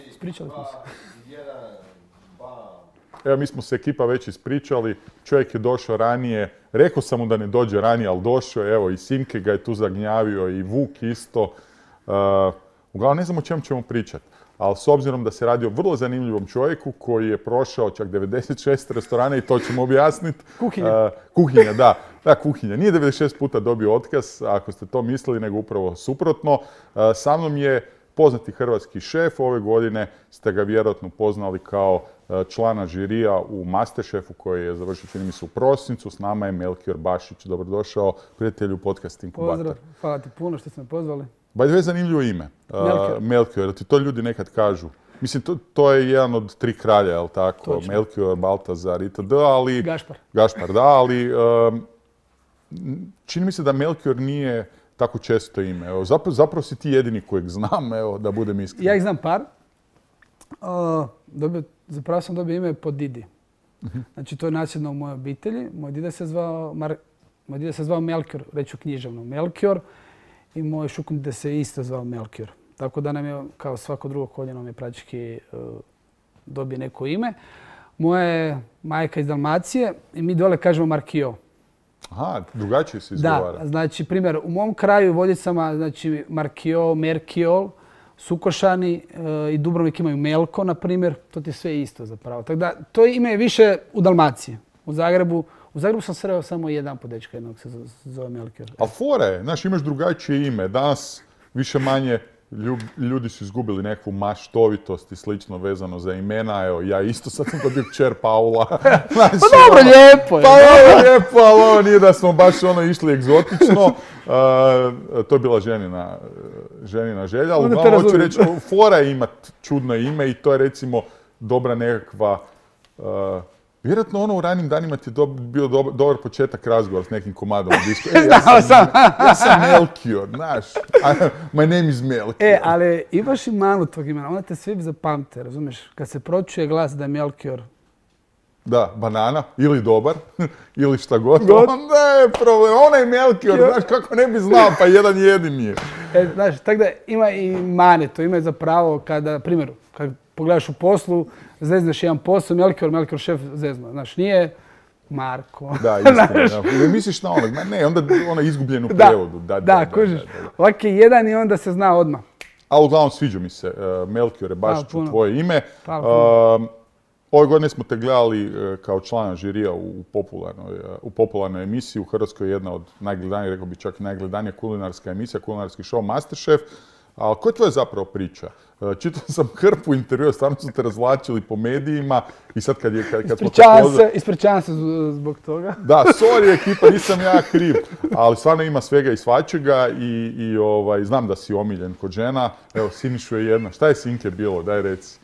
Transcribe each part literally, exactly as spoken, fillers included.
Ispričali smo se. Evo, mi smo se ekipa već ispričali, čovjek je došao ranije, rekao sam mu da ne dođe ranije, ali došao je, evo, i Sinke ga je tu zagnjavio, i Vuk isto. Uh, uglavnom, ne znam o čemu ćemo pričati, ali s obzirom da se radi o vrlo zanimljivom čovjeku koji je prošao čak devedeset šest restorana i to ćemo objasniti. Kuhinja. Uh, kuhinja, da. Da, kuhinja. Nije devedeset šest puta dobio otkaz, ako ste to mislili, nego upravo suprotno. Uh, sa mnom je poznati hrvatski šef. Ove godine ste ga vjerojatno poznali kao člana žirija u Masterchefu koji je završio, čini mi se, u prosincu. S nama je Melchior Bašić. Dobrodošao, prijatelju podcast Inkubator. Pozdrav, hvala ti puno što ste me pozvali. By the way, zanimljivo ime. Melchior. Uh, Melchior, ti to ljudi nekad kažu. Mislim, to, to je jedan od tri kralja, je li tako? Točno. Melchior, Baltazar itd. Ali... Gašpar. Gašpar, da, ali um, čini mi se da Melchior nije tako često ime. Evo, zapravo, zapravo si ti jedini kojeg znam, evo, da budem iskren. Ja ih znam par. Uh, dobio, zapravo sam dobio ime po Didi. Uh-huh. Znači, to je nasljedno u mojoj obitelji. Moj dida se zvao, Mar... moj dida se zvao Melchior, reću književno Melchior. I moj šukundida se isto zvao Melchior. Tako da nam je, kao svako drugo koljeno, mi praktički uh, dobije neko ime. Moja je majka iz Dalmacije i mi dole kažemo Markio. Aha, drugačije se izgovara. Da, znači, primjer, u mom kraju u Vodicama, znači, Markio, Merkiol, Sukošani e, i Dubrovnik imaju Melko, na primjer. To ti je sve isto zapravo. Tako da, to ime je više u Dalmaciji. U Zagrebu, u Zagrebu sam sreo samo jedan po dečka jednog se zove Melchior. Ali fora je, znaš, imaš drugačije ime. Danas više manje ljudi su izgubili nekakvu maštovitost i slično vezano za imena. Evo, ja isto sad sam dobio kćer Paula. Znači, pa dobro, ono, lijepo je. Pa dobro, lijepo, ali ovo nije da smo baš ono išli egzotično. Uh, to je bila ženina, ženina želja. Ali uglavnom hoću reći, fora je imat čudno ime i to je recimo dobra nekakva... Uh, Vjerojatno ono u ranim danima ti je do, bio do, dobar početak razgovora s nekim komadom u disku. E, ja sam, sam. ja sam Melchior, znaš. My name is Melchior. E, ali imaš i malu tog imena. Onda te svi zapamte, razumiješ? Kad se pročuje glas da je Melchior. Da, banana, ili dobar, ili šta god. God. Onda je problem. Onaj Melchior, znaš kako ne bi znao, pa jedan jedini je. E, znaš, tako da ima i mane. To ima zapravo kada, primjer, kad pogledaš u poslu, zezneš jedan posao, Melchior, Melchior šef zezno. Znaš, nije Marko. Da, istina. Ne misliš na onog, ne, onda ona izgubljen u prevodu. Da, da, da, kužiš. Ovak je jedan i onda se zna odmah. A uglavnom sviđa mi se, uh, Melchiore, baš ću tvoje ime. Uh, ove godine smo te gledali uh, kao člana žirija u popularnoj, uh, u popularnoj emisiji. U Hrvatskoj je jedna od najgledanijih, rekao bi čak i najgledanija kulinarska emisija, kulinarski show Masterchef. Ali koja je tvoja zapravo priča? Čitao sam hrpu intervjua, stvarno su te razvlačili po medijima i sad kad je... Kad, kad ispričavam se, ispričavam se zbog toga. Da, sorry ekipa, nisam ja kriv, ali stvarno ima svega i svačega i, i ovaj, znam da si omiljen kod žena. Evo, Sinišu je jedna. Šta je Sinke bilo? Daj reci.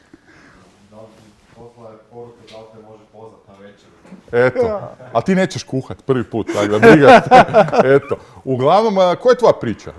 Poslala je poruke da li te može pozvat na večer. Eto, a ti nećeš kuhat prvi put, tako da briga. Eto, uglavnom, koja je tvoja priča?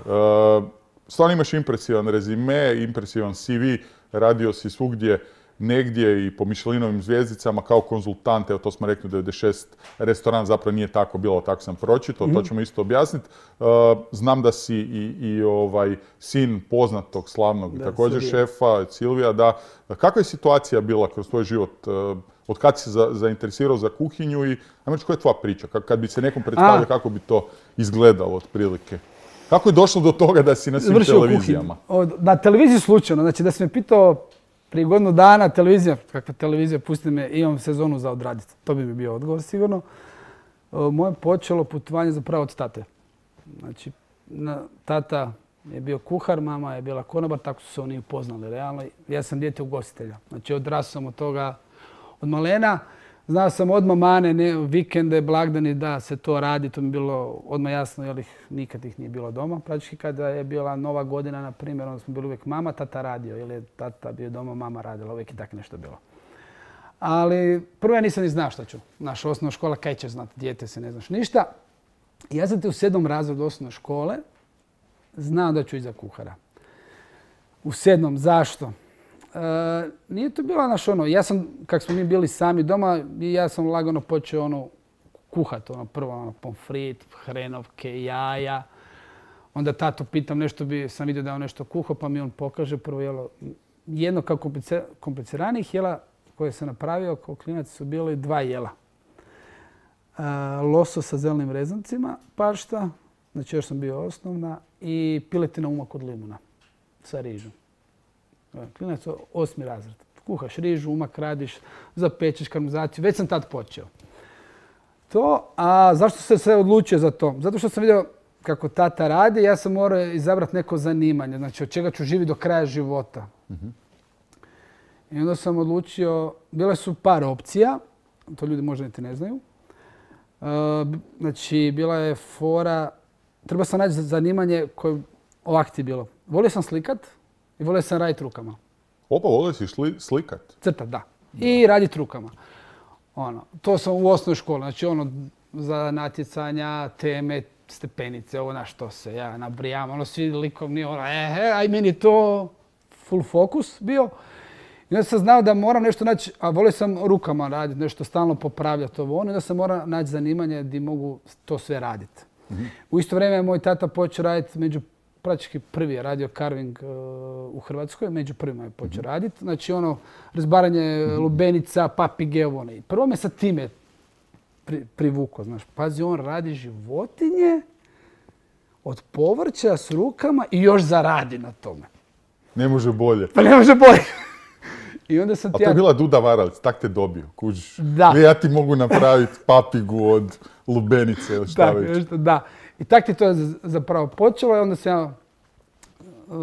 Stvarno imaš impresivan rezime, impresivan C V, radio si svugdje, negdje i po Michelinovim zvjezdicama kao konzultant, evo to smo rekli devedeset šest restoran zapravo nije tako bilo, tako sam pročitao, mm-hmm. to ćemo isto objasniti. Uh, znam da si i, i ovaj sin poznatog slavnog da, također Silvija. šefa, Silvija, da. Kakva je situacija bila kroz tvoj život? Uh, od kad si za, zainteresirao za kuhinju i ajmo reći koja je tvoja priča? Kad bi se nekom predstavio, kako bi to izgledalo otprilike? Kako je došlo do toga da si na svim Vršio televizijama? Kuhinju. Na televiziji slučajno. Znači da si me pitao prije godinu dana televizija, kakva televizija, pusti me, imam sezonu za odraditi. To bi mi bio odgovor sigurno. Moje počelo putovanje zapravo od tate. Znači, tata je bio kuhar, mama je bila konobar, tako su se oni upoznali realno. Ja sam dijete ugostitelja. Znači odrasao sam od toga od malena. Znao sam odmah mane, ne, vikende, blagdani da se to radi, to mi je bilo odmah jasno, jer ih, nikad ih nije bilo doma. Praktički kada je bila Nova godina, na primjer, onda smo bili uvijek mama, tata radio, ili je tata bio doma, mama radila, uvijek je tako nešto bilo. Ali prvo ja nisam ni znao šta ću. Naša osnovna škola, kaj ćeš znati, dijete se ne znaš ništa. I ja sam te u sedmom razredu osnovne škole znao da ću ići za kuhara. U sedmom, zašto? Uh, nije to bilo naš ono, ja sam, kak smo mi bili sami doma, ja sam lagano počeo ono kuhati, ono prvo ono pomfrit, hrenovke, jaja. Onda tatu pitam nešto, bi, sam vidio da je on nešto kuhao, pa mi on pokaže prvo jelo jedno kao kompliciranijih jela koje sam napravio kao klinac su bili dva jela. Losos sa zelenim rezancima, pašta, znači još sam bio osnovna, i piletina umak od limuna sa rižom. Klinac osmi razred. Kuhaš rižu, umak radiš, zapečeš karmelizaciju. Već sam tad počeo. To, a zašto sam se odlučio za to? Zato što sam vidio kako tata radi, ja sam morao izabrati neko zanimanje. Znači od čega ću živjeti do kraja života. Mm-hmm. I onda sam odlučio, bile su par opcija, to ljudi možda niti ne znaju. Uh, znači, bila je fora, treba sam naći zanimanje koje ovak ti je bilo. Volio sam slikat i volio sam raditi rukama. Opa, volio si šli, slikat? Crtat, da. da. I raditi rukama. Ono, to sam u osnovnoj školi, znači ono za natjecanja, teme, stepenice, ovo na što se ja nabrijam, ono svi likovni, ono, e, e, aj meni to full fokus bio. I onda sam znao da moram nešto naći, a volio sam rukama raditi, nešto stalno popravljati ovo ono, i onda sam morao naći zanimanje gdje mogu to sve raditi. Mm-hmm. U isto vrijeme je moj tata počeo raditi među, praktički prvi je radio carving uh, u Hrvatskoj, među prvima je počeo mm-hmm. raditi. Znači ono, razbaranje mm-hmm. lubenica, papige, ovo ono. I prvo me sa time pri, privukao, znaš. Pazi, on radi životinje od povrća s rukama i još zaradi na tome. Ne može bolje. Pa ne može bolje. I onda sam A to je ja... bila Duda Varalic, tak te dobio, kužiš. Da. Ja ti mogu napraviti papigu od lubenice ili šta već. Nešto, da. I tak ti to je zapravo počelo i onda sam ja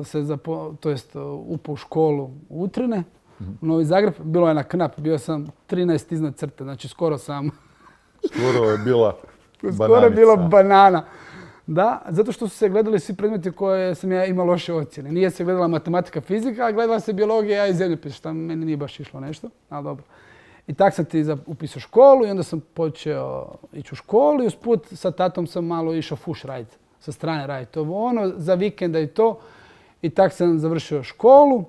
se zapo, to jest, upao u školu u Utrine, mm-hmm. u Novi Zagreb. Bilo je na knap, bio sam trinaest iznad crte, znači skoro sam... Skoro je bila bananica. Skoro je bila banana. Da, zato što su se gledali svi predmeti koje sam ja imao loše ocjene. Nije se gledala matematika, fizika, a gledala se biologija i zemljopis, što meni nije baš išlo nešto, ali dobro. I tak sam ti upisao školu i onda sam počeo ići u školu i usput sa tatom sam malo išao fuš raditi, sa strane raditi ovo ono, za vikenda i to. I tak sam završio školu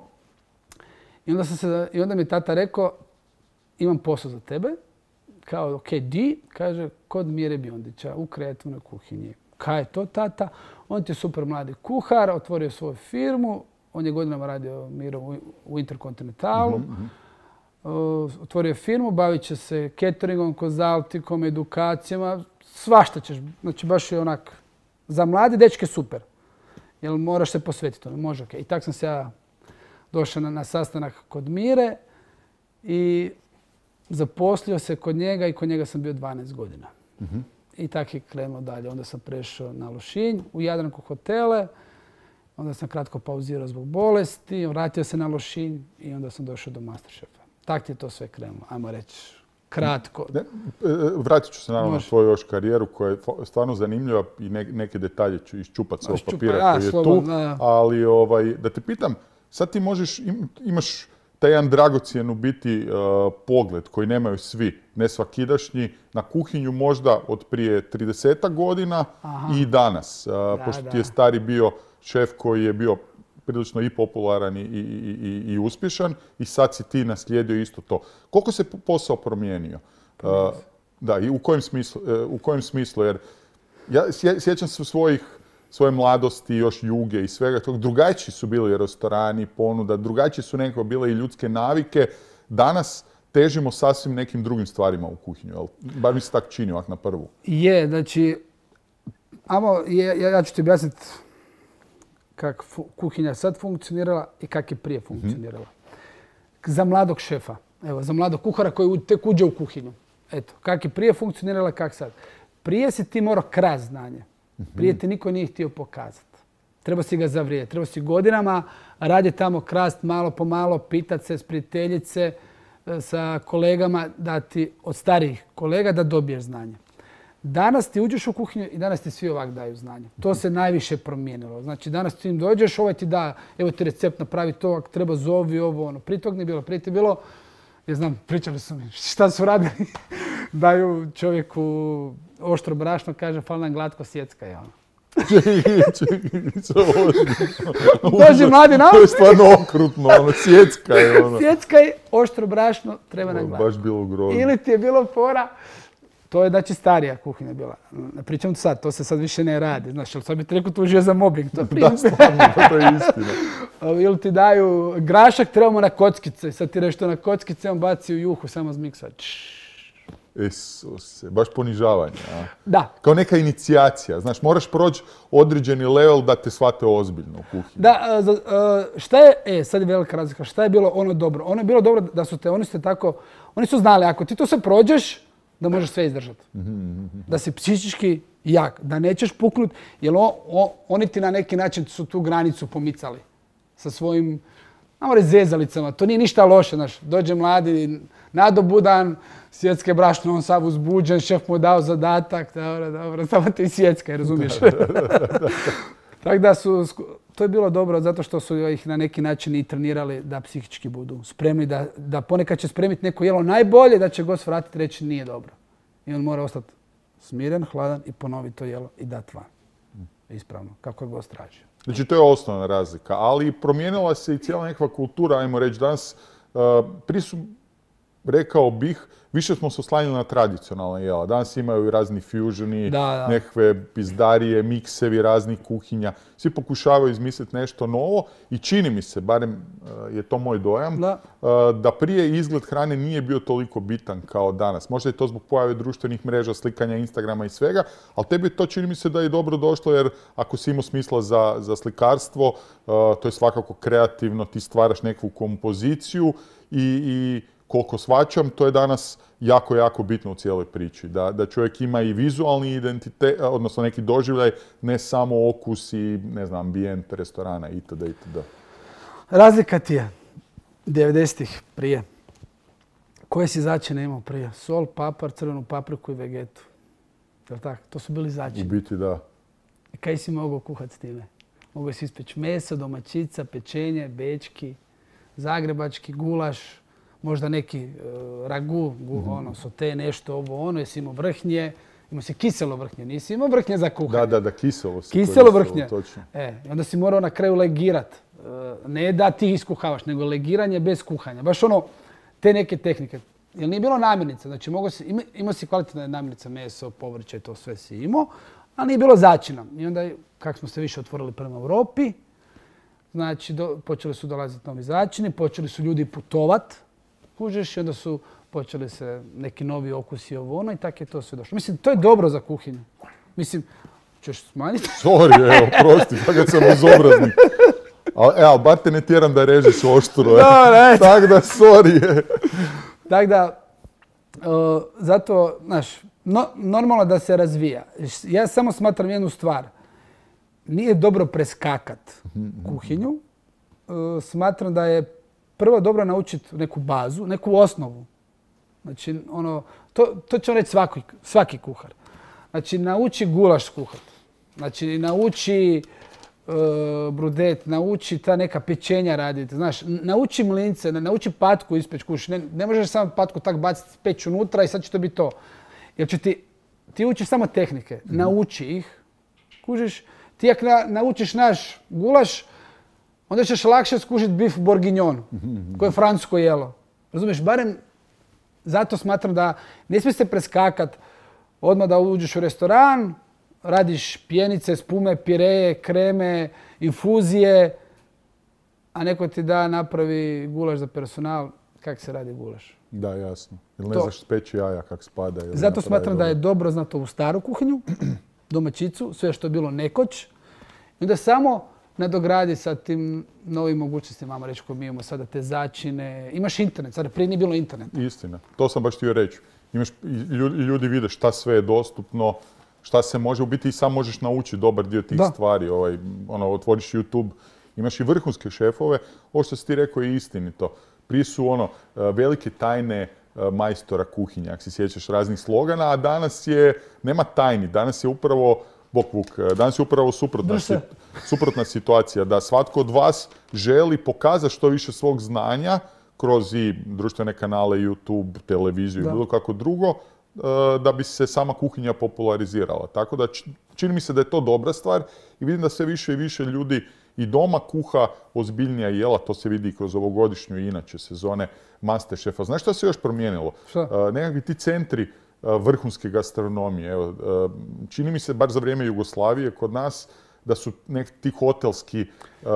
i onda, sam se, i onda mi je tata rekao, imam posao za tebe, kao ok, di, kaže, kod Mire Biondića u kreativnoj kuhinji. Kaj je to, tata? On ti je super mladi kuhar, otvorio svoju firmu, on je godinama radio Miro u Interkontinentalu. Mm-hmm. Otvorio firmu, bavit će se cateringom, konzaltikom, edukacijama, svašta ćeš. Znači baš je onak, za mlade dečke super. Jer moraš se posvetiti tome, može ok. I tak sam se ja došao na, na sastanak kod Mire i zaposlio se kod njega i kod njega sam bio dvanaest godina. Mm-hmm. I tak je krenuo dalje. Onda sam prešao na Lošinj, u Jadranku hotele. Onda sam kratko pauzirao zbog bolesti, vratio se na Lošinj i onda sam došao do Masterchefa. Tak ti je to sve krenulo, ajmo reći kratko. Ne, vratit ću se naravno na svoju još karijeru koja je stvarno zanimljiva i ne, neke detalje ću iščupati s ovog papira ja, koji je slobodno, tu. Da. Ali ovaj, da te pitam, sad ti možeš, im, imaš taj jedan dragocjen u biti uh, pogled koji nemaju svi, ne svakidašnji, na kuhinju možda od prije tridesetak godina. Aha. I danas. Uh, da, pošto da. Ti je stari bio šef koji je bio prilično i popularan i, i, i, i uspješan i sad si ti naslijedio isto to. Koliko se posao promijenio? Uh, da, i u kojem smislu? Uh, u kojem smislu? Jer ja sjećam se svojih svoje mladosti, još Juge i svega toga. Drugačiji su bili restorani, ponuda, drugačije su nekako bile i ljudske navike. Danas težimo sasvim nekim drugim stvarima u kuhinju, jel? Bar mi se tak čini ovak na prvu. Je, znači, amo, je, ja, ja ću ti objasniti kako kuhinja sad funkcionirala i kako je prije funkcionirala. Mm-hmm. Za mladog šefa, evo, za mladog kuhara koji tek uđe u kuhinju. Eto, kako je prije funkcionirala, kako sad. Prije si ti morao krast znanje. Prije ti niko nije htio pokazati. Treba si ga zavrijeti. Treba si godinama raditi tamo krast malo po malo, pitati se s prijateljice, sa kolegama, da ti, od starijih kolega da dobiješ znanje. Danas ti uđeš u kuhinju i danas ti svi ovak daju znanje. To se najviše promijenilo. Znači danas ti im dođeš, ovaj ti da, evo ti recept, napravi to, ako treba zovi ovo, ono. Prije tog nije bilo. Prije ti je bilo, ja znam, pričali su mi šta su radili. Daju čovjeku oštro brašno, kaže, fali nam glatko, sjecka je ono. Dođi mladi nam. To je stvarno okrutno, ono, sjecka je ono. Sjecka je, oštro brašno, treba nam glatko. Baš bilo grozno. Ili ti je bilo fora, to je znači starija kuhinja bila. Ne pričam to sad, to se sad više ne radi. Znaš, ali sad bi ti rekao tužio za mobbing. To da, stvarno, to je istina. ili ti daju grašak, trebamo na kockice. Sad ti nešto na kockice, on baci u juhu, samo zmiksa. Isuse, baš ponižavanje. A? Da. Kao neka inicijacija. Znaš, moraš proći određeni level da te shvate ozbiljno u kuhinji. Da, šta je, e, sad je velika razlika, šta je bilo ono dobro? Ono je bilo dobro da su te, oni su te tako, oni su znali, ako ti to sve prođeš, da možeš sve izdržati. Da si psihički jak, da nećeš puknut, jer o, o, oni ti na neki način su tu granicu pomicali sa svojim, namo reći, zezalicama. To nije ništa loše, znaš, dođe mladi, nadobudan, svjetske brašno, on sav uzbuđen, šef mu dao zadatak, dobro, dobro, samo ti svjetska, razumiješ? Tako da su, to je bilo dobro zato što su ih na neki način i trenirali da psihički budu spremni, da, da ponekad će spremiti neko jelo najbolje, da će gost vratiti i reći nije dobro. I on mora ostati smiren, hladan i ponoviti to jelo i dati van. Ispravno, kako je gost tražio. Znači, to je osnovna razlika, ali promijenila se i cijela nekakva kultura, ajmo reći, danas uh, prije su, rekao bih, više smo se oslanjali na tradicionalna jela. Danas imaju i razni fusioni, Da, da. nekakve pizdarije, miksevi raznih kuhinja. Svi pokušavaju izmisliti nešto novo i čini mi se, barem uh, je to moj dojam, Da. uh, da prije izgled hrane nije bio toliko bitan kao danas. Možda je to zbog pojave društvenih mreža, slikanja Instagrama i svega, ali tebi to čini mi se da je dobro došlo jer ako si imao smisla za, za slikarstvo, uh, to je svakako kreativno, ti stvaraš nekakvu kompoziciju i, i koliko shvaćam, to je danas jako, jako bitno u cijeloj priči. Da, da čovjek ima i vizualni identitet, odnosno neki doživljaj, ne samo okus i, ne znam, ambijent restorana itd. itd. Razlika ti je devedesetih prije. Koje si začine imao prije? Sol, papar, crvenu papriku i vegetu. Jel' tako? To su bili U začini. biti da. I kaj si mogao kuhati s time? Mogao si ispeći meso, domaćica, pečenje, bečki, zagrebački, gulaš, možda neki uh, ragu, gu, ono, sote, nešto, ovo, ono, jesi imao vrhnje, imao si kiselo vrhnje, nisi imao vrhnje za kuhanje. Da, da, da, kiselo se Kiselo koristilo, vrhnje. točno. E, i onda si morao na kraju legirat. Uh, ne da ti iskuhavaš, nego legiranje bez kuhanja. Baš ono, te neke tehnike. Jer nije bilo namirnica, znači mogo si, ima, imao si kvalitetne namirnice, meso, povrće, to sve si imao, ali nije bilo začina. I onda, kako smo se više otvorili prema Europi, znači do, počeli su dolaziti novi začini, počeli su ljudi putovat, kužeš, i onda su počeli se neki novi okusi ovo ono i tako je to sve došlo. Mislim, to je dobro za kuhinju. Mislim, ćeš smanjiti? Sorry, evo, prosti, fakat sam bezobraznik. Ali, e, ali bar te ne tjeram da režeš oštro. Dobro, Tako da, sorry. Tako da, uh, zato, znaš, no, normalno da se razvija. Ja samo smatram jednu stvar. Nije dobro preskakat kuhinju. Uh, smatram da je prvo dobro naučiti neku bazu, neku osnovu. Znači, ono, to, to će reći svaki, svaki kuhar. Znači, nauči gulaš skuhat. Znači, nauči uh, brudet, nauči ta neka pečenja raditi. Znaš, nauči mlince, nauči patku ispeć kuš. Ne, ne možeš samo patku tak baciti peć unutra i sad će to biti to. Jer će ti, ti učiš samo tehnike, nauči ih, kužiš. Ti ako na, naučiš naš gulaš, onda ćeš lakše skužiti bif bourguignon, koje je francusko jelo. Razumiješ, barem zato smatram da ne smije se preskakat odmah da uđeš u restoran, radiš pjenice, spume, pireje, kreme, infuzije, a neko ti da napravi gulaš za personal. Kako se radi gulaš? Da, jasno. Ili ne To. znaš speći jaja kak spada. Ili Zato napravi smatram da je dobro. dobro znati ovu staru kuhinju, domaćicu, sve što je bilo nekoć. I onda samo nadogradi sa tim novim mogućnostima, ajmo reći, koje mi imamo sada, te začine. Imaš internet, sada prije nije bilo interneta. Istina. To sam baš htio reći. Imaš, i ljudi, ljudi vide šta sve je dostupno, šta se može, u biti i sam možeš naučiti dobar dio tih Da. stvari. Ovaj, ono, otvoriš YouTube, imaš i vrhunske šefove. Ovo što si ti rekao je istinito. Prije su ono, velike tajne majstora kuhinja, ako se sjećaš raznih slogana, a danas je, nema tajni, danas je upravo, bok vuk, danas je upravo suprotna, Drž se. sit- suprotna situacija, da svatko od vas želi pokazati što više svog znanja kroz i društvene kanale, YouTube, televiziju Da. i bilo kako drugo, e, da bi se sama kuhinja popularizirala. Tako da č- čini mi se da je to dobra stvar i vidim da sve više i više ljudi i doma kuha ozbiljnija jela, to se vidi i kroz ovogodišnju i inače sezone Masterchefa. Znaš šta se još promijenilo? Šta? E, nekakvi ti centri e, vrhunske gastronomije. Evo, e, čini mi se, bar za vrijeme Jugoslavije, kod nas da su neki ti hotelski uh,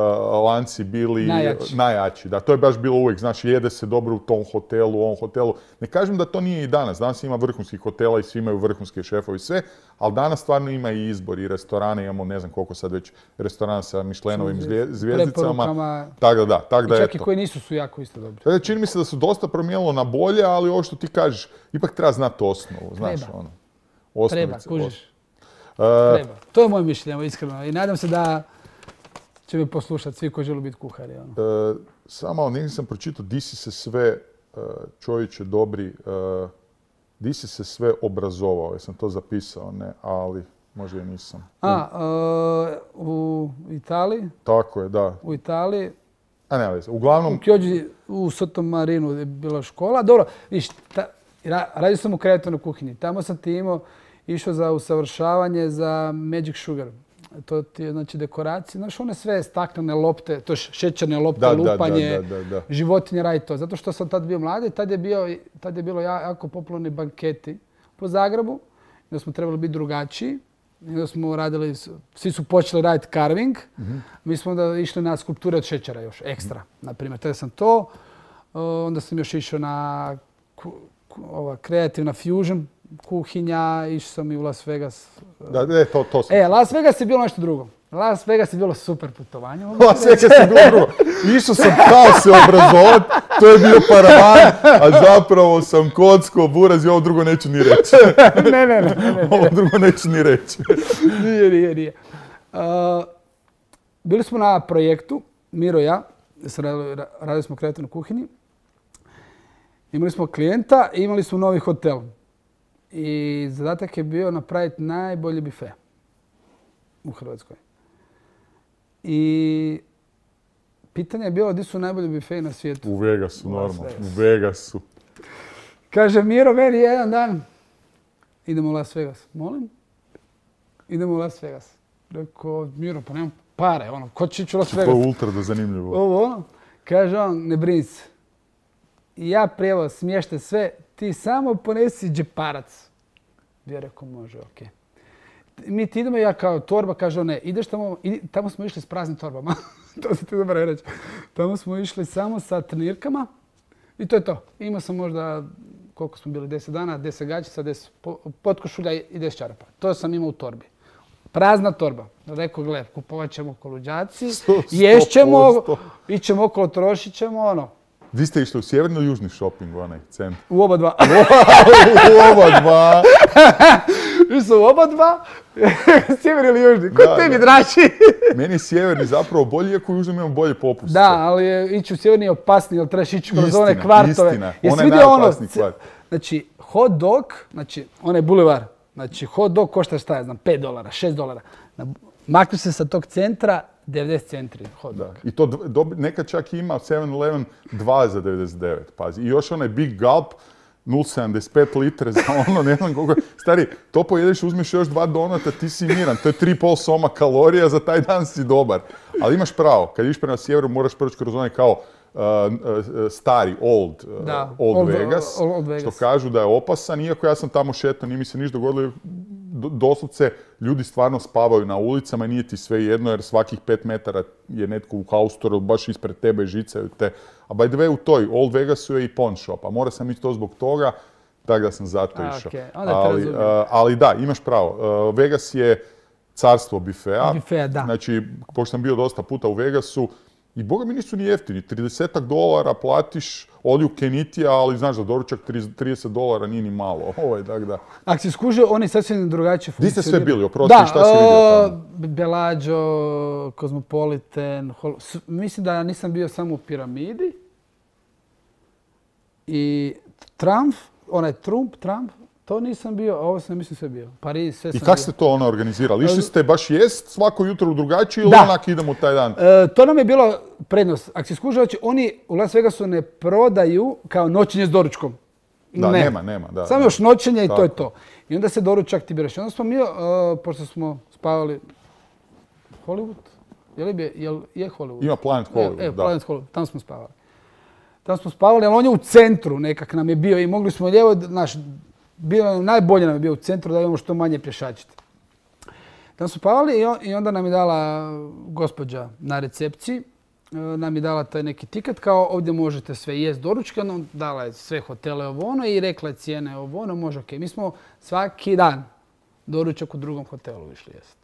lanci bili Najjači. najjači. Da, to je baš bilo uvijek, znaš, jede se dobro u tom hotelu, u ovom hotelu. Ne kažem da to nije i danas. Danas ima vrhunskih hotela i svi imaju vrhunske šefovi i sve, ali danas stvarno ima i izbor i restorane. Imamo ne znam koliko sad već restorana sa Michelinovim zvijezdicama. Preporukama. Tako da, da, tak da I čak i eto. koji nisu su jako isto dobri. Dakle, čini mi se da su dosta promijenilo na bolje, ali ovo što ti kažeš, ipak treba znati osnovu, znaš, Treba. ono. Treba, Osnovice, kužiš. Uh, Treba. To je moje mišljenje, iskreno. I nadam se da će me poslušati svi koji žele biti kuhari. Ono. uh, samo negdje sam pročitao, di si se sve, uh, čovječe dobri, uh, di si se sve obrazovao, jesam to zapisao, ne, ali možda i nisam. A, uh, u Italiji, Tako je, da. u Italiji, A ne, ali, uglavnom, u Chioggi, u Sottomarinu je bila škola. Dobro, viš, ta, ra, radio sam u kreativnoj kuhinji. Tamo sam ti imao, išao za usavršavanje za Magic Sugar. To ti je, znači, dekoracije. Znaš, one sve staklene lopte, to je šećerne lopte, Da, da, lupanje, da, da, da. životinje, radi to. Zato što sam tad bio mladi, tad je, bio, tad je bilo jako popularni banketi po Zagrebu. Da smo trebali biti drugačiji. I onda smo radili, svi su počeli raditi carving. Mm-hmm. Mi smo onda išli na skulpture od šećera još, ekstra. Mm-hmm. Naprimjer, tada sam to. Onda sam još išao na ku, ku, ova, kreativna fusion kuhinja, išao sam i u Las Vegas. Da, e, to, to sam. E, Las Vegas je bilo nešto drugo. Las Vegas je bilo super putovanje. Las Vegas je bilo drugo. Išao sam kao se obrazovat, to je bio paravan, a zapravo sam kocko, buraz i ovo drugo neću ni reći. ne, ne, ne, ne, ne. Ovo drugo neću ni reći. nije, nije, nije. Uh, bili smo na projektu, Miro i ja, radili, radili smo u kreativnoj kuhinji. Imali smo klijenta i imali smo novi hotel. I zadatak je bio napraviti najbolji bife u Hrvatskoj. I pitanje je bilo gdje su najbolji bifeji na svijetu. U Vegasu, U Las normalno. Vegas. U Vegasu. Kaže Miro meni jedan dan, idemo u Las Vegas. Molim? Idemo u Las Vegas. Rekao, Miro, pa nemam pare, ono, ko će ići u Las To Vegas? je ultra da zanimljivo. Ovo, ono. Kaže on, ne brini se. I ja prijevoz, smještaj sve, ti samo ponesi džeparac. Ja rekao, može, okej. Mi ti idemo, ja kao torba, kaže on, ne, ideš tamo, idi, tamo smo išli s praznim torbama. To se ti dobro reći. Tamo smo išli samo sa trenirkama i to je to. Imao sam možda, koliko smo bili, deset dana, deset gaćica, deset potkošulja i deset čarapa. To sam imao u torbi. Prazna torba. Rekao, gle, kupovat ćemo koluđaci, ješćemo, ićemo okolo, trošit ćemo, ono. Vi ste išli u sjeverni ili južni shopping, onaj centar? U oba dva. U oba dva. Mi su u oba dva, sjeverni ili južni. Ko tebi, draži? Meni je sjeverni zapravo bolji, iako u južnom imamo bolje popustice. Da, ali je, ići u sjeverni je opasniji, jer trebaš ići kroz Istina, one kvartove. istina. Jesi Onaj vidio najopasniji ono, kvart. znači, hot dog, znači, onaj bulevar, znači, hot dog košta šta ja znam, pet dolara, šest dolara. Makni se sa tog centra, devedeset centri hot dog. Da. I to dobi, nekad čak ima seven eleven dva za devedeset devet, pazi. I još onaj Big Gulp, nula zarez sedamdeset pet litre za ono, ne znam koliko. Stari, to pojedeš, uzmeš još dva donata, ti si miran. To je tri i pol soma kalorija, za taj dan si dobar. Ali imaš pravo, kad ideš prema sjeveru, moraš proći kroz onaj kao uh, uh, stari, old, uh, Da, old, old, Vegas, old, old Vegas, što kažu da je opasan, iako ja sam tamo šetao, nije mi se ništa dogodilo. Doslovce, ljudi stvarno spavaju na ulicama i nije ti sve jedno, jer svakih pet metara je netko u haustoru, baš ispred tebe žicaju te. A by the way, u toj Old Vegasu je i pawn shop, a mora sam ići to zbog toga, tako da sam zato A, išao. okay. Onda te Ali, razumijem. uh, ali da, imaš pravo. Uh, Vegas je carstvo bifea. Bifea, da. Znači, pošto sam bio dosta puta u Vegasu, i boga mi nisu ni jeftini. trideset dolara platiš olju Kenitija, ali znaš da doručak trideset dolara nije ni malo. Ovo je tak da. Ako si skužio, oni sasvim drugačije Di funkcioniraju. ste sve bili? Oprosti, da, šta si vidio tamo? Bellagio, Cosmopolitan, Hol... mislim da nisam bio samo u Piramidi. I Trump, onaj Trump, Trump, to nisam bio, ovo sam mislim sve bio. Pariz, sve I sam kako bio. ste to ono organizirali? Išli ste baš jest svako jutro drugačije ili Da. onak idemo taj dan? E, to nam je bilo prednost. Ako si skužio, znači, oni u Las Vegasu ne prodaju kao noćenje s doručkom. Da, ne. nema, nema. Da, Samo da. još noćenje i to je Tako. to. I onda se doručak ti biraš. Onda smo mi, uh, pošto smo spavali Hollywood, je li bi, jel je Hollywood? Ima Planet Hollywood, E, e, da. Planet Hollywood, tamo smo spavali. Tamo smo spavali, ali on je u centru nekak nam je bio i mogli smo lijevo, naš, bilo najbolje nam je bio u centru da imamo što manje pješačiti. Tamo su spavali i, on, i onda nam je dala gospođa na recepciji, nam je dala taj neki tiket kao ovdje možete sve jest doručkano, dala je sve hotele ovo ono i rekla je cijene ovo ono, može ok. Mi smo svaki dan doručak u drugom hotelu išli jest.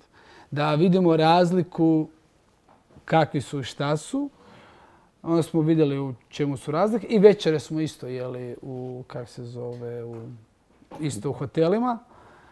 Da vidimo razliku kakvi su i šta su. Onda smo vidjeli u čemu su razlike i večere smo isto jeli u, kak se zove, u, isto u hotelima.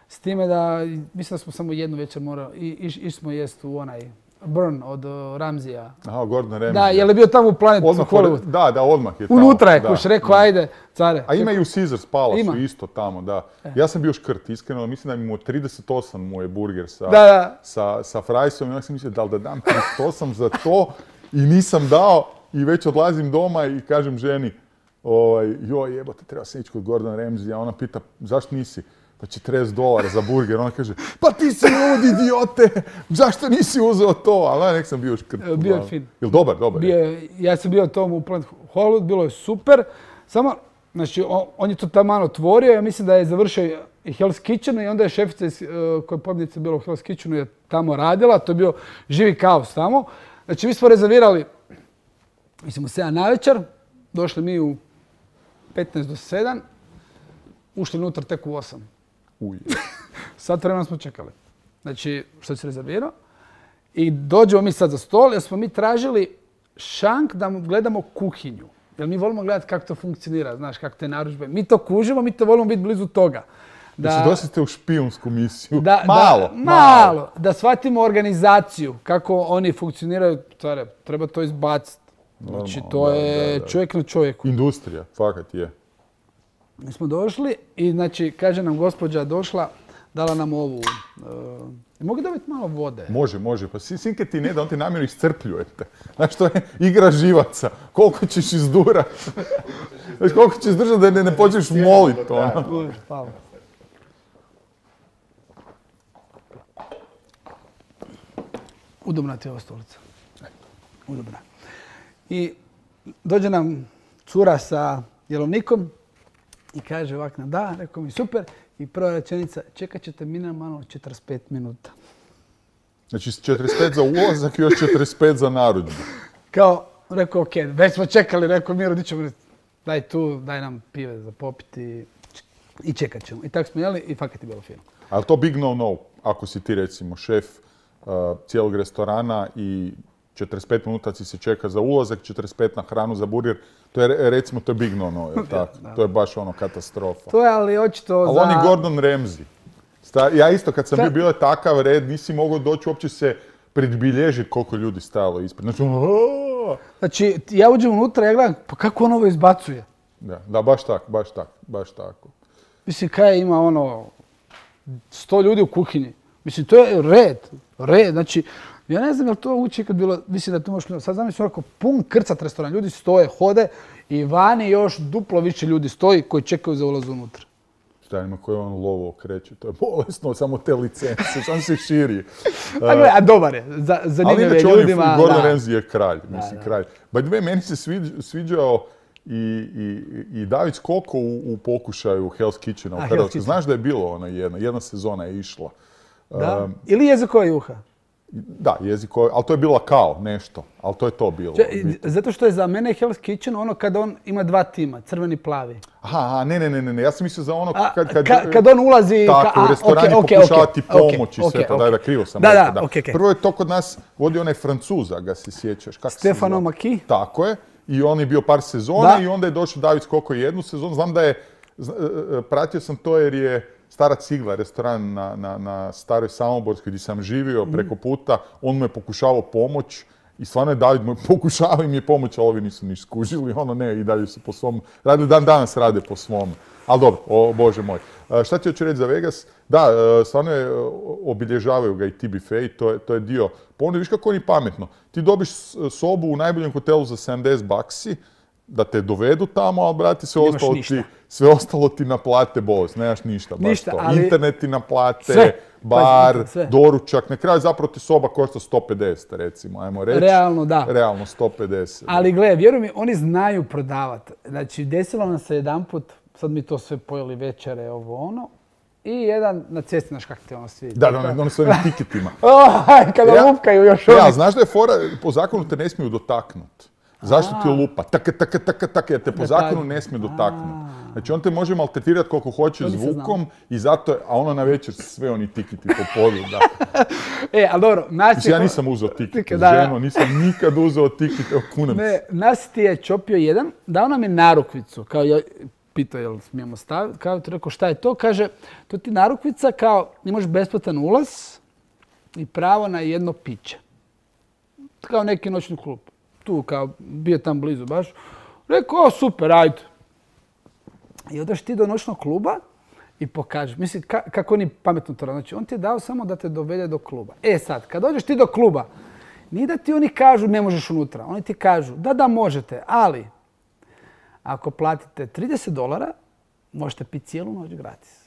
S time da, mislim da smo samo jednu večer morali, išli smo jest u onaj Burn od uh, Ramzija. Aha, Gordon Ramsay. Da, je li bio tamo u Planet Hollywood? Da, da, odmah je tamo. Unutra je, kuš, rekao, ajde, care. A ima i u Caesars Palace Ima. isto tamo, da. Ja sam bio škrt, iskreno, mislim da mi mu trideset osam mu je burger sa, Da, da. sa, sa frajsom i onda sam mislio da li da dam trideset osam za to i nisam dao i već odlazim doma i kažem ženi, ovaj, joj jebote, treba sam ići kod Gordon Ramsay, a ona pita zašto nisi? Pa četrdeset dolara za burger. Ona kaže, pa ti si lud idiote, zašto nisi uzeo to? Ali nek sam bio škrt. Bio je fin. Jel dobar, dobar? Bio je, ja sam bio tomu u Planet Hollywood, bilo je super. Samo, znači, on, on je to tamo otvorio, ja mislim da je završio i Hell's Kitchen i onda je šefica iz, uh, koja je pobjednica bila u Hell's Kitchenu je tamo radila, to je bio živi kaos tamo. Znači, mi smo rezervirali, mislim, u sedam navečer, došli mi u petnaest do sedam, ušli unutra tek u osam. Uj. Sat vremena smo čekali. Znači, što se rezervirao. I dođemo mi sad za stol, jer smo mi tražili šank da gledamo kuhinju. Jer mi volimo gledati kako to funkcionira, znaš, kako te narudžbe. Mi to kužimo, mi to volimo biti blizu toga. Da se dosite u špijunsku misiju. Da, malo, da, malo. Da shvatimo organizaciju, kako oni funkcioniraju. Care, treba to izbaciti. Znači, to je da, da. čovjek na čovjeku. Industrija, fakat je. Mi smo došli i, znači, kaže nam gospođa došla, dala nam ovu... Uh, mogu dobiti malo vode? Može, može. Pa sinke ti ne da, on ti namjerno iscrpljujete. Znaš, to je igra živaca. Koliko ćeš izdurat? Znaš, koliko ćeš držati da ne, ne počneš moliti. Ono. Hvala. Udobna ti je ova stolica. Udobna. I dođe nam cura sa jelovnikom i kaže ovak nam da, rekao mi super. I prva rečenica, čekat ćete minimalno četrdeset pet minuta. Znači četrdeset pet za ulazak i još četrdeset pet za narudžbu. Kao, rekao ok, već smo čekali, rekao Miro, di ćemo, daj tu, daj nam pive za popiti i čekat ćemo. I tako smo jeli i fakat je bilo fino. Ali to big no-no, ako si ti recimo šef uh, cijelog restorana i četrdeset pet minuta si se čeka za ulazak, četrdeset pet na hranu za burger, to je recimo to je big no-no, jel tako? To je baš ono katastrofa. To je ali očito ali za... Ali on je Gordon Ramsay. Ja isto kad sam bio, bio je takav red, nisi mogao doći uopće se predbilježiti koliko ljudi stajalo ispred. Znači, ono... Znači, ja uđem unutra i ja gledam, pa kako on ovo izbacuje? Da, da, baš tako, baš tako, baš tako. Mislim, kaj ima ono, sto ljudi u kuhinji. Mislim, to je red, red, znači, ja ne znam je li to ući kad bilo, mislim da tu možeš, sad znam mislim onako pun krcat restoran, ljudi stoje, hode i vani još duplo više ljudi stoji koji čekaju za ulaz unutra. Šta ima koji on lovo okreće, to je bolesno, samo te licence, samo se širi. A, gle, a dobar je, za, zanimljiv je ljudima. Ali Gordon Ramsay je kralj, mislim da, da. kralj. By the way, meni se sviđ, sviđao i, i, i David Skoko u, u pokušaju Hell's Kitchena u Hrvatskoj. Znaš da je bilo ona jedna, jedna sezona je išla. Da? Um, Ili jezikova juha? Da, jezikova, ali to je bila kao nešto, ali to je to bilo. Če, zato što je za mene Hell's Kitchen ono kada on ima dva tima, crveni i plavi. Aha, ne, ne, ne, ne, ja sam mislio za ono kad... Kad, ka, kad on ulazi... Tako, ka, a, u restorani okay, pokušavati okay, pomoć okay, i sve okay, to, okay. da, da, krivo sam da, rekao. Da, okay, okay. Prvo je to kod nas vodio onaj Francuza, ga se sjećaš. Kako Stefano Maki. Tako je. I on je bio par sezona da. I onda je došao David Skoko jednu sezonu. Znam da je, pratio sam to jer je Stara cigla, restoran na, na, na Staroj Samoborskoj gdje sam živio preko puta. On mu je pokušavao pomoć i stvarno je David mu pokušavao im je pomoć, ali ovi nisu niš skužili. Ono ne, i dalje su po svom, radili dan danas rade po svom. Ali dobro, o Bože moj. Šta ti hoću reći za Vegas? Da, stvarno je, obilježavaju ga i T B F, to je, to je dio. Pa onda viš kako oni pametno. Ti dobiš sobu u najboljem hotelu za sedamdeset baksi, da te dovedu tamo, ali brati, sve ostalo, ti, sve ostalo ti naplate bolest, nemaš ništa. Baš ništa, to. Ali... Internet ti naplate, sve. bar, pa, sve. doručak. Na kraju zapravo ti soba košta sto pedeset, recimo, ajmo reći. Realno, da. Realno, sto pedeset. Ali gle, vjeruj mi, oni znaju prodavati. Znači, desilo nam se jedanput, sad mi to sve pojeli večere, ovo ono, i jedan na cesti, znaš kako te ono svi. Da, da, ono s ovim tiketima. Aj, kada Ja- lupkaju još Ja, oni. znaš da je fora, po zakonu te ne smiju dotaknuti. Zašto ti lupa? Taka, taka, taka, taka, jer te po zakonu ne smije dotaknuti. Znači on te može maltretirati koliko hoće To nisam zvukom i zato, je- a ono na večer sve oni tikiti po podu, da. E, ali dobro, nas Mislim, je... ja nisam uzeo tikite, Tikite, da, da. ženo, nisam nikad uzeo tikite, evo kunem Ne, se. nas ti je čopio jedan, dao nam je narukvicu, kao ja, pitao jel smijemo staviti, kao ti rekao šta je to, kaže, to ti narukvica kao imaš besplatan ulaz i pravo na jedno piće. Kao neki noćni klub. Tu kao, bio tam blizu baš. Rekao, o super, ajde. I odeš ti do noćnog kluba i pokažeš. Mislim, ka- kako oni pametno to rade. Znači, on ti je dao samo da te dovede do kluba. E sad, kad dođeš ti do kluba, nije da ti oni kažu ne možeš unutra. Oni ti kažu da, da možete, ali ako platite trideset dolara, možete piti cijelu noć gratis.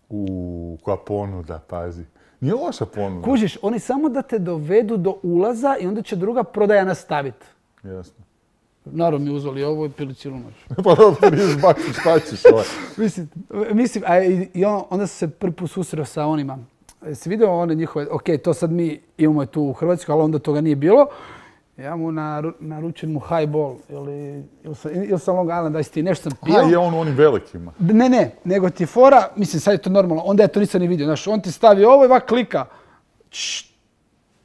Uuu, koja ponuda, pazi. Nije loša ponuda. Kužiš, oni samo da te dovedu do ulaza i onda će druga prodaja nastaviti. Jasno. Naravno mi uzeli ovo i pili cijelu noć. Pa dobro, trideset baksa, šta ćeš ovaj? Mislim, mislim a i, i on, onda sam se prvi put susreo sa onima. Si vidio one njihove, ok, to sad mi imamo je tu u Hrvatskoj, ali onda toga nije bilo. Ja mu naru, naručujem mu highball ili, ili, sa, ili sa Long Island Iced Tea, nešto sam pio. A, je on u onim velikima. Ne, ne, nego ti fora, mislim sad je to normalno, onda ja to nisam ni vidio, znaš, on ti stavi ovo i ovak klika. Čš.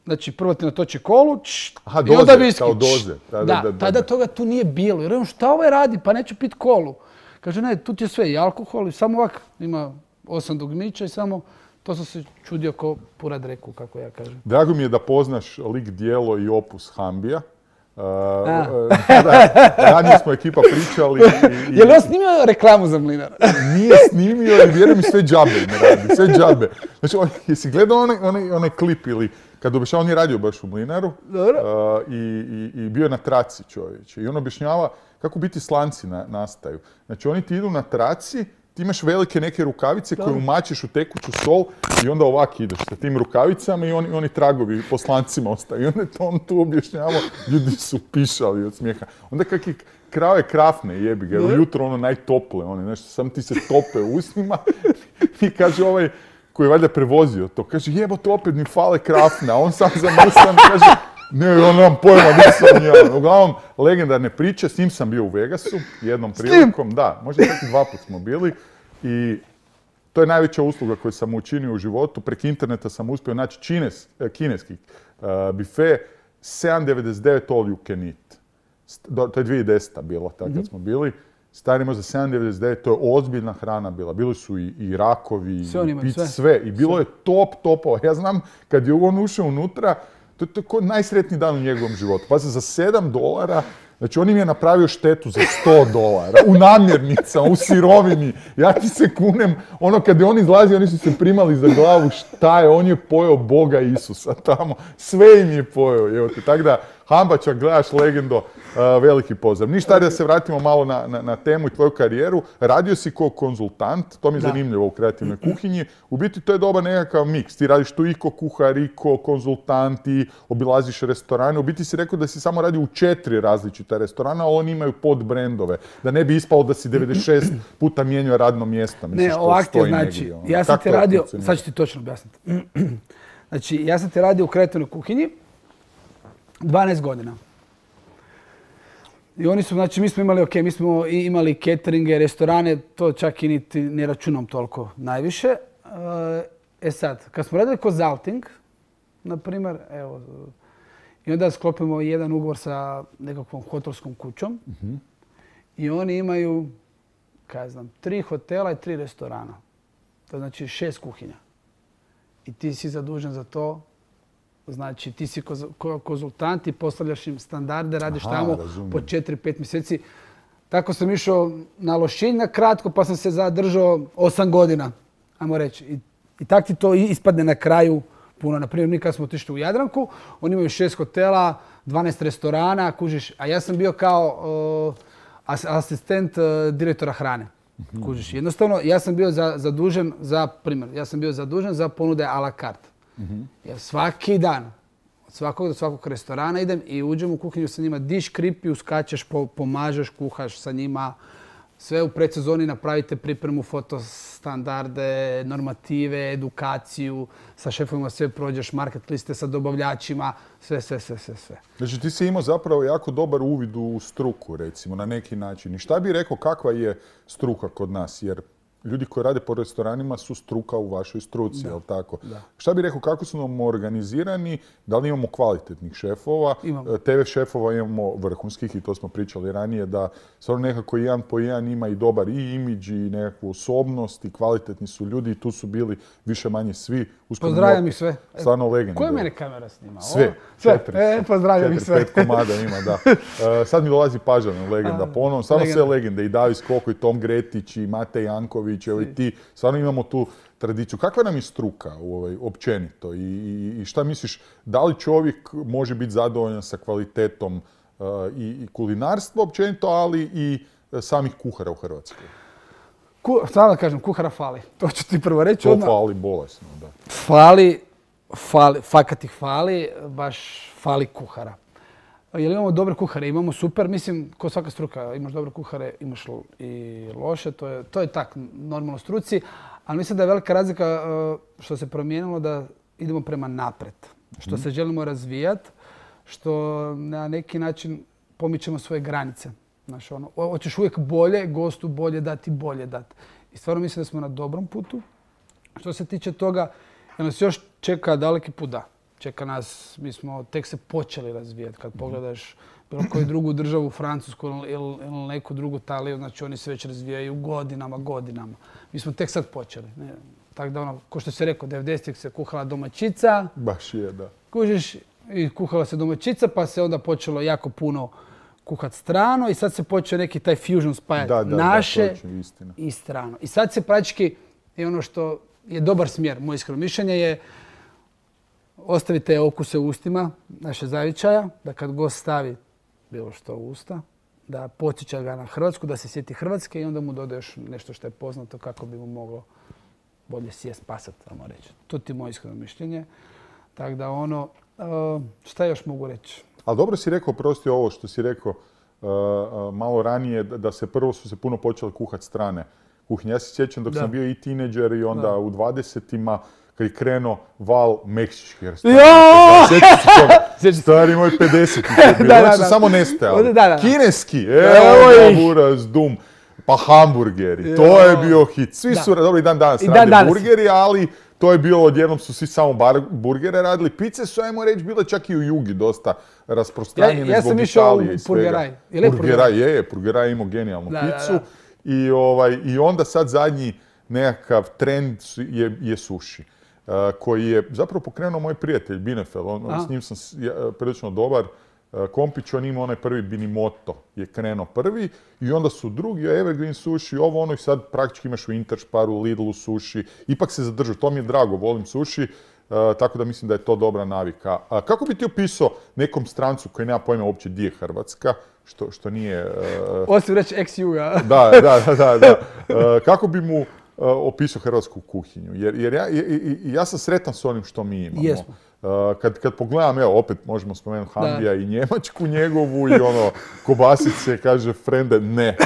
Znači, prvo ti natoči kolu, čš, Aha, i onda doze, viski. kao čš. doze. Da, da, da, da, tada da. toga tu nije bilo. Jer on šta ovaj radi, pa neću pit kolu. Kaže, ne, tu ti je sve i alkohol i samo ovak, ima osam dugmića i samo, to sam se čudio ko purad reku, kako ja kažem. Drago mi je da poznaš lik, djelo i opus Hambija. Uh, A. uh, da, ranije smo ekipa pričali i, i Je li on snimio reklamu za Mlinar? nije snimio i vjerujem mi sve džabe ne radi, sve džabe. Znači, on, jesi gledao onaj, onaj, onaj klip ili kad objašnjava, on je radio baš u Mlinaru Dobro. uh, i, i, i bio je na traci čovječe. I on objašnjava kako biti slanci na, nastaju. Znači, oni ti idu na traci, ti imaš velike neke rukavice koje umačiš u tekuću sol i onda ovak ideš sa tim rukavicama i oni, oni tragovi po slancima ostaju. I onda je to on tu objašnjavao, ljudi su pišali od smijeha. Onda kak je krave krafne jebi ga, ujutro ono najtople, one, nešto, sam ti se tope u usnima i kaže ovaj koji je valjda prevozio to, kaže jebote opet mi fale krafne, a on sam zamrsan kaže ne, on nemam pojma, nisam ja. Uglavnom, legendarne priče, s njim sam bio u Vegasu, jednom prilikom, da, možda čak i dva put smo bili i to je najveća usluga koju sam učinio u životu. Preko interneta sam uspio naći čines, kineski uh, bife, sedam devedeset devet all you can eat. Do, to je dvije tisuće deseta bilo, tako kad smo bili. Stari možda sedam devedeset devet, to je ozbiljna hrana bila. Bili su i, i rakovi, Sve oni i imaju, pice, sve. sve. I bilo je top topova. Ja znam, kad je on ušao unutra, to je to najsretniji dan u njegovom životu. Pa se za sedam dolara, znači on im je napravio štetu za sto dolara, u namirnicama, u sirovini. Ja ti se kunem, ono kad je on izlazio, oni su se primali za glavu, šta je, on je pojeo Boga Isusa tamo, sve im je pojeo, evo te. Tako da, Hambača, gledaš legendo, uh, veliki pozdrav. Ništa, da se vratimo malo na, na, na temu i tvoju karijeru. Radio si kao konzultant, to mi je Da. zanimljivo u kreativnoj kuhinji. U biti to je dobar nekakav miks. Ti radiš tu i ko kuhar, i ko konzultant, i obilaziš restorane. U biti si rekao da si samo radio u četiri različita restorana, ali oni imaju podbrendove. Da ne bi ispalo da si devedeset šest puta mijenjao radno mjesto. Mislim, Ne, što ovak ti je, stoji znači, negdje, ono. ja sam Kako ti to radio, funkcionira? sad ću ti točno objasniti. Znači, ja sam ti radio u kreativnoj kuhinji dvanaest godina. I oni su, znači, mi smo imali, ok, mi smo i imali cateringe, restorane, to čak i niti ne računam toliko najviše. E sad, kad smo radili consulting, na primjer, evo, i onda sklopimo jedan ugovor sa nekakvom hotelskom kućom i oni imaju, kaj znam, tri hotela i tri restorana. To znači šest kuhinja. I ti si zadužen za to. Znači, ti si koz- ko- konzultant i postavljaš im standarde, radiš Aha, tamo razumijem. po četiri pet mjeseci. Tako sam išao na Lošinj na kratko, pa sam se zadržao osam godina, ajmo reći. I, i tak ti to ispadne na kraju puno. Naprimjer, mi kad smo otišli u Jadranku, oni imaju šest hotela, dvanaest restorana, kužiš. A ja sam bio kao uh, as- asistent uh, direktora hrane. Kužiš. Jednostavno, ja sam bio za, zadužen za, primjer, ja sam bio zadužen za ponude a la carte. Ja svaki dan, od svakog do svakog restorana idem i uđem u kuhinju sa njima, diš kripi, uskačeš, po, pomažeš, kuhaš sa njima, sve u predsezoni napravite pripremu, fotostandarde, normative, edukaciju, sa šefovima sve prođeš, market liste sa dobavljačima, sve, sve, sve, sve, sve. Znači ti si imao zapravo jako dobar uvid u struku, recimo, na neki način. I šta bi rekao kakva je struka kod nas? Jer ljudi koji rade po restoranima su struka u vašoj struci, jel tako? Da. Šta bi rekao, kako su nam organizirani, da li imamo kvalitetnih šefova? Imamo. te ve šefova imamo vrhunskih i to smo pričali ranije, da stvarno nekako jedan po jedan ima i dobar i imidž i nekakvu osobnost i kvalitetni su ljudi i tu su bili više manje svi. Uskoro Pozdravljam ih sve. Stvarno legende. Koja je mene kamera snima? Sve. Sve. Četiri. E, pozdravljam ih Četiri, sve. pet komada ima, da. Uh, sad mi dolazi Pažana, legenda. Ponovno, stvarno sve legende. I Davis Koko, i Tom Gretić, i Matej Janković, evo i ti. Stvarno imamo tu tradiciju. Kakva nam je struka ovaj, općenito? I, i, I šta misliš, da li čovjek može biti zadovoljan sa kvalitetom uh, i, i kulinarstva općenito, ali i uh, samih kuhara u Hrvatskoj? Ku, samo da kažem, kuhara fali. To ću ti prvo reći To odmah. fali bolesno, da. Fali, fali, fakat ih fali, baš fali kuhara. Jer imamo dobre kuhare, imamo super, mislim, ko svaka struka, imaš dobre kuhare, imaš i loše, to je, to je tak, normalno struci, ali mislim da je velika razlika što se promijenilo da idemo prema napred, što se želimo razvijati, što na neki način pomičemo svoje granice. Znaš, ono, hoćeš uvijek bolje, gostu bolje dati, bolje dati. I stvarno mislim da smo na dobrom putu. Što se tiče toga, jer nas još čeka daleki put, da. Čeka nas, mi smo tek se počeli razvijati. Kad pogledaš bilo koju drugu državu, Francusku ili, ili neku drugu Italiju, znači oni se već razvijaju godinama, godinama. Mi smo tek sad počeli. Ne? Tako da ono, ko što si rekao, devedesetih se kuhala domaćica. Baš je, da. Kužiš, i kuhala se domaćica, pa se onda počelo jako puno kuhat strano i sad se počeo neki taj fusion spajati Da, da, naše da, točno, istina. i strano. I sad se praktički, i ono što je dobar smjer, moje iskreno mišljenje je ostavite okuse u ustima naše zavičaja, da kad gost stavi bilo što u usta, da podsjeća ga na Hrvatsku, da se sjeti Hrvatske i onda mu dodaješ nešto što je poznato kako bi mu moglo bolje sjest, pasat, samo reći. To ti je moje iskreno mišljenje. Tako da ono, šta još mogu reći? Ali dobro si rekao, prosti ovo što si rekao uh, uh, malo ranije, da se prvo su se puno počeli kuhati strane kuhinje. Ja se sjećam dok da. sam bio i tineđer i onda da. u dvadesetima kad je krenuo val meksičkih restorana. Sjećam se toga. Stari moj pedesetih je bilo. Oni su samo nestajali. Da, da. Kineski, evo ga buraz, dum. Pa hamburgeri, to je bio hit. Svi su, dobro i dan danas rade dan burgeri, ali to je bilo, odjednom su svi samo bar burgere radili. Pice su, ajmo reći, bile čak i u Jugi dosta rasprostranjene ja, ja zbog Ja Italije i sam išao u Purgeraj. Purgeraj, je, je, Purgeraj imao genijalnu da, picu. Da, da. I, ovaj, I onda sad zadnji nekakav trend je, je sushi. Uh, koji je zapravo pokrenuo moj prijatelj Binefel. On, s njim sam ja, prilično dobar. Kompić, on ima onaj prvi Binimoto, je krenuo prvi i onda su drugi, Evergreen sushi, ovo ono i sad praktički imaš u Intersparu, Lidlu sushi, ipak se zadržu, to mi je drago, volim sushi, uh, tako da mislim da je to dobra navika. A kako bi ti opisao nekom strancu koji nema pojma uopće gdje je Hrvatska, što, što nije... Uh, Osim reći ex-Juga. da, da, da, da. Uh, kako bi mu uh, opisao hrvatsku kuhinju? Jer, jer ja, i, i, ja sam sretan s onim što mi imamo. Jesmo. Uh, kad, kad pogledam, evo, opet možemo spomenuti Hambija i Njemačku njegovu i ono, kobasice, kaže frende, ne.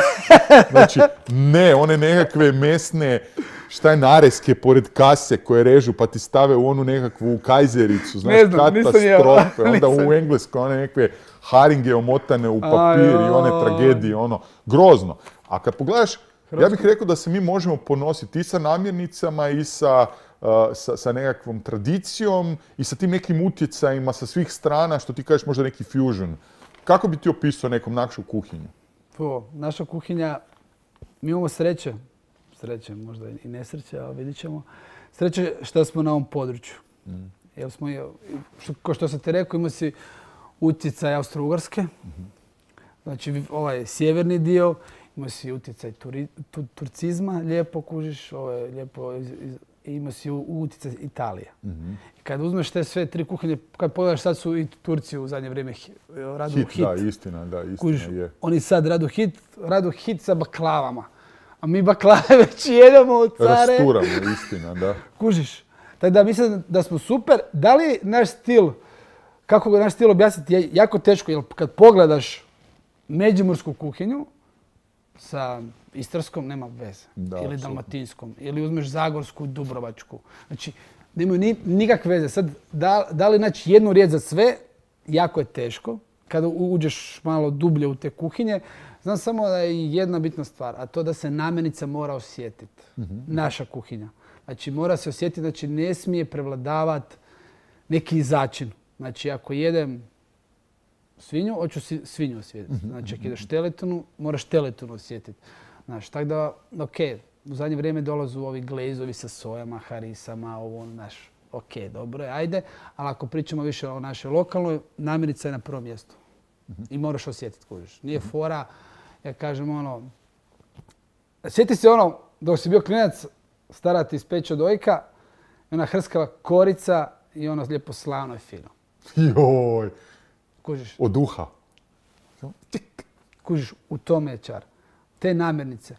Znači, ne, one nekakve mesne, šta je nareske pored kase koje režu pa ti stave u onu nekakvu kajzericu, znaš, ne znam, katastrofe. Onda u Engleskoj one nekakve haringe omotane u papir i one tragedije, ono, grozno. A kad pogledaš, ja bih rekao da se mi možemo ponositi i sa namirnicama i sa Uh, sa, sa nekakvom tradicijom i sa tim nekim utjecajima sa svih strana, što ti kažeš možda neki fusion. Kako bi ti opisao nekom našu kuhinju? Po, naša kuhinja, mi imamo sreće, sreće možda i nesreće, ali vidit ćemo, sreće što smo na ovom području. Mm. Jer smo, što, ko što sam ti rekao, imamo si utjecaj Austro-Ugarske, mm-hmm. znači ovaj sjeverni dio, ima si utjecaj turi, tu, turcizma, lijepo kužiš, ovaj, lijepo iz, iz, i ima si utjecaj Italije. Mm-hmm. I kad uzmeš te sve tri kuhinje, kad pogledaš, sad su i Turci u zadnje vrijeme radu hit. Hit, da, istina, da, istina Kužiš, je. Oni sad radu hit, radu hit sa baklavama. A mi baklave već jedemo od care. Rasturamo, istina, da. Kužiš. Tako da mislim da smo super. Da li naš stil, kako ga naš stil objasniti, je jako teško, jer kad pogledaš međimursku kuhinju, sa istarskom, nema veze. Da, ili apsolutno. dalmatinskom, ili uzmeš zagorsku, dubrovačku. Znači, nemaju ni, nikakve veze. Sad, da, da li naći jednu riječ za sve, jako je teško. Kada uđeš malo dublje u te kuhinje, znam samo da je jedna bitna stvar, a to da se namirnica mora osjetiti. Mhm. Naša kuhinja. Znači, mora se osjetiti, znači ne smije prevladavati neki začin. Znači, ako jedem svinju, hoću si svinju osjetiti. Znači, ako ideš teletinu, moraš teletinu osjetiti. Znači, tako da, ok, u zadnje vrijeme dolazu ovi glezovi sa sojama, harisama, ovo, znaš, ok, dobro je, ajde. Ali ako pričamo više o našoj lokalnoj, namirnica je na prvom mjestu. I moraš osjetiti, kužiš. Nije fora, ja kažem ono, sjeti se ono, dok si bio klinac, stara ti ispeče dojka, i ona hrskava korica i ono lijepo slavno i fino. Joj, Kužiš, od duha. kužiš, u tome je čar. Te namirnice.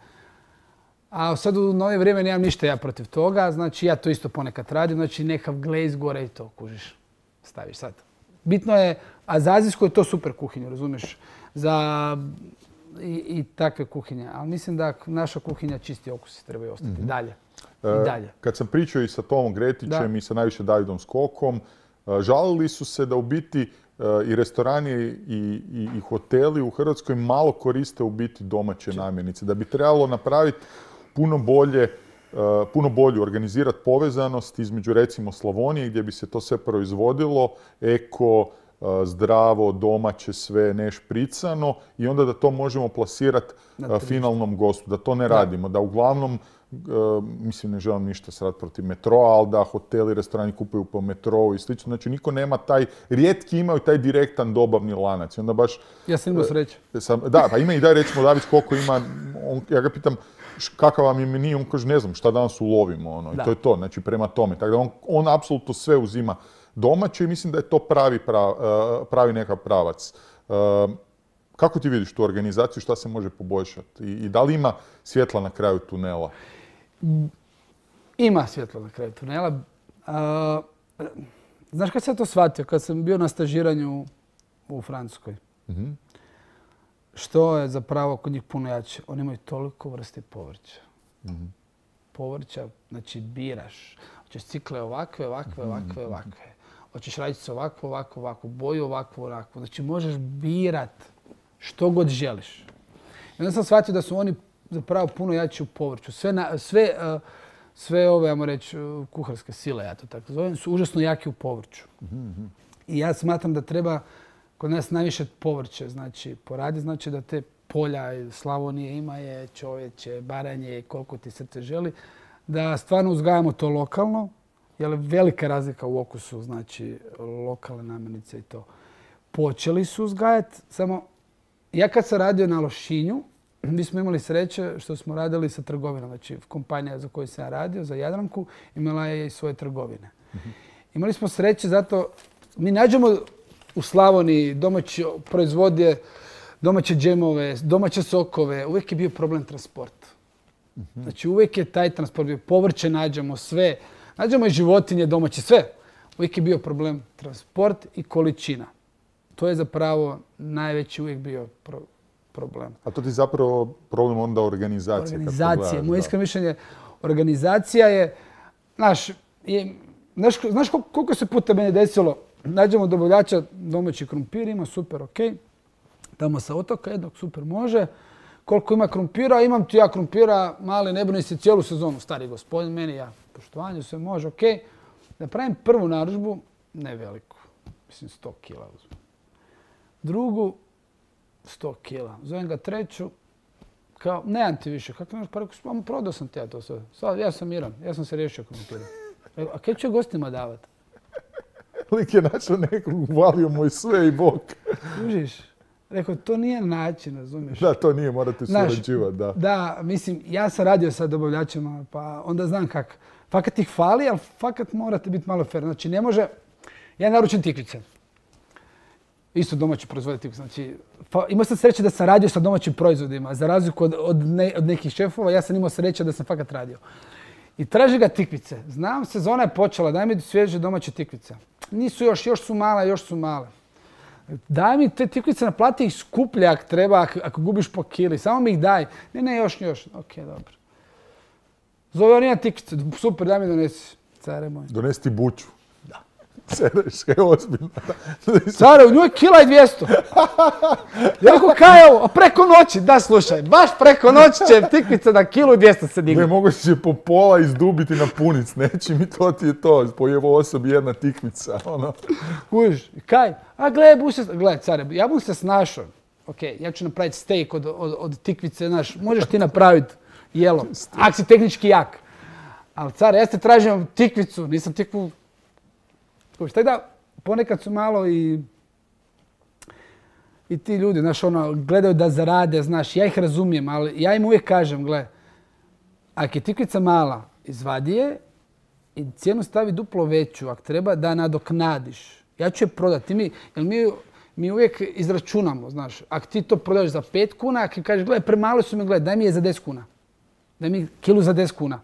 A sad u novije vrijeme nemam ništa ja protiv toga, znači ja to isto ponekad radim, znači nekav glez gore i to, kužiš, staviš sad. Bitno je, a za azijsku je to super kuhinja, razumiješ, za i, i takve kuhinje. Ali mislim da naša kuhinja čisti okusi trebaju ostati mm-hmm. dalje. I dalje. Kad sam pričao i sa Tomom Gretićem Da. i sa najviše Davidom Skokom, žalili su se da u biti i restorani i, i, i hoteli u Hrvatskoj malo koriste u biti domaće namirnice. Da bi trebalo napraviti puno bolje, puno bolju organizirati povezanost između recimo Slavonije gdje bi se to sve proizvodilo, eko, zdravo, domaće, sve nešpricano i onda da to možemo plasirati finalnom gostu. Da to ne radimo, da uglavnom Uh, mislim, ne želim ništa sad protiv metroa, ali da hoteli, restorani kupuju po metrou i slično. Znači, niko nema taj, rijetki imaju taj direktan dobavni lanac. I onda baš... Ja sam imao sreće. Sam, da, pa ima i daj recimo David koliko ima, on, ja ga pitam kakav vam je meni, on kaže ne znam šta danas ulovimo. Ono, i to je to, znači prema tome. Tako da on, on apsolutno sve uzima domaće i mislim da je to pravi, prav, uh, pravi nekav pravac. Uh, kako ti vidiš tu organizaciju, šta se može poboljšati? I, i da li ima svjetla na kraju tunela? Ima svjetlo na kraju tunela. Uh, znaš kad sam to shvatio? Kad sam bio na stažiranju u Francuskoj. Mm-hmm. Što je zapravo kod njih puno jače? Oni imaju toliko vrste povrća. Mm-hmm. Povrća, znači biraš. Hoćeš cikle ovakve, ovakve, ovakve, ovakve. Hoćeš radice ovako, ovako, ovako, boju ovako, ovako. Znači možeš birat što god želiš. I onda sam shvatio da su oni zapravo puno jači u povrću. Sve, na, sve, uh, sve ove, ajmo reći, uh, kuharske sile, ja to tako zovem, su užasno jaki u povrću. Mm-hmm. I ja smatram da treba kod nas najviše povrće, znači poradi, znači da te polja Slavonije ima je, čovječe, Baranje, koliko ti srce želi, da stvarno uzgajamo to lokalno, jer je velika razlika u okusu, znači lokalne namirnice i to. Počeli su uzgajati, samo ja kad sam radio na Lošinju, mi smo imali sreće što smo radili sa trgovinom. Znači, kompanija za koju sam ja radio, za Jadranku, imala je i svoje trgovine. Mm-hmm. Imali smo sreće zato, mi nađemo u Slavoniji domaće proizvodje, domaće džemove, domaće sokove. Uvijek je bio problem transport. Mm-hmm. Znači, uvijek je taj transport bio. Povrće nađemo, sve. Nađemo i životinje domaće, sve. Uvijek je bio problem transport i količina. To je zapravo najveći uvijek bio problem. Problem. A to ti zapravo problem onda organizacije? Organizacija. Moje iskreno mišljenje, organizacija je, znaš, je, znaš, znaš koliko se puta meni desilo, nađemo dobavljača domaći krumpir, ima super, ok, tamo sa otoka jednog super može, koliko ima krumpira, imam ti ja krumpira, mali, ne brini se cijelu sezonu, stari gospodin, meni ja, poštovanje, sve može, ok, da pravim prvu narudžbu, ne veliku, mislim sto kila uzmem. Drugu, sto kila. Zovem ga treću, kao, nemam ti više. Kako nemaš? Pa rekao, prodao sam ti ja to sve. Sad, ja sam miran, ja sam se riješio krumpira. A kaj će gostima davati? Lik je našao nekog, uvalio mu i sve i bok. Užiš? Rekao, to nije način, razumiješ? Da, to nije, morate surađivati, da. Da, mislim, ja sam radio sa dobavljačima, pa onda znam kak. Fakat ih fali, ali fakat morate biti malo fair. Znači, ne može, ja naručim tikvice. Isto domaći proizvode tikvice. Znači, imao sam sreće da sam radio sa domaćim proizvodima. Za razliku od, od, ne, od nekih šefova, ja sam imao sreće da sam fakat radio. I traži ga tikvice. Znam, sezona je počela, daj mi svježe domaće tikvice. Nisu još, još su male, još su male. Daj mi te tikvice, naplati ih skuplje ako treba, ako, ako gubiš po kili. Samo mi ih daj. Ne, ne, još, još. Ok, dobro. Zove on ima tikvice. Super, daj mi donesi. Care moj. Donesi ti buću. Da. Sereš, je ozbiljno. Care, u njoj je kila i dvjesto. Ja rekao, kaj je ovo? A preko noći, da slušaj, baš preko noći će tikvica na kilu i dvjesto se digne. Ne, mogu se po pola izdubiti na punic, neći mi to ti je to. Po jevo osobi jedna tikvica, ono. Kužiš, kaj? A gle, bu se, gle, care, ja bu se snašao. Ok, ja ću napraviti steak od, od, od tikvice, znaš, možeš ti napraviti jelo, ako si tehnički jak. Ali care, ja ste tražim tikvicu, nisam tikvu. Kužiš, tako da ponekad su malo i i ti ljudi, znaš, ono, gledaju da zarade, znaš, ja ih razumijem, ali ja im uvijek kažem, gle, ako je tikvica mala, izvadi je i cijenu stavi duplo veću, ako treba da nadoknadiš. Ja ću je prodati. Mi, jer mi, mi uvijek izračunamo, znaš, ako ti to prodaš za pet kuna, ako kažeš, gle, premalo su mi, gle, daj mi je za deset kuna. Daj mi kilu za deset kuna.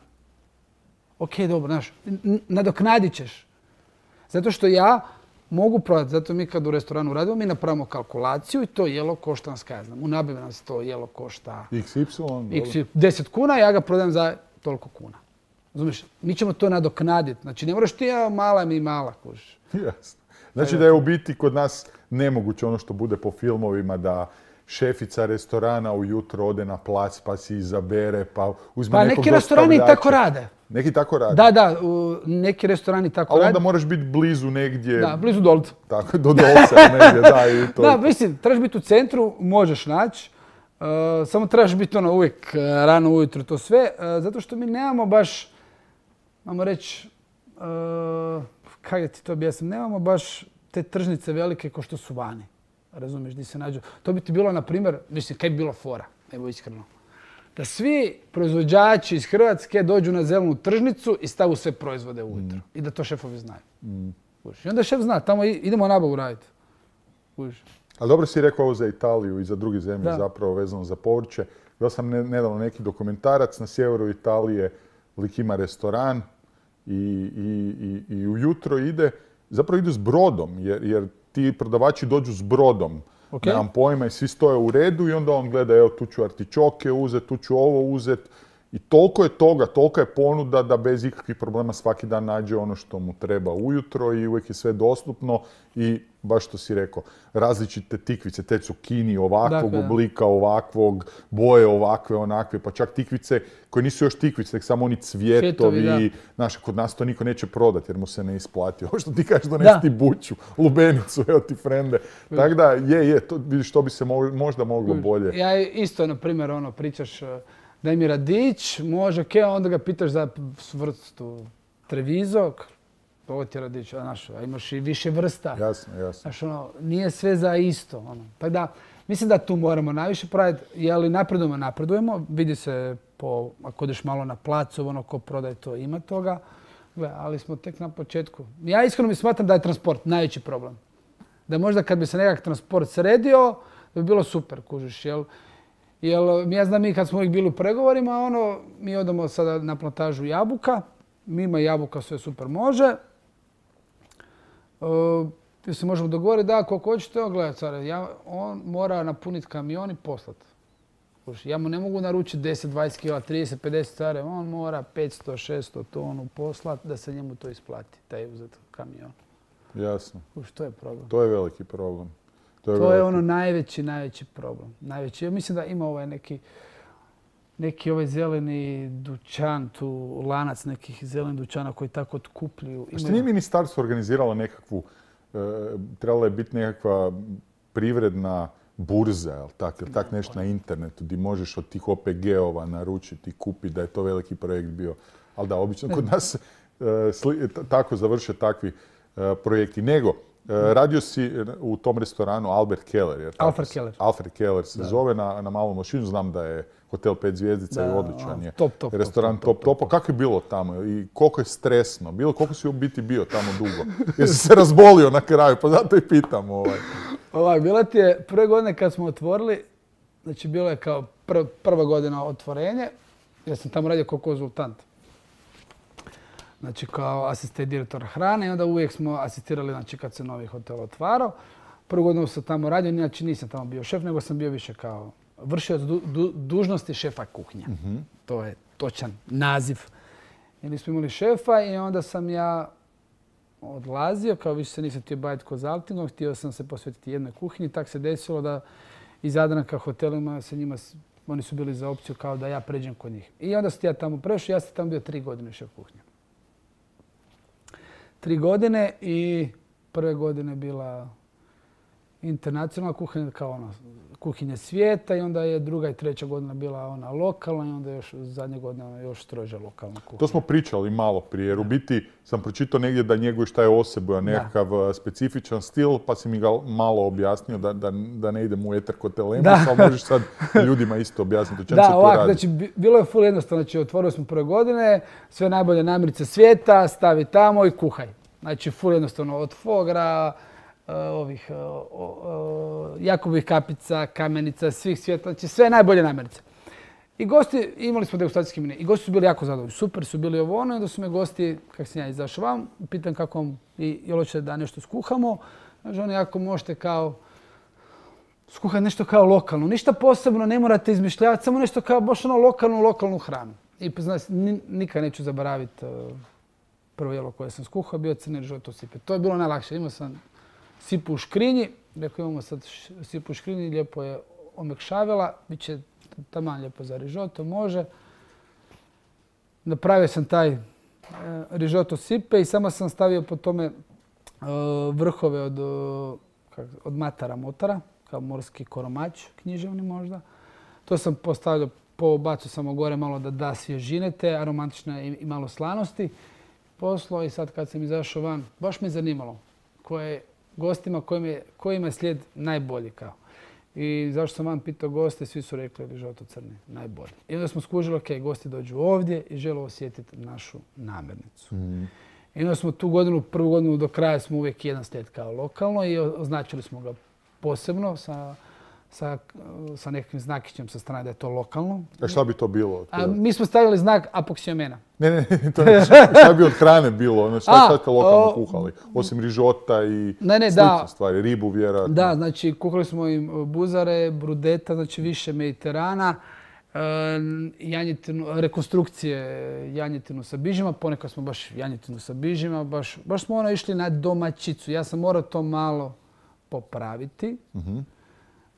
Ok, dobro, znaš, nadoknadit ćeš. Zato što ja mogu prodati, zato mi kad u restoranu radimo, mi napravimo kalkulaciju i to jelo košta nas, kaj znam, u nabavi nas to jelo košta iks ipsilon, deset kuna, ja ga prodajem za toliko kuna. Razumiješ, mi ćemo to nadoknaditi. Znači, ne moraš ti, ja mala mi mala, kužiš. Jasno. Znači da je u biti kod nas nemoguće ono što bude po filmovima, da šefica restorana ujutro ode na plac pa si izabere, pa uzme pa nekog neki restorani tako rade. Neki tako rade? Da, da, u, neki restorani tako rade. Ali onda moraš biti blizu negdje... Da, blizu Dolca. Tako, do Dolca negdje, da. I to. Da, mislim, trebaš biti u centru, možeš naći. Uh, samo trebaš biti ono uvijek uh, rano ujutro to sve. Uh, zato što mi nemamo baš, ajmo reći, uh, kako da ti to objasnim, nemamo baš te tržnice velike kao što su vani. Razumiješ, di se nađu. To bi ti bilo, na primjer, mislim, kaj bi bilo fora, evo iskreno. Da svi proizvođači iz Hrvatske dođu na zelenu tržnicu i stavu sve proizvode ujutro. Mm. I da to šefovi znaju. Mm. I onda šef zna, tamo idemo nabavu raditi. Ali dobro si rekao ovo za Italiju i za druge zemlje, da. Zapravo vezano za povrće. Gledao sam nedavno neki dokumentarac na sjeveru Italije, lik ima restoran i, i, i, i ujutro ide, zapravo ide s brodom, jer, jer ti prodavači dođu s brodom. Okay. Nemam pojma i svi stoje u redu i onda on gleda, evo tu ću artičoke uzet, tu ću ovo uzet. I toliko je toga, toliko je ponuda da bez ikakvih problema svaki dan nađe ono što mu treba ujutro i uvijek je sve dostupno i baš što si rekao, različite tikvice, te cukini ovakvog dakle, oblika, ovakvog, boje ovakve, onakve, pa čak tikvice koje nisu još tikvice, nek samo oni cvjetovi, znaš, kod nas to niko neće prodati jer mu se ne isplati. Ovo što ti kažeš, donesi ti buću, lubenicu, evo ti frende. Tako da, je, je, to, vidiš, to bi se možda moglo bolje. Ja isto, na primjer, ono, pričaš, daj mi radić, može, ok, onda ga pitaš za vrstu Treviso, ovo ti je radić, znaš, imaš i više vrsta. Jasno, jasno. Znaš, ono, nije sve za isto. Ono. Tako da, mislim da tu moramo najviše praviti, jeli napredujemo, napredujemo, vidi se po, ako odeš malo na placu, ono, ko prodaje to, ima toga, gle, ali smo tek na početku. Ja iskreno mi smatram da je transport najveći problem. Da možda kad bi se nekak transport sredio, da bi bilo super, kužiš, jel? Jer ja znam mi kad smo uvijek bili u pregovorima, ono, mi odemo sada na plantažu jabuka, mi ima jabuka, sve super može. Uh, se možemo dogovoriti da koliko hoćete, evo gledaj care, ja, on mora napuniti kamion i poslati. Ja mu ne mogu naručiti deset, dvadeset kila, trideset, pedeset care, on mora petsto, šesto tonu poslati da se njemu to isplati, taj uzet kamion. Jasno. Uš, to je problem. To je veliki problem. To je, to je ono najveći, najveći problem. Najveći. Ja mislim da ima ovaj neki, neki ovaj zeleni dućan, tu lanac nekih zelenih dućana koji tako otkupljuju. Što nije ministarstvo organiziralo nekakvu, e, trebala je biti nekakva privredna burza, jel tak, jel tak nešto na internetu gdje možeš od tih O P G-ova naručiti i kupiti, da je to veliki projekt bio. Ali da, obično kod nas e, sli, tako završe takvi e, projekti. Nego, radio si u tom restoranu Albert Keller, jer tako, Alfred Keller. Alfred Keller se da. zove na, na Malom Lošinju. Znam da je hotel pet zvjezdica da, i odličan je. Top, top, restoran top, top, top, top. Kako je bilo tamo i koliko je stresno? Bilo, koliko si u biti bio tamo dugo? Jesi se razbolio na kraju, pa zato i pitam. Ovaj. Ovaj, bila ti je prve godine kad smo otvorili, znači bilo je kao pr, prva godina otvorenje, ja sam tamo radio kao konzultant. Znači kao asistent direktora hrane i onda uvijek smo asistirali znači, kad se novi hotel otvarao. Prvu godinu sam tamo radio, inače nisam tamo bio šef, nego sam bio više kao vršioc du, du, dužnosti šefa kuhnje. Mm-hmm. To je točan naziv. Ili smo imali šefa i onda sam ja odlazio, kao više se nisam htio baviti konzaltingom, htio sam se posvetiti jednoj kuhinji. Tak se desilo da iz Jadranka hotelima sa njima, oni su bili za opciju kao da ja pređem kod njih. I onda sam ja tamo prešao, ja sam tamo bio tri godine šef kuhnje. Tri godine i prve godine bila internacionalna kuhinja kao ona kuhinja svijeta i onda je druga i treća godina bila ona lokalna i onda još zadnje godine još stroža lokalna kuhinja. To smo pričali malo prije, jer u biti sam pročitao negdje da njeguješ taj osebuja, nekakav da. specifičan stil, pa si mi ga malo objasnio da, da, da ne idem u eter kod Telemusa, ali možeš sad ljudima isto objasniti o čemu da, se to ovak, radi. Znači, bilo je ful jednostavno, znači otvorili smo prve godine, sve najbolje namirnice svijeta, stavi tamo i kuhaj. Znači, ful jednostavno od fogra, ovih uh, uh, Jakobovih kapica, kamenica, svih svijeta, znači sve najbolje namirnice. I gosti, imali smo degustacijski menu i gosti su bili jako zadovoljni, super su bili ovo ono i onda su me gosti, kako sam ja izašao vam, pitam kako vam, i jel hoćete da nešto skuhamo, znači oni ako možete kao skuhati nešto kao lokalno, ništa posebno, ne morate izmišljavati, samo nešto kao baš ono lokalnu, lokalnu hranu. I znači, nikad neću zaboraviti uh, prvo jelo koje sam skuhao, bio crni rižoto sipe. To je bilo najlakše, imao sam sipu u škrinji, rekao imamo sad sipu u škrinji, lijepo je omekšavila, bit će taman lijepo za rižoto, može. Napravio sam taj e, rižoto sipe i samo sam stavio po tome e, vrhove od, kak, od matara motara, kao morski koromać, književni možda. To sam postavio, pobacio sam gore malo da da svježine te, aromatične i, i malo slanosti. Poslo i sad kad sam izašao van, baš me zanimalo koje gostima kojima je, kojima je slijed najbolji kao. I zašto sam vam pitao goste, svi su rekli rižoto crni, najbolji. I onda smo skužili, ok, gosti dođu ovdje i žele osjetiti našu namirnicu. Mm. I onda smo tu godinu, prvu godinu do kraja smo uvijek jedan slijed kao lokalno i označili smo ga posebno sa, sa, sa nekakvim znakićem sa strane da je to lokalno. A šta bi to bilo? A, mi smo stavili znak apoksiomena. Ne, ne, to je, šta bi od hrane bilo? Ono, šta ste lokalno o, kuhali? Osim rižota i ne, ne, slične da, stvari, ribu vjerojatno. Da, znači kuhali smo im buzare, brudeta, znači više Mediterana, e, janjetinu, rekonstrukcije janjetinu sa bižima, ponekad smo baš janjetinu sa bižima, baš, baš smo ono išli na domaćicu. Ja sam morao to malo popraviti. Mm-hmm.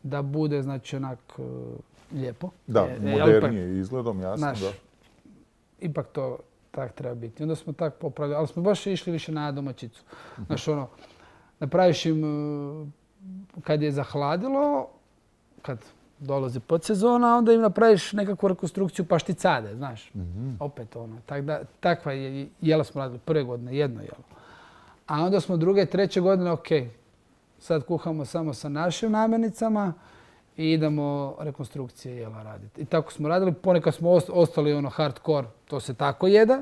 Da bude, znači, onak uh, lijepo. Da, e, modernije ipak, izgledom, jasno, naš, da. Ipak to tak treba biti. Onda smo tak popravili, ali smo baš išli više na domaćicu. Uh-huh. Znaš, ono, napraviš im, uh, kad je zahladilo, kad dolazi podsezona, onda im napraviš nekakvu rekonstrukciju pašticade, znaš. Uh-huh. Opet ono, tak da, takva je, jela smo radili prve godine, jedno jelo. A onda smo druge, treće godine, okej. Okay, sad kuhamo samo sa našim namirnicama i idemo rekonstrukcije jela raditi. I tako smo radili. Ponekad smo ostali ono hardcore, to se tako jede.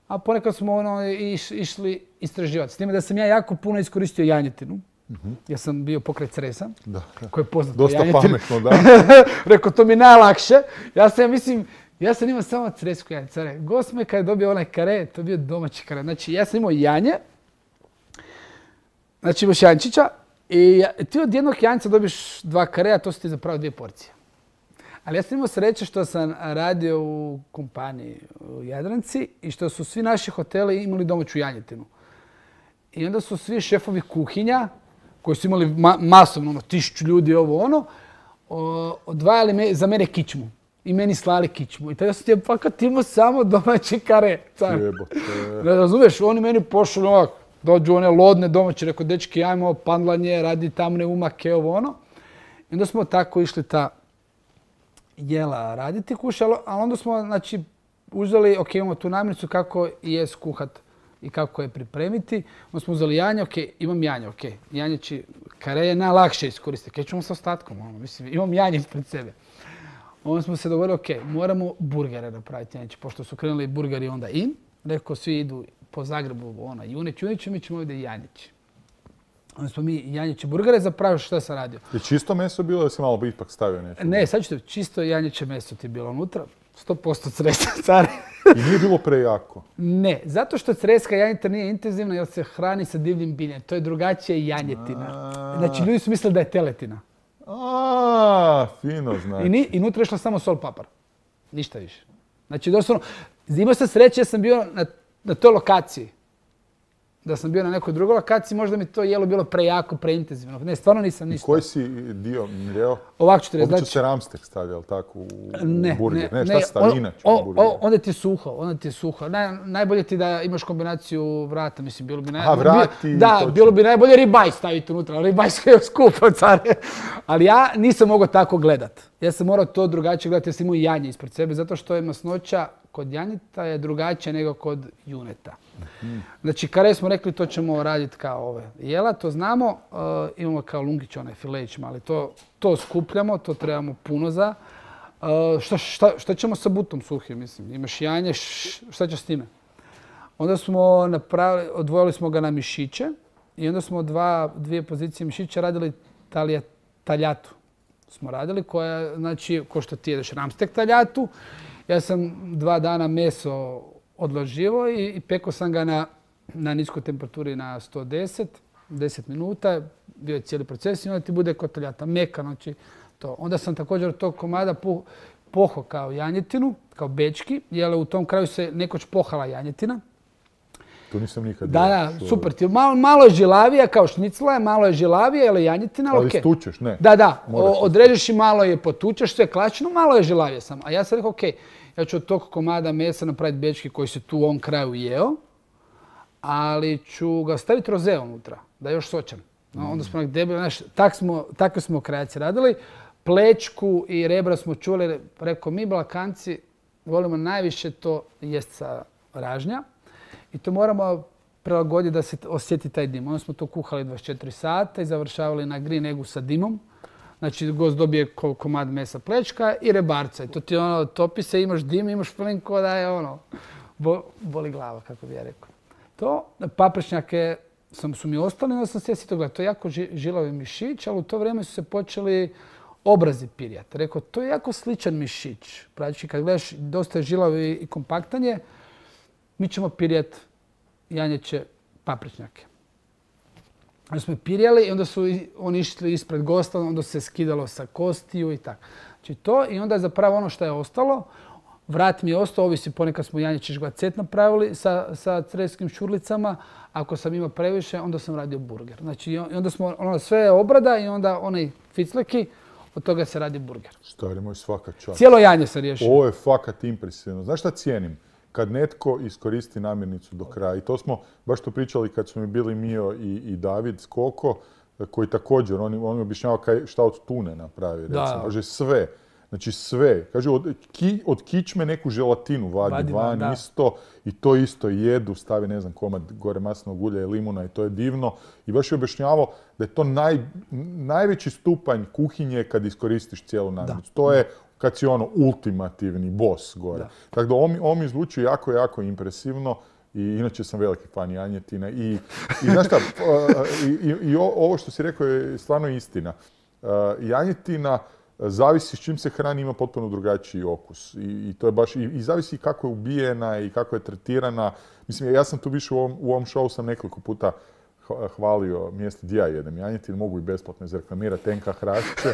A ponekad smo ono iš, išli istraživati. S time da sam ja jako puno iskoristio janjetinu. Mm-hmm. Ja sam bio pokret Cresa, da, da. Koji je poznat po janjetinu. Dosta pametno, da. Rekao, to mi je najlakše. Ja sam, ja mislim, ja sam imao samo cresku janjicu. Gost me kad je dobio onaj kare, to je bio domaći kare. Znači, ja sam imao janje. Znači imaš jančića i ti od jednog janjca dobiš dva kareja, to su ti zapravo dvije porcije. Ali ja sam imao sreće što sam radio u kompaniji u Jadranci i što su svi naši hoteli imali domaću janjetinu. I onda su svi šefovi kuhinja, koji su imali ma masovno, ono, tisuću ljudi, ovo ono, o, odvajali me, za mene kičmu. I meni slali kičmu. I tada sam ti fakat imao samo domaći kare. Ne razumiješ, oni meni pošli ovako. Dođu one lodne domaće, rekao, dečki, ajmo pandlanje, radi tamne umake, ovo ono. I onda smo tako išli ta jela raditi, kušali, ali onda smo, znači, uzeli, ok, imamo tu namirnicu kako je skuhat i kako je pripremiti. Onda smo uzeli janje, ok, imam janje, ok. Janjeći kare je najlakše iskoristiti. Kaj ćemo sa ostatkom, ono, mislim, imam janje ispred sebe. Onda smo se dogovorili, ok, moramo burgere napraviti janjeći, pošto su krenuli burgeri onda in. Rekao, svi idu po Zagrebu, ono, Junić, Junić, mi ćemo ovdje janjići. Onda smo mi janjiće burgere, zapravo što sam radio. Je čisto meso bilo ili si malo ipak stavio nešto? Ne, sad ću te, čisto janjiće meso ti je bilo unutra. sto posto Cresa, care. I nije bilo prejako. Ne, zato što creska janjetina nije intenzivna jer se hrani sa divljim biljem. To je drugačije janjetina. Znači, ljudi su mislili da je teletina. A, fino znači. I, ni, i nutra je išla samo sol papar. Ništa više. Znači, doslovno, imao sam sreće, ja sam bio na, na toj lokaciji. Da sam bio na nekoj drugoj lokaciji, možda mi to jelo bilo prejako, preintenzivno. Ne, stvarno nisam ništa. I koji si dio mljeo? Ovako ću ti reći. Obično se ramstek stavlja, jel tako, u ne, burger? Ne, ne, šta ne, se stavlja on, inače o, u burger? o, onda ti je suho, onda ti je suho. Naj, najbolje ti da imaš kombinaciju vrata, mislim, bilo bi najbolje. Aha, vrati. Da, točno. bilo bi najbolje ribaj staviti unutra, ribaj je skupo, care. Ali ja nisam mogao tako gledat. Ja sam morao to drugačije gledati, ja sam imao janje ispred sebe, zato što je masnoća kod janjeta je drugačija nego kod juneta. Mm. Znači, kare smo rekli, to ćemo raditi kao ove jela, to znamo. Uh, imamo kao lungić, onaj fileć mali. To, to skupljamo, to trebamo puno za. Uh, šta, šta, šta ćemo sa butom suhim, mislim? Imaš janje, š, šta ćeš s time? Onda smo napravili, odvojili smo ga na mišiće i onda smo dva, dvije pozicije mišića radili talija, taljatu. Smo radili koja, znači, ko što ti jedeš ramstek taljatu. Ja sam dva dana meso odloživo i, i pekao sam ga na, na niskoj temperaturi na sto deset, deset minuta. Bio je cijeli proces i onda ti bude kod taljata meka. Znači, to. Onda sam također od tog komada po, poho kao janjetinu, kao bečki, jer u tom kraju se nekoć pohala janjetina. To nisam nikad Da, da, super. Ti malo, malo je žilavija, kao šnicla je, malo je žilavija, ali janjetina, ali okay. stučeš, ne? Da, da. Odrežeš i malo je potučeš, sve klasično, malo je žilavija sam. A ja sam rekao, ok, ja ću od tog komada mesa napraviti bečki koji se tu u ovom kraju jeo, ali ću ga staviti roze unutra, da je još sočan. No, onda smo debeli, znaš, tak smo, takve smo kreacije radili. Plečku i rebra smo čuli, rekao, mi Balkanci volimo najviše to jest sa ražnja. I to moramo prilagoditi da se osjeti taj dim. Onda smo to kuhali dvadeset četiri sata i završavali na green eggu sa dimom. Znači, gost dobije komad mesa plečka i rebarca. I to ti ono, topi se, imaš dim, imaš plin ko da je ono, bo, boli glava, kako bi ja rekao. To, paprečnjake sam, su mi ostali, onda sam se sjetio gledati. To je jako ži, žilavi mišić, ali u to vrijeme su se počeli obrazi pirjati. Rekao, to je jako sličan mišić. Pravići, kad gledaš, dosta je žilavi i kompaktan je, mi ćemo pirjati janjeće paprečnjake. Onda smo pirjali i onda su oni išli ispred gosta, onda se skidalo sa kostiju i tako. Znači to i onda je zapravo ono što je ostalo. Vrat mi je ostao, ovisi ponekad smo janjeće žgvacet napravili sa, sa crevskim šurlicama. Ako sam imao previše, onda sam radio burger. Znači i onda smo, ono sve je obrada i onda onaj ficleki, od toga se radi burger. Stari moj, svaka čast. Cijelo janje se riješio. Ovo je fakat impresivno. Znaš šta cijenim? Kad netko iskoristi namirnicu do kraja. I to smo baš to pričali kad smo mi bili Mio i, i David Skoko, koji također, on, on mi objašnjava kaj, šta od tune napravi. Recimo. Da. Kaže sve. Znači sve. Kaže od, ki, od kičme neku želatinu vadi, vadi van da. Isto. I to isto jedu. Stavi ne znam komad gore maslinovog ulja i limuna i to je divno. I baš je objašnjavao da je to naj, najveći stupanj kuhinje kad iskoristiš cijelu namirnicu. To je kad si ono ultimativni boss gore. Tako da ovo mi zvuči jako, jako impresivno i inače sam veliki fan janjetine. I, i znaš šta, i, i, i ovo što si rekao je stvarno istina. Janjetina zavisi s čim se hrani, ima potpuno drugačiji okus. I, i to je baš, i, i zavisi kako je ubijena i kako je tretirana. Mislim, ja sam tu više u ovom, u ovom show sam nekoliko puta hvalio mjesto gdje ja jedem janjetinu, mogu i besplatno izreklamirati Tenka Hrašće.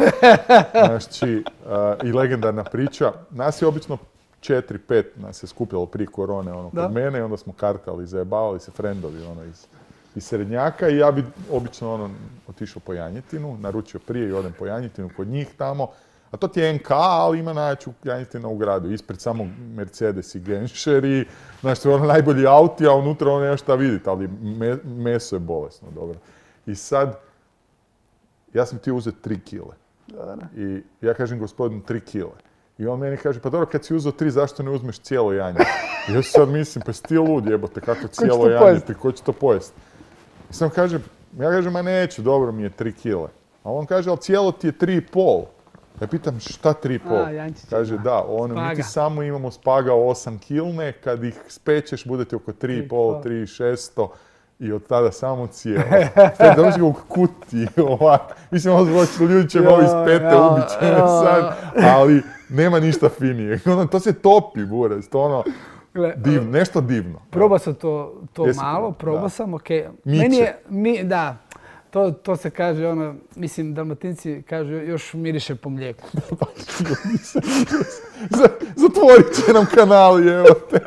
Znači, uh, i legendarna priča. Nas je obično četiri, pet nas je skupljalo prije korone ono, kod mene i onda smo karkali, zajebavali se frendovi ono, iz, iz srednjaka i ja bi obično ono, otišao po janjetinu, naručio prije i odem po janjetinu kod njih tamo. A to ti je en ka, ali ima najjaču janjetina u gradu. Ispred samo Mercedes i Genscher i znaš, to je ono najbolji auti, a unutra ono nema šta vidjeti, ali me, meso je bolesno, dobro. I sad, ja sam ti uzeti tri kile. I ja kažem gospodinu tri kile. I on meni kaže, pa dobro, kad si uzeo tri, zašto ne uzmeš cijelo janje? I ja sad mislim, pa si ti lud jebote, kako cijelo janje, ko će to pojesti? I sam kažem, ja kažem, ma neću, dobro mi je tri kile. A on kaže, ali cijelo ti je tri i pol. Ja pitam šta tri i pol? Kaže da, ono, mi ti samo imamo spaga osam kilne, kad ih spečeš budete oko tri i pol, tri i šesto i od tada samo cijelo. Sve dođe u kutiji ovako. Mislim, ovo ljudi će ovo iz pete ubiće sad, ali nema ništa finije. Ono, to se topi, buraz, to ono, Gle, Div, nešto divno. Probao sam to, to Jesi malo, probao? probao Da. sam, ok. Miće. Meni je, mi, da, to, to se kaže, ono, mislim, Dalmatinci kažu još miriše po mlijeku. Zatvorit će nam kanal, evo te.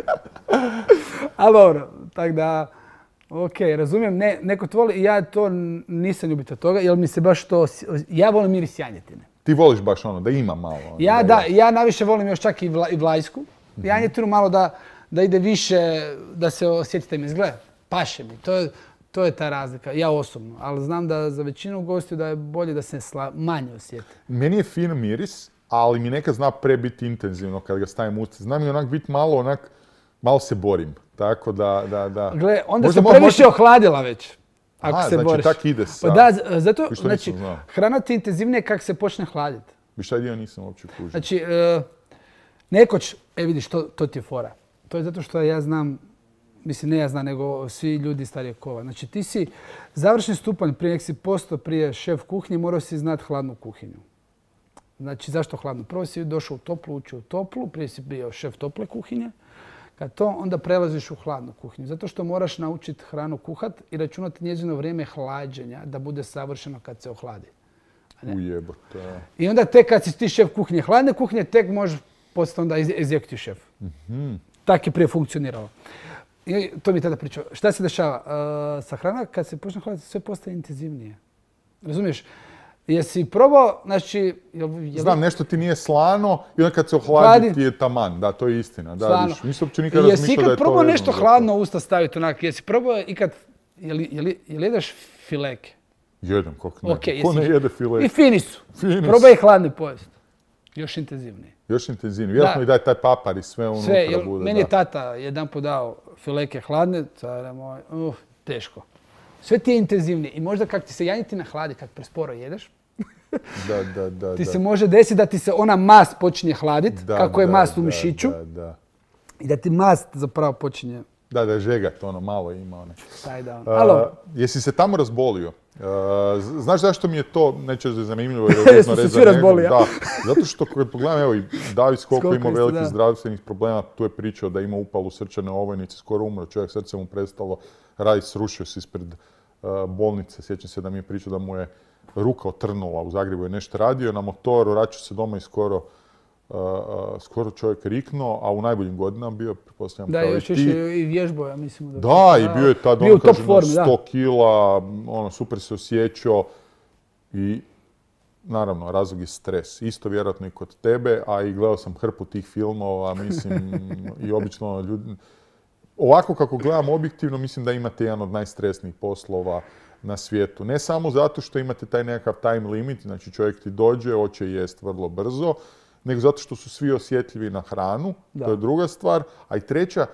Ali dobro, tako da, ok, razumijem, ne, neko to voli i ja to n- nisam ljubitelj toga, jer mi se baš to, s- ja volim miris janjetine. Ti voliš baš ono, da ima malo. ono, Ja je- da, ja naviše volim još čak i, vla, i vlajsku. Janjetinu malo da, da ide više, da se osjetite mi izgleda. Paše mi, to je, to je ta razlika, ja osobno. Ali znam da za većinu gostiju da je bolje da se sla, manje osjeti. Meni je fin miris, ali mi nekad zna pre biti intenzivno kad ga stavim u usta. Zna mi onak biti malo onak, malo se borim. Tako da, da, da. Gle, onda Možda se mo- previše možda- ohladila već. Ako A, se znači boriš. tak ide sa... Pa da, z- zato, Viš, to znači, nisam znao. hrana ti je intenzivnije kako se počne hladiti. Viš, taj dio nisam uopće kužio. Znači, e, nekoć, e vidiš, to, to ti je fora. To je zato što ja znam, mislim ne ja znam, nego svi ljudi starijeg kova. Znači ti si završni stupanj, prije nek si postao prije šef kuhinje, morao si znati hladnu kuhinju. Znači zašto hladnu? Prvo si došao u toplu, učio u toplu, prije si bio šef tople kuhinje. Kad to, onda prelaziš u hladnu kuhinju. Zato što moraš naučiti hranu kuhat i računati njezino vrijeme hlađenja da bude savršeno kad se ohladi. Ujebote. I onda tek kad si ti šef kuhinje, hladne kuhinje, tek možeš postati onda executive šef. Tak je prije funkcioniralo. I to mi je tada pričao. Šta se dešava? Uh, sa hrana kad se počne hladiti sve postaje intenzivnije. Razumiješ? Jesi probao, znači... Jel, jel, Znam, nešto ti nije slano i onda kad se ohladi Hladi. ti je taman. Da, to je istina. Da, Slano. viš, nisam uopće nikad Jesi razmišljao da ikad je to probao vezano nešto za to. hladno u usta staviti onak? Jesi probao ikad... Jel, jel, jel jedeš fileke? Jedem, kako ne. Ok, Ko jesi- ne jede file? I fini su. Fini su. Probaj ih hladni pojest. Još intenzivnije. Još intenzivnije. Vjerojatno Da. i daj taj papar i sve unutra Sve, jel, bude. meni da. je tata jedanput dao fileke hladne, care moj, uh, teško. Sve ti je intenzivnije i možda kak ti se janjetina hladi, kad presporo jedeš, Da, da, da. ti da. se može desiti da ti se ona mast počinje hladiti, Da, kako je da, mast u da, mišiću, Da, da. i da ti mast zapravo počinje Da, da je žegat, ono, malo ima one. taj dan. A, Alo, jesi se tamo razbolio? A, z- znaš zašto mi je to, neće da je zanimljivo jer je vezno Jesmo se rez za svi njegov- razboli, ja? Da, zato što kad pogledam, evo i David Skoko Skoko imao isto, velikih da. zdravstvenih problema, tu je pričao da ima upalu srčane ovojnice, skoro umro, čovjek srce mu prestalo raditi, srušio se ispred a, bolnice, sjećam se da mi je pričao da mu je ruka otrnula, u Zagrebu je nešto radio na motoru, vraćao se doma i skoro Uh, uh, skoro čovjek riknuo, a u najboljim godinama bio, pretpostavljam, da, kao još i više ti. i vježbo, ja mislim. Da, i bio je tad, bio ono, u top kažem, formi, na da. sto kila, ono, super se osjećao i naravno, razlog je stres. Isto vjerojatno i kod tebe, a i gledao sam hrpu tih filmova, mislim, i obično ljudi... Ovako kako gledam objektivno, mislim da imate jedan od najstresnijih poslova na svijetu. Ne samo zato što imate taj nekakav time limit, znači čovjek ti dođe, hoće jest vrlo brzo, nego zato što su svi osjetljivi na hranu, Da. to je druga stvar. A i treća,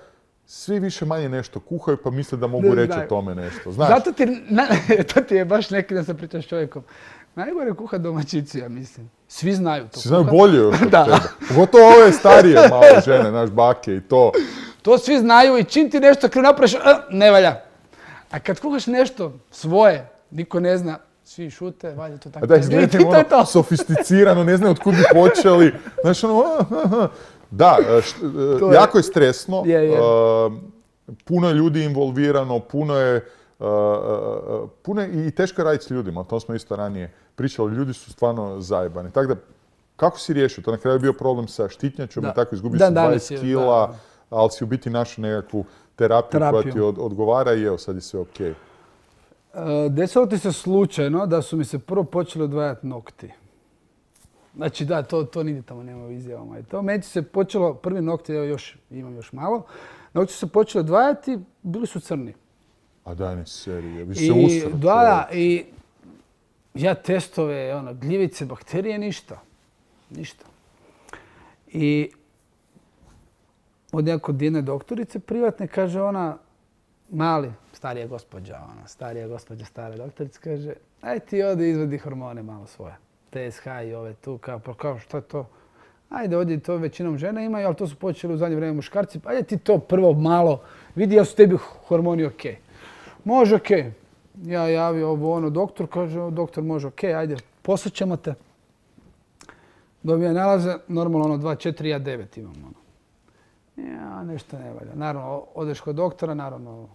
svi više manje nešto kuhaju pa misle da mogu Ne reći znaju. o tome nešto. Znaš, Zato ti, na, to ti je baš neki da se pričaš s čovjekom. Najgore kuha domaćici, ja mislim. Svi znaju to. svi znaju kuhat. bolje još od Da. tebe. Pogotovo ove starije malo žene, naš bake i to. To svi znaju i čim ti nešto krivo napraviš, a, ne valja. A kad kuhaš nešto svoje, niko ne zna, svi šute, valja to tako. A da I izgledate to je to. ono sofisticirano, ne znaju od kud bi počeli. Znaš, ono, aha. Da, št- To je- jako je stresno. Je, je. uh, puno je ljudi involvirano, puno je, uh, uh, puno je i teško je raditi s ljudima, o tom smo isto ranije pričali, ljudi su stvarno zajebani. Tako da, kako si riješio? To na kraju je bio problem sa štitnjačom Da. i tako izgubio Dan si danas dvadeset je, kila, da. ali si u biti našao nekakvu terapiju, koja Terapiju. ti od- odgovara i evo, sad je sve okej. E, Desilo ti se slučajno da su mi se prvo počeli odvajati nokti. Znači da, to, to nigdje tamo nema u izjavama. I to meni se počelo, prvi nokti, evo još, imam još malo, nokti su se počeli odvajati, bili su crni. A daj ne serije, vi se I, usro. da, da, i ja testove, ono, gljivice, bakterije, ništa. Ništa. I od nekako jedne doktorice privatne, kaže ona, mali, starija gospođa, ona, starija gospođa, stara doktorica, kaže, aj ti odi izvedi hormone malo svoje. T S H i ove tu, kao, pa kao, šta je to? Ajde, ovdje to većinom žene imaju, ali to su počeli u zadnje vrijeme muškarci, pa ajde ti to prvo malo, vidi jel su tebi hormoni okej. Može okej. Ja javio ovo ono, doktor, kaže, doktor može okej, ajde, poslat ćemo te. Dobija nalaze, normalno ono dva četiri, ja devet imam ono. Ja, nešto ne valja. Naravno, odeš kod doktora, naravno,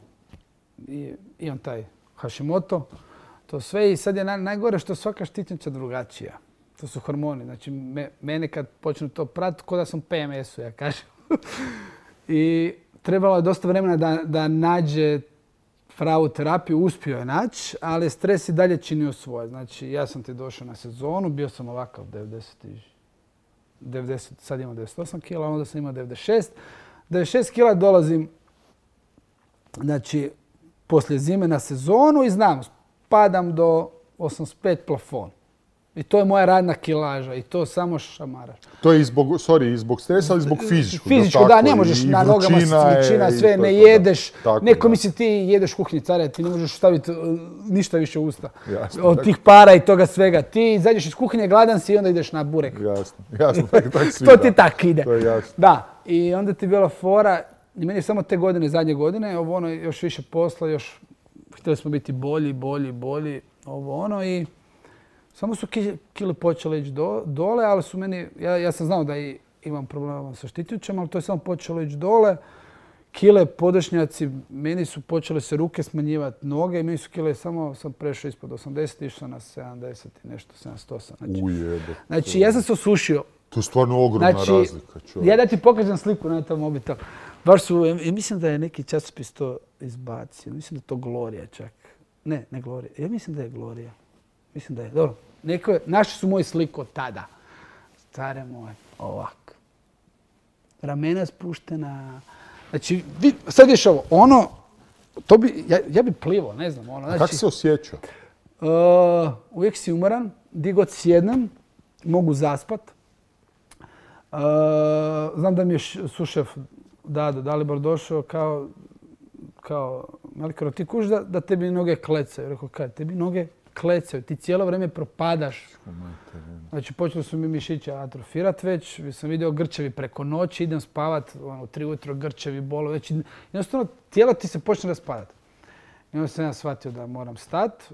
i, i on taj Hashimoto. To sve i sad je naj, najgore što svaka štitnjača drugačija. To su hormoni. Znači, me, mene kad počnu to pratiti, ko da sam P M S-u, ja kažem. I trebalo je dosta vremena da, da nađe pravu terapiju, uspio je naći, ali stres i dalje činio svoje. Znači, ja sam ti došao na sezonu, bio sam ovakav devedeset, devedeset, sad imam devedeset osam kila, onda sam imao devedeset šest. devedeset šest kila dolazim, znači, poslije zime na sezonu i znam, padam do osamdeset pet plafon. I to je moja radna kilaža i to samo šamaraš. To je i zbog, sorry, i zbog stresa, ali i zbog fizičkog. Fizičko, da, ne možeš na nogama, vrućina, sve, ne jedeš. Neko misli ti jedeš kuhinji cara, ti ne možeš staviti ništa više u usta. Jasno, od tih para i toga svega. Ti izađeš iz kuhinje, gladan si i onda ideš na burek. Jasno, jasno. Tak, tak svi, to ti tak ide. To je jasno. Da, i onda ti je bila fora, i meni je samo te godine, zadnje godine, ovo ono, još više posla, još htjeli smo biti bolji, bolji, bolji, ovo ono i samo su kile počele ići do, dole, ali su meni, ja, ja sam znao da i imam problema sa štitnjačama, ali to je samo počelo ići dole. Kile, podošnjaci, meni su počele se ruke smanjivati, noge i meni su kile, samo sam prešao ispod osamdeset, išao na sedamdeset i nešto, sedamdeset osam. Znači, Ujebe. Znači, ja sam se osušio. To je stvarno ogromna znači, razlika. Čovjek. Ja da ti pokažem sliku na tom mobitel. Baš su, ja mislim da je neki časopis to izbacio, mislim da je to Gloria čak. Ne, ne Gloria, ja mislim da je Gloria. Mislim da je, dobro. Neko, naši su moji sliku od tada. Stare moje, ovako. Ramena spuštena. Znači, vid, sad ješ ovo, ono, to bi, ja, ja bi plivo, ne znam. Ono, znači, kako se osjećao? Uh, uvijek si umoran, di god sjednem, mogu zaspat. Uh, znam da mi je sušef Dado Dalibor došao kao, kao Malikaro, ti kuš da, da tebi noge klecaju. Rekao, kaj, tebi noge klecaju, ti cijelo vrijeme propadaš. Znači, počeli su mi mišiće atrofirati već, sam vidio grčevi preko noći, idem spavat, ono, tri ujutro grčevi bolo, već jednostavno tijelo ti se počne raspadati. I onda sam ja shvatio da moram stati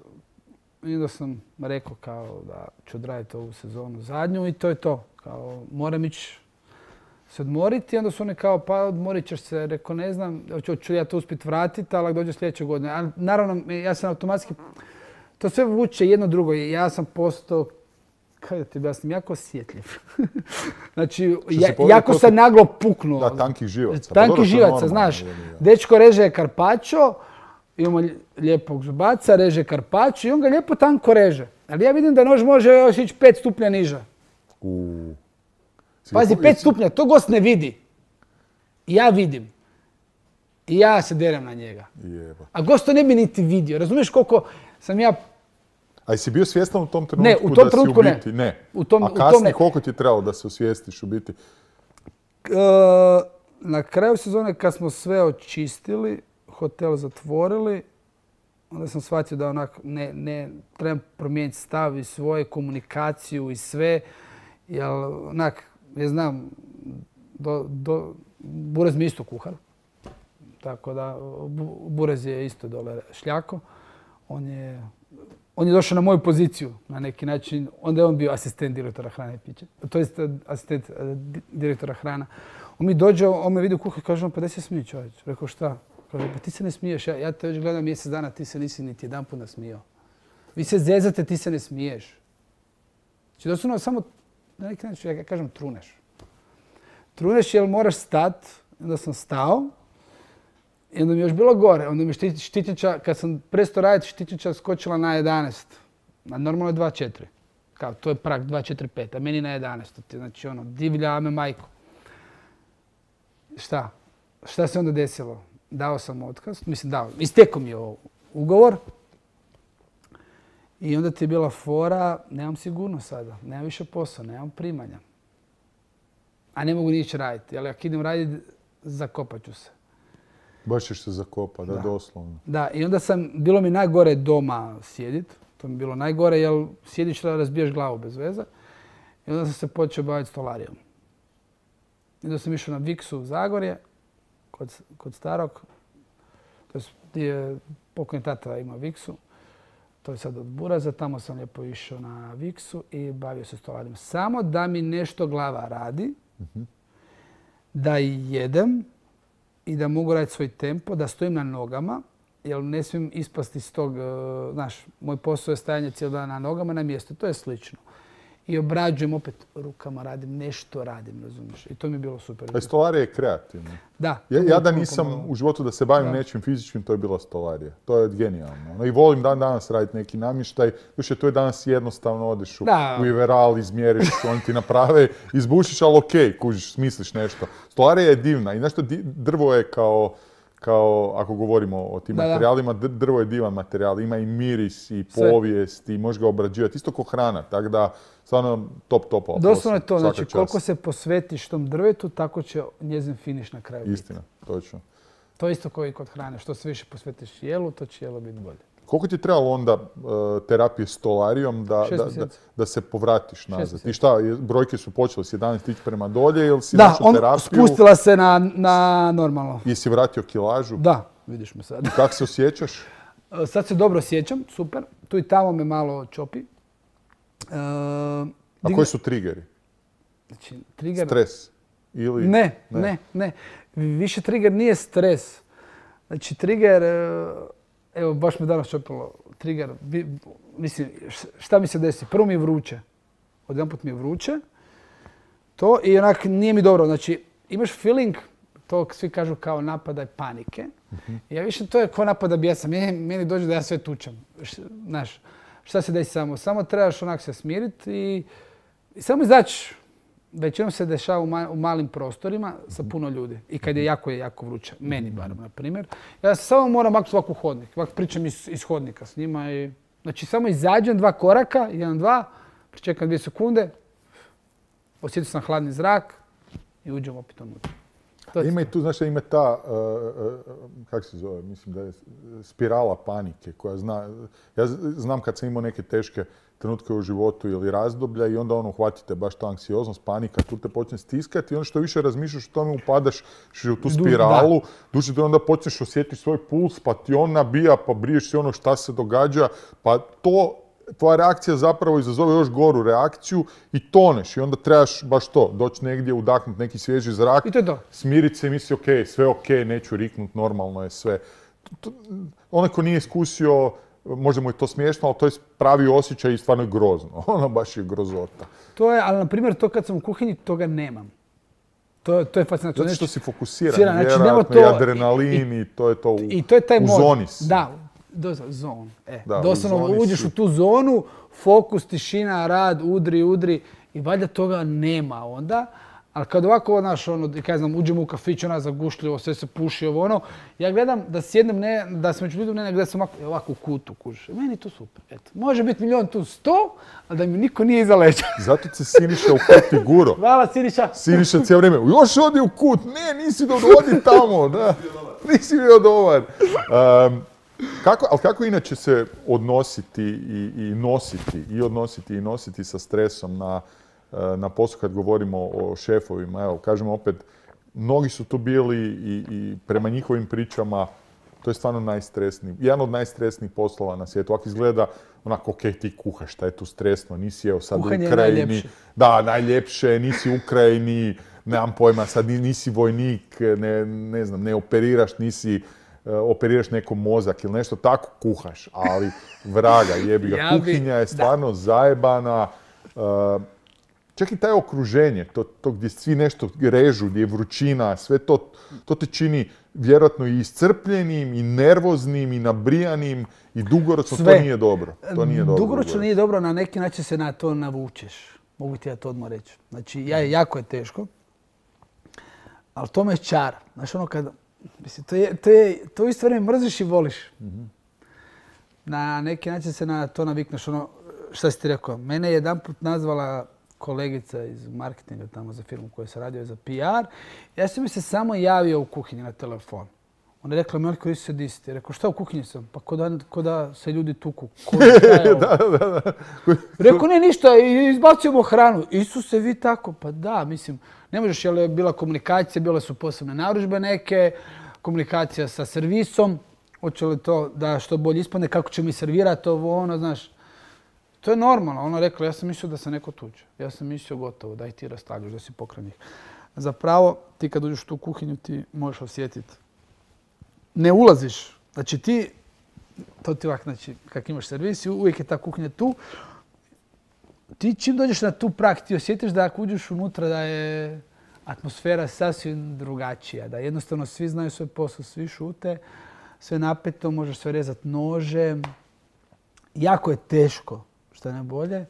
i onda sam rekao kao da ću odraditi ovu sezonu zadnju i to je to. Kao, moram ići se odmoriti i onda su oni kao pa odmorit ćeš se, rekao ne znam, ću ja to uspjeti vratiti, ali dođe sljedeće godine. Ali naravno, ja sam automatski, to sve vuče jedno drugo. Ja sam postao, kako da ti objasnim, jako osjetljiv. Znači, ja, jako sam naglo puknuo. Da, tankih živaca. Tankih živaca, znaš. Dečko reže karpačo, imamo lijepog zubaca, reže karpačo i on ga lijepo tanko reže. Ali ja vidim da nož može još ići pet stupnja niže. Uh. Pazi, pet stupnja, to gost ne vidi. Ja vidim. I ja se derem na njega. Jeba. A gost to ne bi niti vidio. Razumiješ koliko sam ja... A jesi bio svjestan u tom trenutku ne, u tom da trenutku si u biti? Ne. Ne. U tom, A kasnije u tom ne. Koliko ti je trebalo da se osvijestiš u biti? E, na kraju sezone kad smo sve očistili, hotel zatvorili, onda sam shvatio da onak ne, ne trebam promijeniti stav i svoju komunikaciju i sve. Jer onak, ja znam, do, do, Burez mi isto kuhar. Tako da, Burez je isto dole šljako. On je, on je došao na moju poziciju na neki način. Onda je on bio asistent direktora hrane i pića. To jest asistent direktora hrana. On mi dođe, on me vidi u kuhar i kaže, pa da se smije čovječ. Rekao, šta? Kaže, pa ti se ne smiješ. Ja, ja te već gledam mjesec dana, ti se nisi niti jedan put nasmijao. Vi se zezate, ti se ne smiješ. Znači, doslovno samo, na neki način, ja kažem, truneš. Truneš jer moraš stat. Onda sam stao. I onda mi je još bilo gore. Onda mi je štitnjača, kad sam prestao raditi, štitnjača skočila na jedanaest. A normalno je dva četiri. Kao, to je prag dva četiri pet, a meni na jedanaest. Znači, ono, divlja me majko. Šta? Šta se onda desilo? Dao sam otkaz. Mislim, dao. Istekao mi je ugovor. I onda ti je bila fora, nemam sigurnost sada. Nemam više posla, nemam primanja. A ne mogu nići raditi. Ali ako idem raditi, zakopat ću se. Baš ćeš se zakopati, da, da, doslovno. Da, i onda sam, bilo mi najgore doma sjediti. To mi je bilo najgore, jer sjediš da razbiješ glavu bez veze. I onda sam se počeo baviti stolarijom. I onda sam išao na Viksu u Zagorje, kod, kod starog. To je gdje pokojni tata ima Viksu. To je sad od Buraza. Tamo sam lijepo išao na Viksu i bavio se stolarijom. Samo da mi nešto glava radi. Uh-huh. da jedem i da mogu raditi svoj tempo, da stojim na nogama, jer ne smijem ispasti iz tog, znaš, moj posao je stajanje cijeli dan na nogama na mjestu, to je slično. I obrađujem opet rukama, radim, nešto radim, razumiješ. I to mi je bilo super. A stolarija je kreativna. Da. Ja, ja da nisam u životu da se bavim da. nečim fizičkim, to je bila stolarija. To je genijalno. No, i volim dan danas raditi neki namještaj. Više to je danas jednostavno, odeš u, u Iveral, izmjeriš, oni ti naprave, izbušiš, ali okej, kužiš, smisliš nešto. Stolarija je divna i nešto drvo je kao, kao ako govorimo o tim da, materijalima, da. drvo je divan materijal. Ima i miris, i povijest, sve. I možeš ga obrađivati. Isto kao hrana, tako da stvarno top, top. Doslovno je to, znači čas. Koliko se posvetiš tom drvetu, tako će njezin finiš na kraju. Istina, točno. To je isto kao i kod hrane. Što se više posvetiš jelu, to će jelo biti bolje. Koliko ti trebalo onda uh, terapije stolarijom da, da, da, da se povratiš nazad? I šta, brojke su počele s jedanaest ići prema dolje ili si našao terapiju? Da, on spustila se na, na normalno. Jesi vratio kilažu? Da, vidiš me sad. Kako se osjećaš? Sad se dobro osjećam, super. Tu i tamo me malo čopi. Uh, A koji su triggeri? Znači, trigger... Stres? Ili... Ne, ne, ne, ne. Više trigger nije stres. Znači, trigger... Evo, baš me danas čopilo. Trigger, mislim, šta mi se desi? Prvo mi je vruće. Odjedanput mi je vruće. To i onak nije mi dobro. Znači, imaš feeling, to svi kažu kao napadaj panike. Uh-huh. Ja više to je kao napada bijesa. Meni, meni dođe da ja sve tučem. Znaš, šta se desi samo? Samo trebaš onak se smiriti i, i samo izaći. Većinom se dešava u, ma, u malim prostorima sa puno ljudi. I kad je jako, je jako vruće. Meni barem, na primjer. Ja samo moram maknuti ovako u hodnik. Ovako pričam iz, iz hodnika s njima. I, znači, samo izađem dva koraka, jedan, dva, pričekam dvije sekunde, osjetim sam hladni zrak i uđem opet unutra. Ima i tu, znaš, ima ta, uh, uh, kako se zove, mislim da je spirala panike koja zna, ja znam kad sam imao neke teške trenutke u životu ili razdoblja i onda ono uhvatite baš ta anksioznost, panika, tu te počne stiskati i onda što više razmišljaš o tome upadaš u tu spiralu, duže da onda počneš osjetiti svoj puls, pa ti on nabija, pa briješ se ono šta se događa, pa to, tvoja reakcija zapravo izazove još goru reakciju i toneš i onda trebaš baš to, doći negdje, udahnuti neki svježi zrak, i to je to. Smiriti se i misli ok, sve ok, neću riknut, normalno je sve. Onaj ko nije iskusio, možda mu je to smiješno, ali to je pravi osjećaj i stvarno je grozno. Ono baš je grozota. To je, ali na primjer to kad sam u kuhinji, toga nemam. To, to je fascinantno. Zato što si fokusiran, znači, vjerojatno, to, i adrenalin i, i to je to u, i to je taj u mod. zoni si. Da, doslovno, zon. E, da, doslovno uđeš si. U tu zonu, fokus, tišina, rad, udri, udri i valjda toga nema onda. Ali kad ovako, znaš, ono, kaj znam, uđemo u kafić, ona zagušljivo, sve se puši, ovo ono, ja gledam da sjednem, ne, da sam među ljudom, ne, gledam sam ovako, ovako u kutu, kužiš. Meni je to super, eto. Može biti milion tu sto, ali da mi niko nije iza leđa. Zato se Siniša u kut i guro. Hvala, Siniša. Siniša cijelo vrijeme, još odi u kut, ne, nisi odi tamo, da. Nisi bio dobar. Um, kako, ali kako inače se odnositi i, i nositi, i odnositi i nositi sa stresom na na poslu kad govorimo o šefovima, evo, kažemo opet, mnogi su tu bili i, i prema njihovim pričama, to je stvarno najstresniji, jedan od najstresnijih poslova na svijetu. Ovako izgleda onako, ok, ti kuhaš, šta je tu stresno, nisi evo sad Kuhanje u Ukrajini. Najljepše. Da, najljepše, nisi u Ukrajini, nemam pojma, sad nisi vojnik, ne, ne znam, ne operiraš, nisi uh, operiraš nekom mozak ili nešto, tako kuhaš, ali vraga, jebi ga, ja kuhinja je stvarno da. zajebana. Uh, Čak i taj okruženje, to, to gdje svi nešto režu, gdje je vrućina, sve to, to te čini vjerojatno i iscrpljenim, i nervoznim, i nabrijanim, i dugoročno sve. To nije dobro. To nije dobro. Dugoročno nije dobro, na neki način se na to navučeš. Mogu ti ja to odmah reći. Znači, ja, jako je teško, ali to me čara. Znaš, ono kad, mislim, to je, to je, to u isto vrijeme mrziš i voliš. Mm-hmm. Na neki način se na to navikneš, ono, šta si ti rekao, mene je jedanput nazvala kolegica iz marketinga tamo za firmu koju sam radio za P R. Ja sam mi se samo javio u kuhinji na telefon. Ona je rekla, Milko, isi se disti. Rekao, šta u kuhinji sam? Pa ko da, ko da se ljudi tuku. Ko da, da, da, da. Rekao, ne, ništa, izbacujemo hranu. Isuse, vi tako? Pa da, mislim, ne možeš, jer je bila komunikacija, bile su posebne narudžbe neke, komunikacija sa servisom, hoće li to da što bolje ispadne, kako će mi servirati ovo, ono, znaš. To je normalno. Ona rekla, ja sam mislio da se neko tuče. Ja sam mislio gotovo, daj ti rastavljaš, da si pokraj njih. Zapravo, ti kad uđeš u tu kuhinju, ti možeš osjetiti. Ne ulaziš. Znači ti, to ti ovak, znači, kak imaš servis, uvijek je ta kuhinja tu. Ti čim dođeš na tu prag, ti osjetiš da ako uđeš unutra da je atmosfera sasvim drugačija. Da jednostavno svi znaju svoj posao, svi šute, sve napeto, možeš sve rezati nožem. Jako je teško, što je najbolje.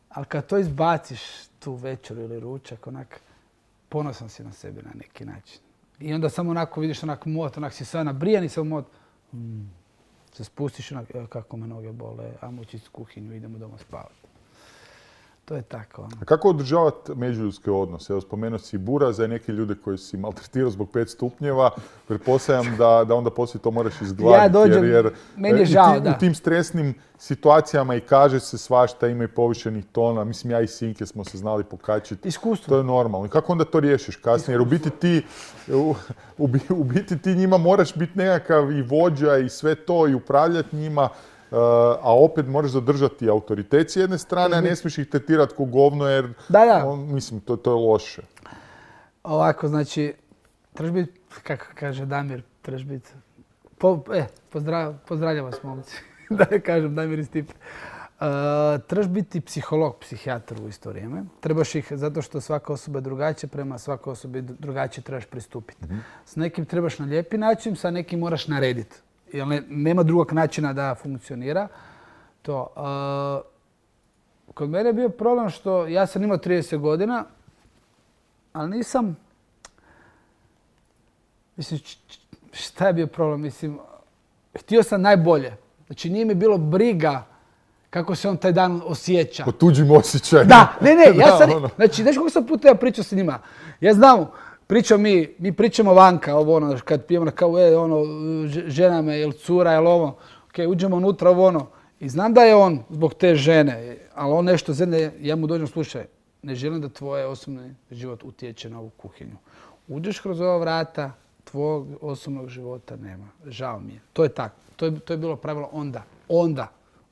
Ali kad to izbaciš, tu večer ili ručak, onak, ponosan si na sebi na neki način. I onda samo onako vidiš onak mot, onak si sve nabrijan i samo mot. Mm. Se spustiš onak, kako me noge bole, ajmo ući iz kuhinju, idemo doma spavati. To je tako. Ono. A kako održavati međuljudske odnose? Evo, spomenuo si Buraza i neki ljude koji si maltretirao zbog pet stupnjeva. Pretpostavljam da, da onda poslije to moraš izgladiti. Ja dođem, jer, jer meni je žao, ti, da. U tim stresnim situacijama i kaže se svašta, ima i povišenih tona. Mislim, ja i Sinke smo se znali pokačiti. Iskustvo. To je normalno. I kako onda to riješiš kasnije? Jer u biti ti, u, u, u biti ti njima moraš biti nekakav i vođa i sve to i upravljati njima. Uh, a opet moraš zadržati autoritet s jedne strane, a ne smiješ ih tretirati ko govno jer, da, da. On, mislim, to, to je loše. Ovako, znači, trebaš biti, kako kaže Damir, trebaš biti, po, e, pozdrav, pozdravljam vas, momci, da ne kažem Damir i Stipe. Uh, trebaš biti psiholog, psihijatar u isto vrijeme. Trebaš ih, zato što svaka osoba je drugačija, prema svakoj osobi drugačije trebaš pristupiti. Mm-hmm. S nekim trebaš na lijepi način, sa nekim moraš narediti. Jer ne, nema drugog načina da funkcionira. To, uh, kod mene je bio problem što ja sam imao trideset godina, ali nisam... Mislim, šta je bio problem? Mislim, htio sam najbolje. Znači, nije mi bilo briga kako se on taj dan osjeća. Po tuđim osjećajima. Da, ne, ne, ja sam... Da, ono. Znači, znaš kako sam puta ja pričao s njima? Ja znam... Pričamo mi, mi pričamo vanka, ovo ono, kad pijemo na kavu, e, ono, žena me, jel cura, jel ovo, ok, uđemo unutra, ovo ono. I znam da je on zbog te žene, ali on nešto zemlje, ja mu dođem, slušaj, ne želim da tvoj osobni život utječe na ovu kuhinju. Uđeš kroz ova vrata, tvojeg osobnog života nema. Žao mi je. To je tako. To je, to je bilo pravilo onda. Onda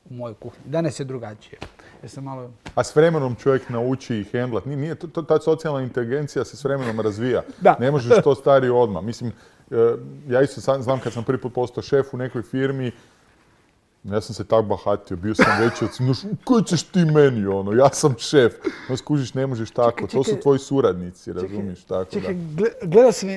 u mojoj kuhinji. Danas je drugačije. Sam malo... A s vremenom čovjek nauči i hendlat. Nije, to, ta socijalna inteligencija se s vremenom razvija. Da. Ne možeš to stari odmah. Mislim, ja isto sam, znam kad sam prvi put postao šef u nekoj firmi, ja sam se tak bahatio, bio sam veći od svih, koji ćeš ti meni, ono, ja sam šef. No skužiš, ne možeš tako, čekaj, čekaj, to su tvoji suradnici, razumiješ, tako čekaj, da. Gledao sam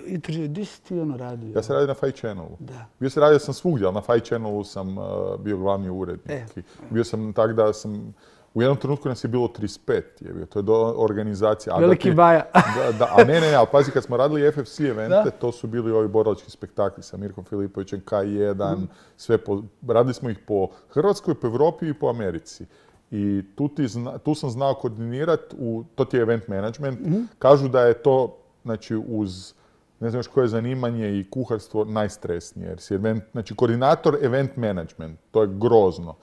intervju, gdje si ti ono radio? Ja sam radio na Five Channelu. Da. Bio sam radio sam svugdje, ali na Five Channelu sam uh, bio glavni urednik. E. Bio sam tak da sam, u jednom trenutku nas je bilo trideset pet, je bio, to je do organizacija. Veliki da, baja. Da, da, a ne, ne, ne, ali pazi, kad smo radili F F C evente, da. To su bili ovi borilački spektakli sa Mirkom Filipovićem, K jedan, mm. sve po, radili smo ih po Hrvatskoj, po Europi i po Americi. I tu, ti zna, tu sam znao koordinirati, to ti je event management. Mm. Kažu da je to, znači, uz, ne znam još koje zanimanje i kuharstvo najstresnije. Jer si event, znači, koordinator event management, to je grozno.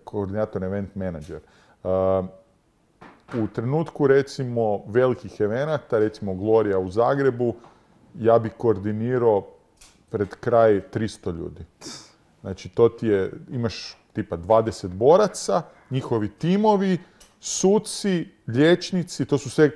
Koordinator event manager. Uh, u trenutku, recimo, velikih evenata, recimo Gloria u Zagrebu, ja bi koordinirao pred kraj tristo ljudi. Znači, to ti je, imaš tipa dvadeset boraca, njihovi timovi, suci, liječnici, to su sve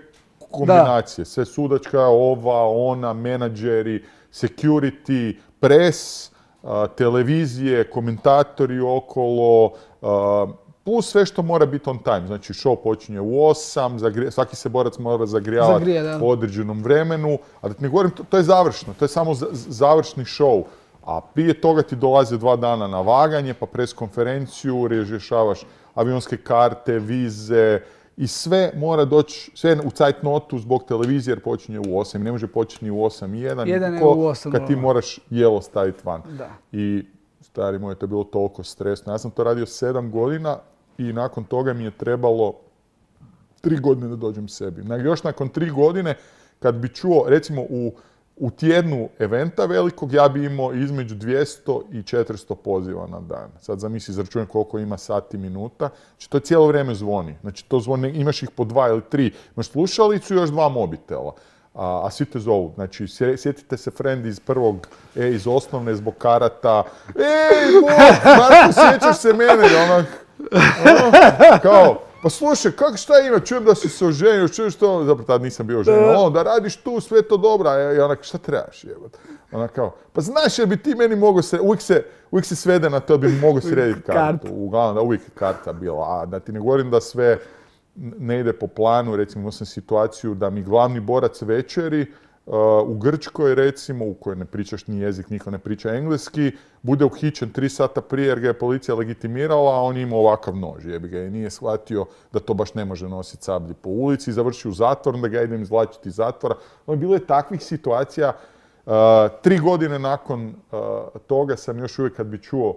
kombinacije. Da. Sve sudačka, ova, ona, menadžeri, security, press, uh, televizije, komentatori okolo, uh, plus sve što mora biti on time. Znači, show počinje u osam, zagri... svaki se borac mora zagrijavati Zagrije, po određenom vremenu. A da ti ne govorim, to, to je završno, to je samo z- završni show. A prije toga ti dolaze dva dana na vaganje, pa pres konferenciju, rješavaš avionske karte, vize i sve mora doći, sve u cajtnotu zbog televizije jer počinje u osam. Ne može početi ni u osam i jedan, jedan je u osam, kad ti moraš jelo staviti van. Da. I stari moj, to je bilo toliko stresno. Ja sam to radio sedam godina i nakon toga mi je trebalo tri godine da dođem sebi. Još nakon tri godine, kad bi čuo, recimo u U tjednu eventa velikog ja bi imao između dvjesto i četiristo poziva na dan. Sad zamisli, izračunaj koliko ima sati minuta. Znači to cijelo vrijeme zvoni. Znači to zvoni, imaš ih po dva ili tri. Imaš slušalicu i još dva mobitela. A, a svi te zovu. Znači sjetite se friend iz prvog, e, iz osnovne zbog karata. Ej, Bog, Marko, sjećaš se mene? Onak, ono, kao, pa slušaj, kako šta ima, čujem da si se oženio, čujem što, zapravo tad nisam bio oženio, ono, da radiš tu, sve to dobro, a i onak, šta trebaš jebat? Ona kao, pa znaš, jer bi ti meni mogao se, uvijek se, uvijek se svede na to da bi mogao srediti kartu, uglavnom da uvijek je karta bila, a da ti ne govorim da sve ne ide po planu, recimo imao sam situaciju da mi glavni borac večeri uh, u Grčkoj, recimo, u kojoj ne pričaš ni jezik, niko ne priča engleski, bude uhićen tri sata prije jer ga je policija legitimirala, a on je imao ovakav nož, jebi ga, i nije shvatio da to baš ne može nositi sablji po ulici, završi u zatvor, onda ga idem izvlačiti iz zatvora. No, bilo je takvih situacija. Uh, tri godine nakon uh, toga sam još uvijek kad bi čuo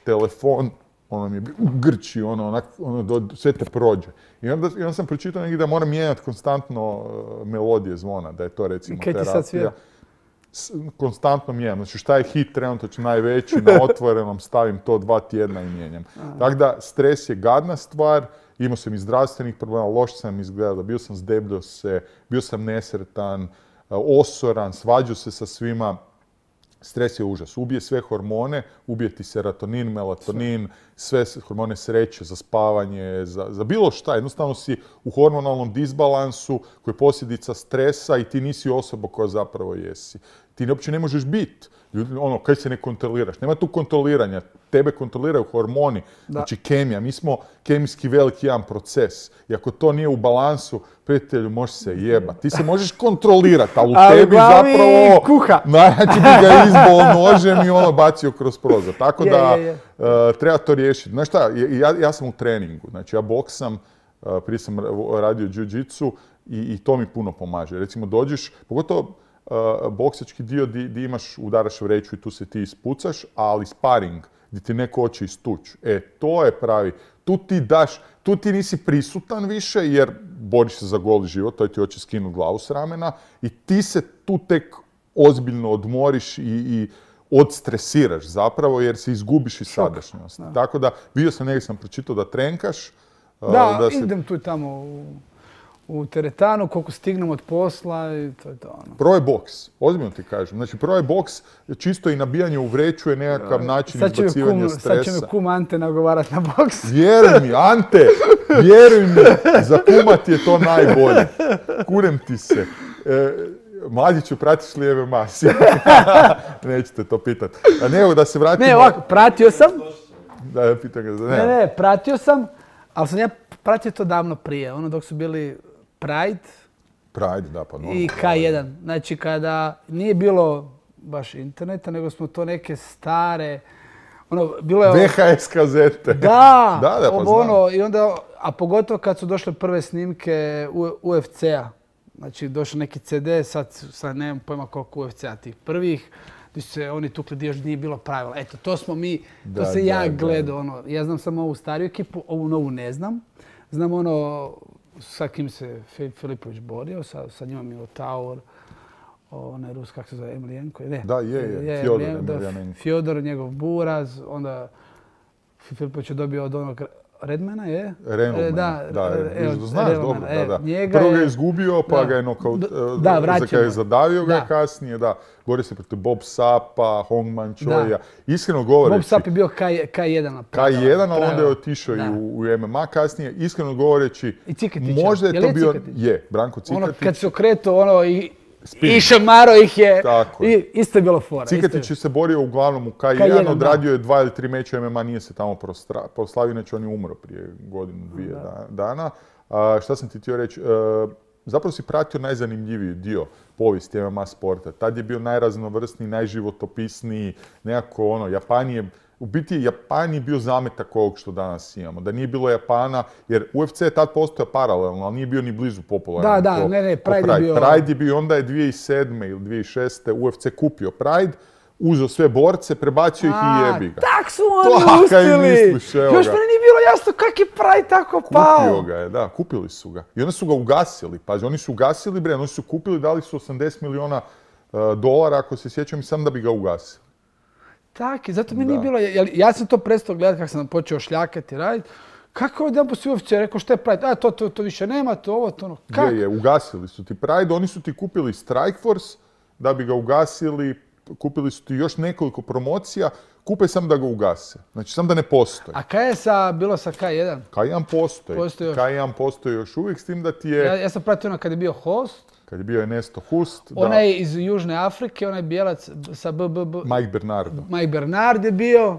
telefon, ono mi je u Grči, ono, onak, ono, do, sve te prođe. I onda, i onda sam pročitao negdje da moram mijenjati konstantno uh, melodije zvona, da je to recimo terapija. Kaj ti sad svija? S, konstantno mijenjam. Znači šta je hit trenutno najveći, na otvorenom stavim to dva tjedna i mijenjam. Tako da stres je gadna stvar, imao sam i zdravstvenih problema, loš sam izgledao, bio sam zdebljao se, bio sam nesretan, osoran, svađao se sa svima. Stres je užas. Ubije sve hormone, ubije ti serotonin, melatonin, sve hormone sreće, za spavanje, za, za bilo šta. Jednostavno si u hormonalnom disbalansu koji je posljedica stresa i ti nisi osoba koja zapravo jesi. Ti uopće ne možeš biti. Ono, kaj se ne kontroliraš. Nema tu kontroliranja. Tebe kontroliraju hormoni, da. Znači kemija. Mi smo kemijski veliki jedan proces. I ako to nije u balansu, prijatelju, možeš se jebati. Ti se možeš kontrolirati, ali u ali tebi zapravo... kuha. Najjači bi ga izbol nožem i ono bacio kroz prozor. Tako je, da je, je. Uh, treba to riješiti. Znaš šta, ja, ja sam u treningu. Znači ja boksam, uh, prije sam radio jiu-jitsu i, i to mi puno pomaže. Recimo dođeš, pogotovo Uh, boksački dio di, di imaš, udaraš vreću i tu se ti ispucaš, ali sparing, gdje ti neko hoće istući. E, to je pravi. Tu ti daš, tu ti nisi prisutan više jer boriš se za goli život, to ti hoće skinuti glavu s ramena i ti se tu tek ozbiljno odmoriš i, i odstresiraš zapravo jer se izgubiš iz sadašnjosti. Da. Tako da, vidio sam, negdje sam pročitao da trenkaš. Da, uh, da se... idem tu tamo u... u teretanu, koliko stignem od posla i to je to ono. Probaj boks, ozbiljno ti kažem. Znači probaj boks, čisto i nabijanje u vreću je nekakav način izbacivanja kum, stresa. Sad će me kum Ante nagovarati na boks. Vjeruj mi, Ante, vjeruj mi, za kuma ti je to najbolje. Kurem ti se. E, Mladiću, pratiš li M M A? Nećete to pitati. A ne, da se vratimo... Ne, ovako, pratio sam. Da, ja pitam ga. Ne, ne, ne, pratio sam, ali sam ja pratio to davno prije, ono dok su bili Pride, Pride, da, pa normalno. I K jedan. Znači kada nije bilo baš interneta, nego smo to neke stare, ono, bilo je... V H S kazete. Da, da, da, pa ono, i onda, a pogotovo kad su došle prve snimke U F C-a. Znači došao neki C D, sad, sad nemam pojma koliko U F C-a tih prvih, gdje su se oni tukli gdje još nije bilo pravila. Eto, to smo mi, to da, se da, ja gledao, ono, ja znam samo ovu stariju ekipu, ovu novu ne znam. Znam ono, sa kim se Filipović borio, sa, sa njima Minotaur, onaj Rus, kako se zove, Emelijenko, ne. Da, je, je, je Fjodor Emelijenko. Fjodor, njegov buraz, onda Filipović je dobio od onog Redmana, je? Renulmana, da, da, e, znaš Renulmana, dobro, da, da. Njega Prvo ga je je izgubio, pa da, ga je nokaut, da, vraćeno. je zadavio ga kasnije, da. Bori se protiv Bob Sapa, Hongman Choya. Iskreno govoreći... Bob Sap je bio K jedan. K jedan, ali onda je otišao i u, u M M A kasnije. Iskreno govoreći, možda je, je to bio... Cikatić? Je, Branko Cikatić. Ono, kad se okretao, ono, i... Spin. I šamaro ih je, i isto je bilo fora. Cikatić je se borio uglavnom u K jedan, odradio je dva ili tri meća M M A, nije se tamo proslavio, neće on je umro prije godinu, dvije da. dana. A, šta sam ti htio reći? E, zapravo si pratio najzanimljiviji dio povijesti M M A sporta. Tad je bio najraznovrsniji, najživotopisniji, nekako ono, Japan je... U biti, Japan je bio zametak ovog što danas imamo. Da nije bilo Japana, jer U F C je tad postojao paralelno, ali nije bio ni blizu popularan. Da, da, ne, ne, Pride, Pride je bio... Pride je bio, onda je dvije tisuće sedme ili dvije tisuće šeste U F C kupio Pride, uzeo sve borce, prebacio ih i jebi ga. Tak su oni uspjeli! Još meni nije bilo jasno kak je Pride tako pao. Kupio ga je, da, kupili su ga. I onda su ga ugasili. Pazi, oni su ugasili, bre, oni su kupili, dali su osamdeset milijuna uh, dolara, ako se sjećam, i sam da bi ga ugasili. Tak, zato mi nije bilo, ja sam to prestao gledati kako sam počeo šljakati, raditi. Kako je jedan poslije U F C rekao što je Pride? A, to, to, to više nema, to ovo, to ono. Kako? Je, je, ugasili su ti Pride, oni su ti kupili Strikeforce da bi ga ugasili, kupili su ti još nekoliko promocija kupe sam da ga ugase. Znači, sam da ne postoji. A kaj je sa, bilo sa K jedan? K jedan postoji. Postoji još. K jedan postoji još uvijek, s tim da ti Ja, je, ja sam pratio ono kad je bio host, kad je bio Ernesto Hust, da, onaj iz Južne Afrike, onaj bijelac sa B B B, Mike Bernardo. Mike Bernard je bio.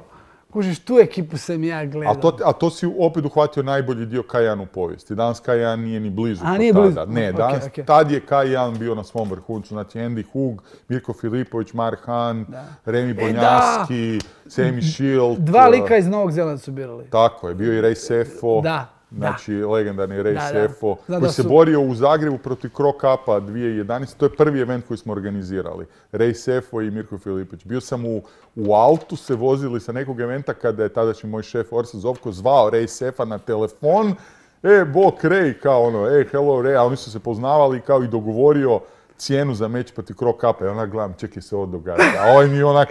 Kužiš, tu ekipu sam ja gledao. A to, a to si opet uhvatio najbolji dio K jedan u povijesti. Danas K jedan nije ni blizu A, kao nije tada. blizu. Ne, Ok, danas, ok. tad je K jedan bio na svom vrhuncu. Znači Andy Hug, Mirko Filipović, Mark Hahn, Da. Remi E, Bonjavski, Sammy Shield. Dva uh, lika iz Novog Zelanda su birali. Tako je, bio i Ray Sefo. Da, Znači, legendarni Ray Da, da. Sefo, Znam koji da se su- borio u Zagrebu protiv Cro Cupa dvije tisuće jedanaeste. To je prvi event koji smo organizirali. Ray Sefo i Mirko Filipović. Bio sam u, u autu, se vozili sa nekog eventa kada je tadašnji moj šef Orsa Zovko zvao Ray Sefa na telefon. E, bok Ray, kao ono, e, hello Ray, a oni su se poznavali kao i dogovorio cijenu za meč protiv Cro Cupa. I onak gledam, čekaj se ovo događa. A ovaj mi onak...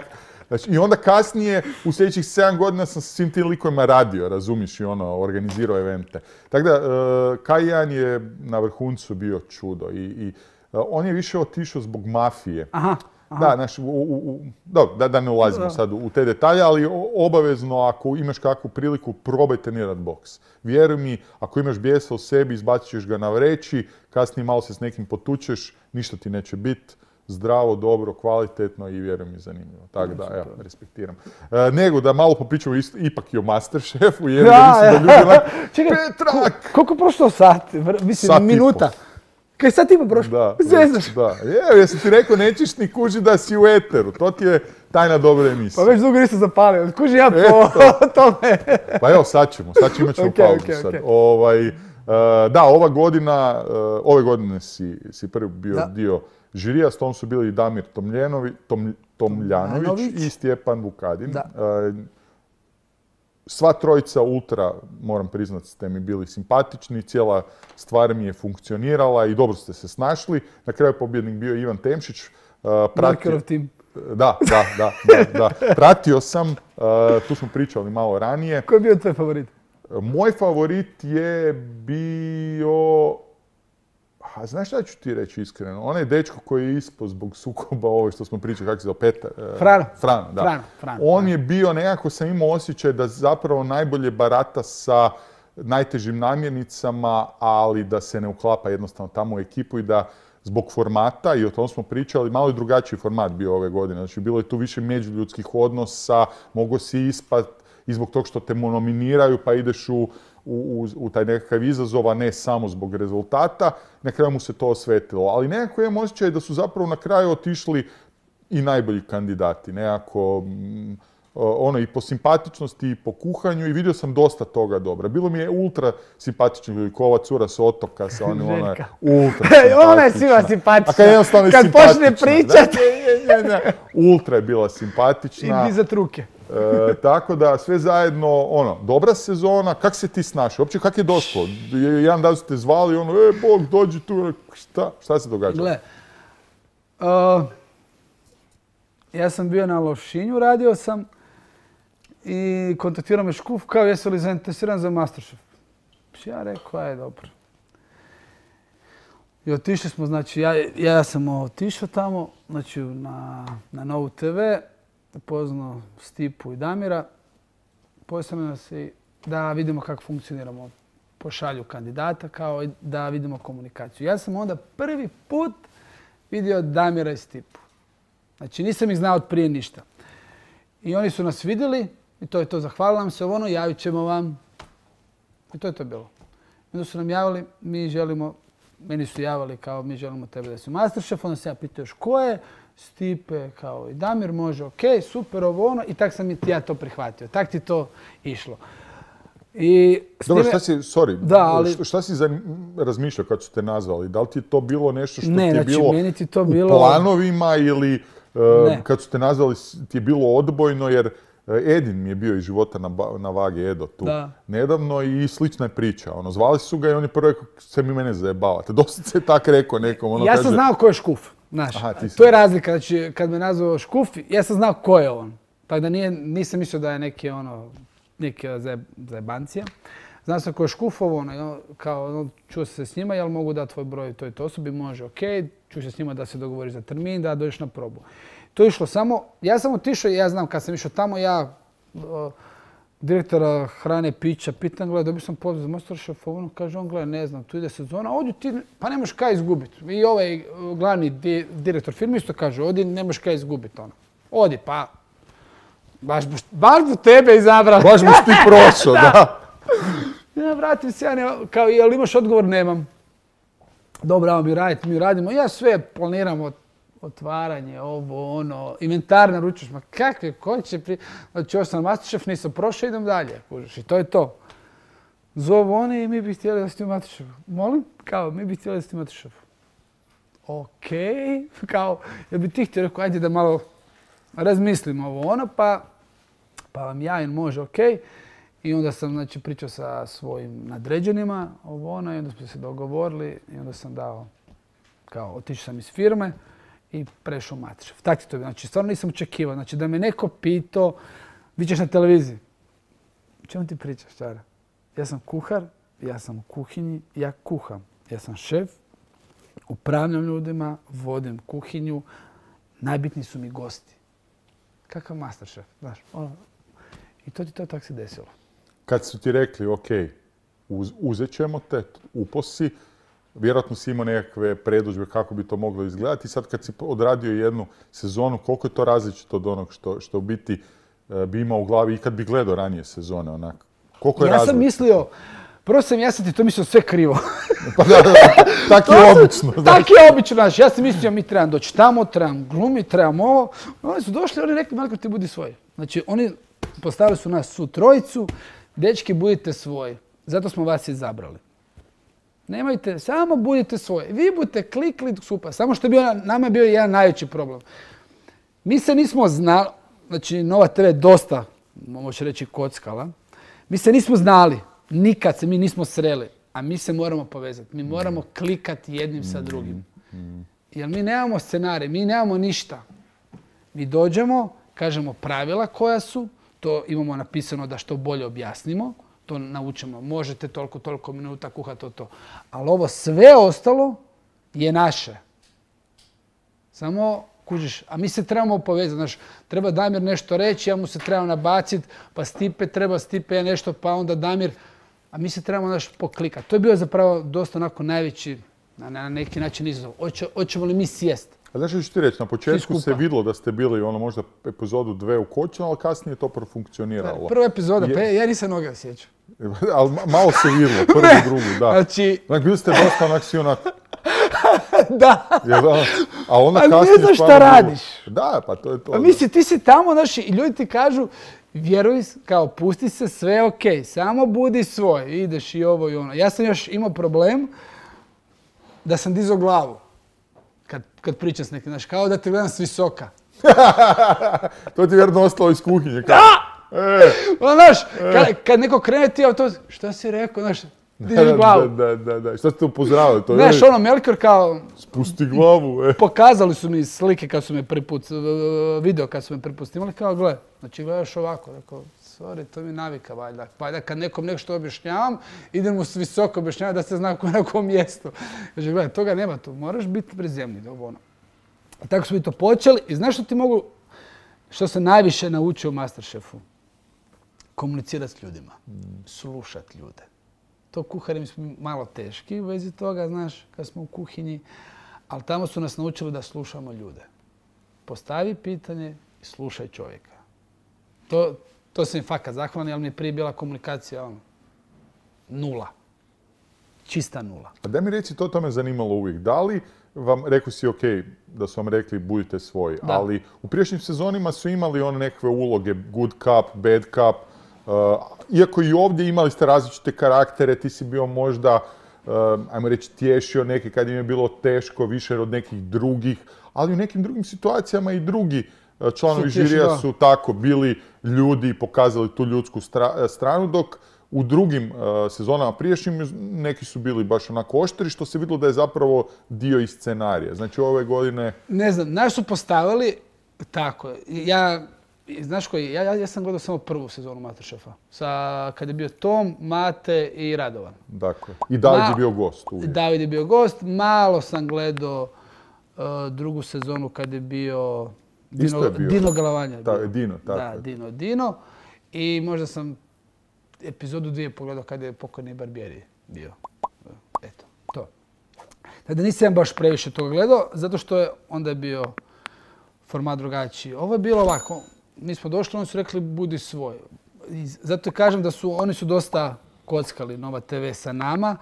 Znači, i onda kasnije, u sljedećih sedam godina sam sa svim tim likovima radio, razumiš, i ono, organizirao evente. Tako da, uh, K jedan je na vrhuncu bio čudo i, i uh, on je više otišao zbog mafije. Aha. Da, znači, u, u, u, dobro, da, da ne ulazimo Da. sad u, u te detalje, ali o- obavezno ako imaš kakvu priliku, probaj trenirat boks. Vjeruj mi, ako imaš bijesa u sebi, izbacit ćeš ga na vreći, kasnije malo se s nekim potučeš, ništa ti neće biti. Zdravo, dobro, kvalitetno i vjerujem mi zanimljivo. Tako da, evo, respektiram. E, nego da malo popričamo isto, ipak i o Masterchefu, jer Da, mislim da ljudi onak, Čekaj, Petrak! koliko je prošlo sati? Vr- Mislim, Sat i minuta. Kaj sat i po prošlo? Da, Zezaš. da. Evo, jesam ti rekao, nećeš ni kuži da si u eteru. To ti je tajna dobre Pa emisije. već dugo nisam zapalio. Kuži ja po tome. Pa evo, sad ćemo, sad ćemo imat ćemo Ok, pauzu ok, sad. ok. Ovaj, e, da, ova godina, e, ove godine si, si prvi bio Da. dio žirija, s tom su bili i Damir Tomljenovi, Tom, Tomljanović Tomljanović. i Stjepan Vukadin. Da. E, sva trojica ultra, moram priznati, ste mi bili simpatični, cijela stvar mi je funkcionirala i dobro ste se snašli. Na kraju pobjednik bio Ivan Temšić. e, pratio- Markerov tim. Da, da, da, da, da. Pratio sam, e, tu smo pričali malo ranije. Ko je bio tvoj favorit? Moj favorit je bio... A znaš šta ću ti reći iskreno? Onaj dečko koji je ispao zbog sukoba, ovo što smo pričali, kako se zove, Petar? e, Frano. Frano, da. Frano, Frano, On da. je bio, nekako sam imao osjećaj da zapravo najbolje barata sa najtežim namjernicama, ali da se ne uklapa jednostavno tamo u ekipu i da zbog formata, i o tom smo pričali, malo je drugačiji format bio ove godine. Znači, bilo je tu više međuljudskih odnosa, mogo si ispat i zbog tog što te nominiraju, pa ideš u, u, u taj nekakav izazov, a ne samo zbog rezultata. Na kraju mu se to osvetilo. Ali nekako imam osjećaj da su zapravo na kraju otišli i najbolji kandidati. Nekako, mm, ono, i po simpatičnosti i po kuhanju, i vidio sam dosta toga dobra. Bilo mi je ultra simpatični ljudi, ko ova cura s otoka, sa onim, ona je Željka. ultra Ona je svima simpatična. simpatična. A kad jednostavno je Kad simpatična. počne pričat. Da, ne, ne, ne. Ultra je bila I simpatična. dizat ruke. E, tako da sve zajedno, ono, dobra sezona. Kak se ti snašao? Uopće kak je došlo? Jedan dan su te zvali, ono, e, Bog, dođi tu. Šta? Šta se događa? Gle, uh, ja sam bio na Lošinju, radio sam i kontaktirao me Škuf kao jesu li zainteresiran za Masterchef. Ja rekao, aj dobro. I otišli smo, znači ja, ja sam otišao tamo, znači na, na Novu te ve, upoznao Stipu i Damira, postavljamo nas i da vidimo kako funkcioniramo, pošalju kandidata kao i da vidimo komunikaciju. Ja sam onda prvi put vidio Damira i Stipu. Znači nisam ih znao od prije ništa. I oni su nas vidjeli i to je to, zahvalila nam se ono, javit ćemo vam. I to je to bilo. I onda su nam javili, mi želimo, meni su javili kao mi želimo tebe da si u Masterchef, onda se ja pitao još ko je, Stipe kao i Damir, može, ok, super, ovo ono, i tak sam i ja to prihvatio. Tak ti to išlo. I s Dobro, time- šta si, sorry, Da, ali- šta, šta si za, razmišljao kad su te nazvali? Da li ti je to bilo nešto što Ne, ti je znači, bilo meni ti to u bilo- planovima ili e, Ne. kad su te nazvali s- ti je bilo odbojno, jer e, Edin mi je bio iz života na, ba- na vagi, Edo tu Da. nedavno i slična je priča. Ono, zvali su ga i on je prvo rekao, se mi mene zajebavate. Dosta se tak rekao nekom. Ono, Ja kaže, sam znao ko je Škuf, znaš. Aha, ti si- To je razlika, znači kad me nazvao Škuf, ja sam znao ko je on. Tako da nije, nisam mislio da je neki ono, neki zaj- zajebancija. Znao sam ko je Škufov, ono, i on- kao, ono, čuo sam se s njima, jel mogu dati tvoj broj toj toj osobi, može, ok, čuo se s njima da se dogovori za termin, da dođeš na probu. To je išlo samo, ja sam otišao i ja znam kad sam išao tamo, ja uh, direktora hrane, pića, pitan, gledaj, dobio sam poziv za Masterchef, ono kaže, on gleda, ne znam, tu ide sezona, odi ti, pa nemaš kaj izgubiti. I ovaj glavni di, direktor firme isto kaže, odi, nemaš kaj izgubiti, ono. Odi, pa, baš bu, baš bu tebe izabrali. Baš buš ti prošao, da. Ja vratim se, ja ne, kao, jel imaš odgovor? Nemam. Dobro, ajmo mi raditi, mi radimo, ja sve planiramo, otvaranje, ovo, ono, inventar naručuješ, ma kakve, ko će pri... Znači, ovo sam Masterchef, nisam prošao, idem dalje, kužiš, i to je to. Zovu oni i mi bi htjeli da ste u Masterchefu. Molim? Kao, mi bi htjeli da ste u Masterchefu. Okej, kao, ja bi ti htio rekao, ajde da malo razmislimo ovo, ono, pa, pa vam javim, može, okej. I onda sam, znači, pričao sa svojim nadređenima, ovo, ono, i onda smo se dogovorili i onda sam dao, kao, otišao sam iz firme i prešao u Masterchef. Tako ti to bi, znači, stvarno nisam očekivao. Znači, da me neko pitao, vi ćeš na televiziji. O čemu ti pričaš, Čara? Ja sam kuhar, ja sam u kuhinji, ja kuham. Ja sam šef, upravljam ljudima, vodim kuhinju, najbitniji su mi gosti. Kakav Masterchef, znaš, ono. I to ti to tako se desilo. Kad su ti rekli, ok, uz, uzet ćemo te, uposi, vjerojatno si imao nekakve predodžbe kako bi to moglo izgledati. I sad kad si odradio jednu sezonu, koliko je to različito od onog što, što u biti e, bi imao u glavi i kad bi gledao ranije sezone, onak? Koliko je ja različito? sam mislio, prvo sam ja sam ti to mislio sve krivo. Pa da, da, da, tak je obično. Tak je obično, znaš, ja sam mislio mi trebam doći tamo, trebam glumiti, trebam ovo. Oni su došli, oni rekli, Marko, ti budi svoj. Znači, oni postavili su nas su trojicu, dečki, budite svoji. Zato smo vas izabrali. Nemojte, samo budite svoji. Vi budete klikli, super. Samo što je bio, nama je bio jedan najveći problem. Mi se nismo znali, znači Nova te ve dosta, može reći, kockala. Mi se nismo znali, nikad se mi nismo sreli, a mi se moramo povezati. Mi moramo klikati jednim sa drugim. Jer mi nemamo scenarij, mi nemamo ništa. Mi dođemo, kažemo pravila koja su, to imamo napisano da što bolje objasnimo, to naučimo. Možete toliko, toliko minuta kuhati to, to. Ali ovo sve ostalo je naše. Samo kužiš, a mi se trebamo povezati. Znaš, treba Damir nešto reći, ja mu se trebam nabaciti, pa Stipe treba Stipe nešto, pa onda Damir. A mi se trebamo znaš, poklikati. To je bio zapravo dosta onako najveći, na, na neki način izazov. Hoće, hoćemo li mi sjest? A znaš što ću ti reći, na početku se vidjelo da ste bili ono možda epizodu dve u kočinu, ali kasnije je to profunkcioniralo. Prva epizoda, je... pa ja nisam noga sjećao. Ali malo se vidjelo, prvu, drugu, da. Znači... Onak, bili ste dosta onak si onak... da. Ja, da. A onda ali kasnije... ne znaš šta radiš. Da, pa to je to. A misli, ti si tamo, znaš, i ljudi ti kažu, vjeruj, kao, pusti se, sve okej, okay, samo budi svoj, ideš i ovo i ono. Ja sam još imao problem da sam dizao glavu. Kad, kad pričam s nekim, znaš, kao da te gledam s visoka. To ti je vjerno ostalo iz kuhinje. Kao. Da! E. Ono, znaš, e. kad, kad neko krene ti, to, što si rekao, znaš, dižeš glavu. Da, da, da, da. Što ste upozoravali? To znaš, ono, Melkor kao... Spusti glavu, e. Pokazali su mi slike kad su me prvi put, video kad su me prvi put snimali, kao, gle, znači gledaš ovako, rekao, sorry, to mi navika, valjda. Valjda kad nekom nešto objašnjavam, idem mu s visoko objašnjavati da se zna na kom mjestu. Kaže, gledaj, toga nema tu, moraš biti prizemlji, ono. I tako smo mi to počeli i znaš što ti mogu, što sam najviše naučio u Masterchefu? Komunicirati s ljudima, slušati ljude. To kuhari mi smo malo teški u vezi toga, znaš, kad smo u kuhinji, ali tamo su nas naučili da slušamo ljude. Postavi pitanje i slušaj čovjeka. To, to sam im fakat zahvalan, jer mi je prije bila komunikacija ono, nula. Čista nula. A da mi reci, to to me zanimalo uvijek. Da li vam, rekao si ok, da su vam rekli budite svoji, da. Ali u prijašnjim sezonima su imali one nekakve uloge, good cup, bad cup, uh, iako i ovdje imali ste različite karaktere, ti si bio možda, uh, ajmo reći, tješio neke kad im je bilo teško, više od nekih drugih, ali u nekim drugim situacijama i drugi uh, članovi žirija su tako bili ljudi i pokazali tu ljudsku stra- stranu, dok u drugim uh, sezonama prijašnjim neki su bili baš onako oštri, što se vidjelo da je zapravo dio iz scenarija. Znači ove godine... Ne znam, naš su postavili tako. Ja, znaš koji, ja, ja sam gledao samo prvu sezonu Masterchefa. Sa, kad je bio Tom, Mate i Radovan. Dakle. I David Ma, je bio gost uvijek. David je bio gost. Malo sam gledao uh, drugu sezonu kad je bio Isto je bio. Dino Galavanja je Ta, bio. Dino, tako Da, je. Dino, Dino. I možda sam epizodu dvije pogledao kada je pokojni Barbieri bio. Eto, to. Znači nisam baš previše toga gledao, zato što je onda je bio format drugačiji. Ovo je bilo ovako, mi smo došli, oni su rekli budi svoj. I zato kažem da su, oni su dosta kockali Nova te ve sa nama.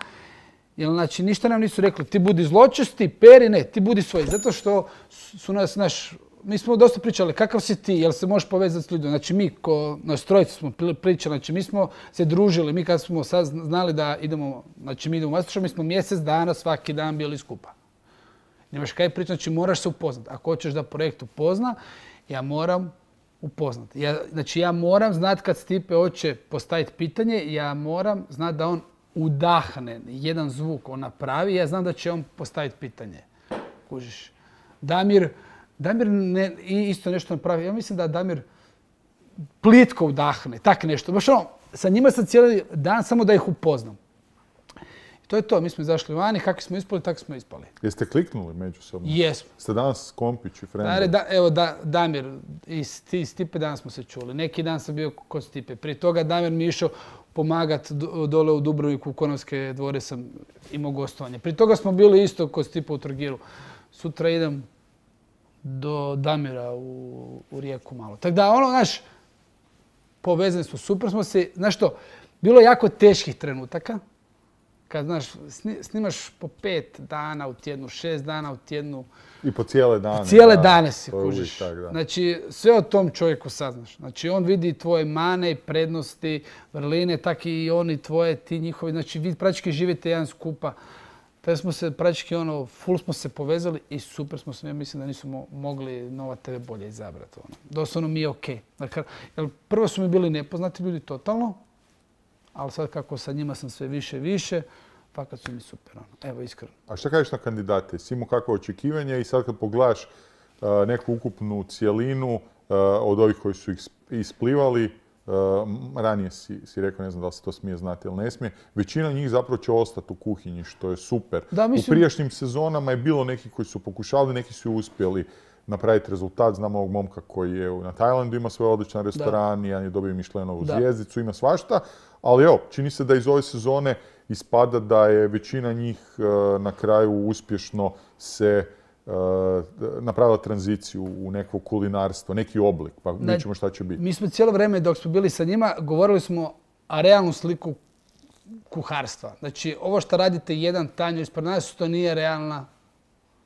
Jer znači ništa nam nisu rekli ti budi zločesti, Peri ne, ti budi svoj. Zato što su nas, naš, mi smo dosta pričali kakav si ti, jel se možeš povezati s ljudima. Znači mi, ko nas trojica smo pričali, znači mi smo se družili, mi kad smo sad znali da idemo, znači mi idemo u Masterchef, mi smo mjesec dana svaki dan bili skupa. Nemaš kaj pričati, znači moraš se upoznati. Ako hoćeš da projekt upozna, ja moram upoznati. Ja, znači ja moram znati kad Stipe hoće postaviti pitanje, ja moram znati da on udahne jedan zvuk, on napravi, ja znam da će on postaviti pitanje. Kužiš. Damir, Damir ne, isto nešto napravi. Ja mislim da Damir plitko udahne, tak nešto. Baš ono, sa njima sam cijeli dan samo da ih upoznam. I to je to, mi smo izašli vani, kako smo ispali, tako smo ispali. Jeste kliknuli međusobno? Jesmo. Ste danas kompići, frendovi? Da, evo, da, Damir i Stipe danas smo se čuli. Neki dan sam bio kod Stipe. Prije toga Damir mi je išao pomagat dole u Dubrovniku, u Konovske dvore sam imao gostovanje. Prije toga smo bili isto kod Stipe u Trogiru. Sutra idem do Damira u, u Rijeku malo. Tako da, ono, znaš, povezani smo, super smo se. Znaš što, bilo je jako teških trenutaka. Kad, znaš, snimaš po pet dana u tjednu, šest dana u tjednu. I po cijele dane. Cijele da, dane si to je uvijek kužiš. tak, da. Znači, sve o tom čovjeku saznaš. Znači, on vidi tvoje mane i prednosti, vrline, tak i oni tvoje, ti njihovi. Znači, vi praktički živite jedan skupa. Tada smo se praktički, ono, full smo se povezali i super smo se, ja mislim da nisu mo- mogli Nova te ve bolje izabrati. Ono. Doslovno mi je okej. Dakle, jer prvo su mi bili nepoznati ljudi totalno, ali sad kako sa njima sam sve više i više, fakat su mi super. Ono. Evo, iskreno. A šta kažeš na kandidate? Si imao kakvo očekivanje i sad kad pogledaš uh, neku ukupnu cijelinu uh, od ovih koji su ih isplivali, uh, ranije si, si rekao, ne znam da li se to smije znati ili ne smije, većina njih zapravo će ostati u kuhinji, što je super. Da, mislim... U prijašnjim sezonama je bilo neki koji su pokušali, neki su uspjeli napraviti rezultat. Znam ovog momka koji je na Tajlandu, ima svoj odličan restoran, jedan je dobio Mišlenovu zvjezdicu, ima svašta. Ali evo, čini se da iz ove sezone ispada da je većina njih uh, na kraju uspješno se uh, napravila tranziciju u neko kulinarstvo, neki oblik, pa vidjet ćemo šta će biti. Mi smo cijelo vrijeme dok smo bili sa njima govorili smo o realnu sliku kuharstva. Znači, ovo što radite jedan tanjur ispred nas, to nije realna.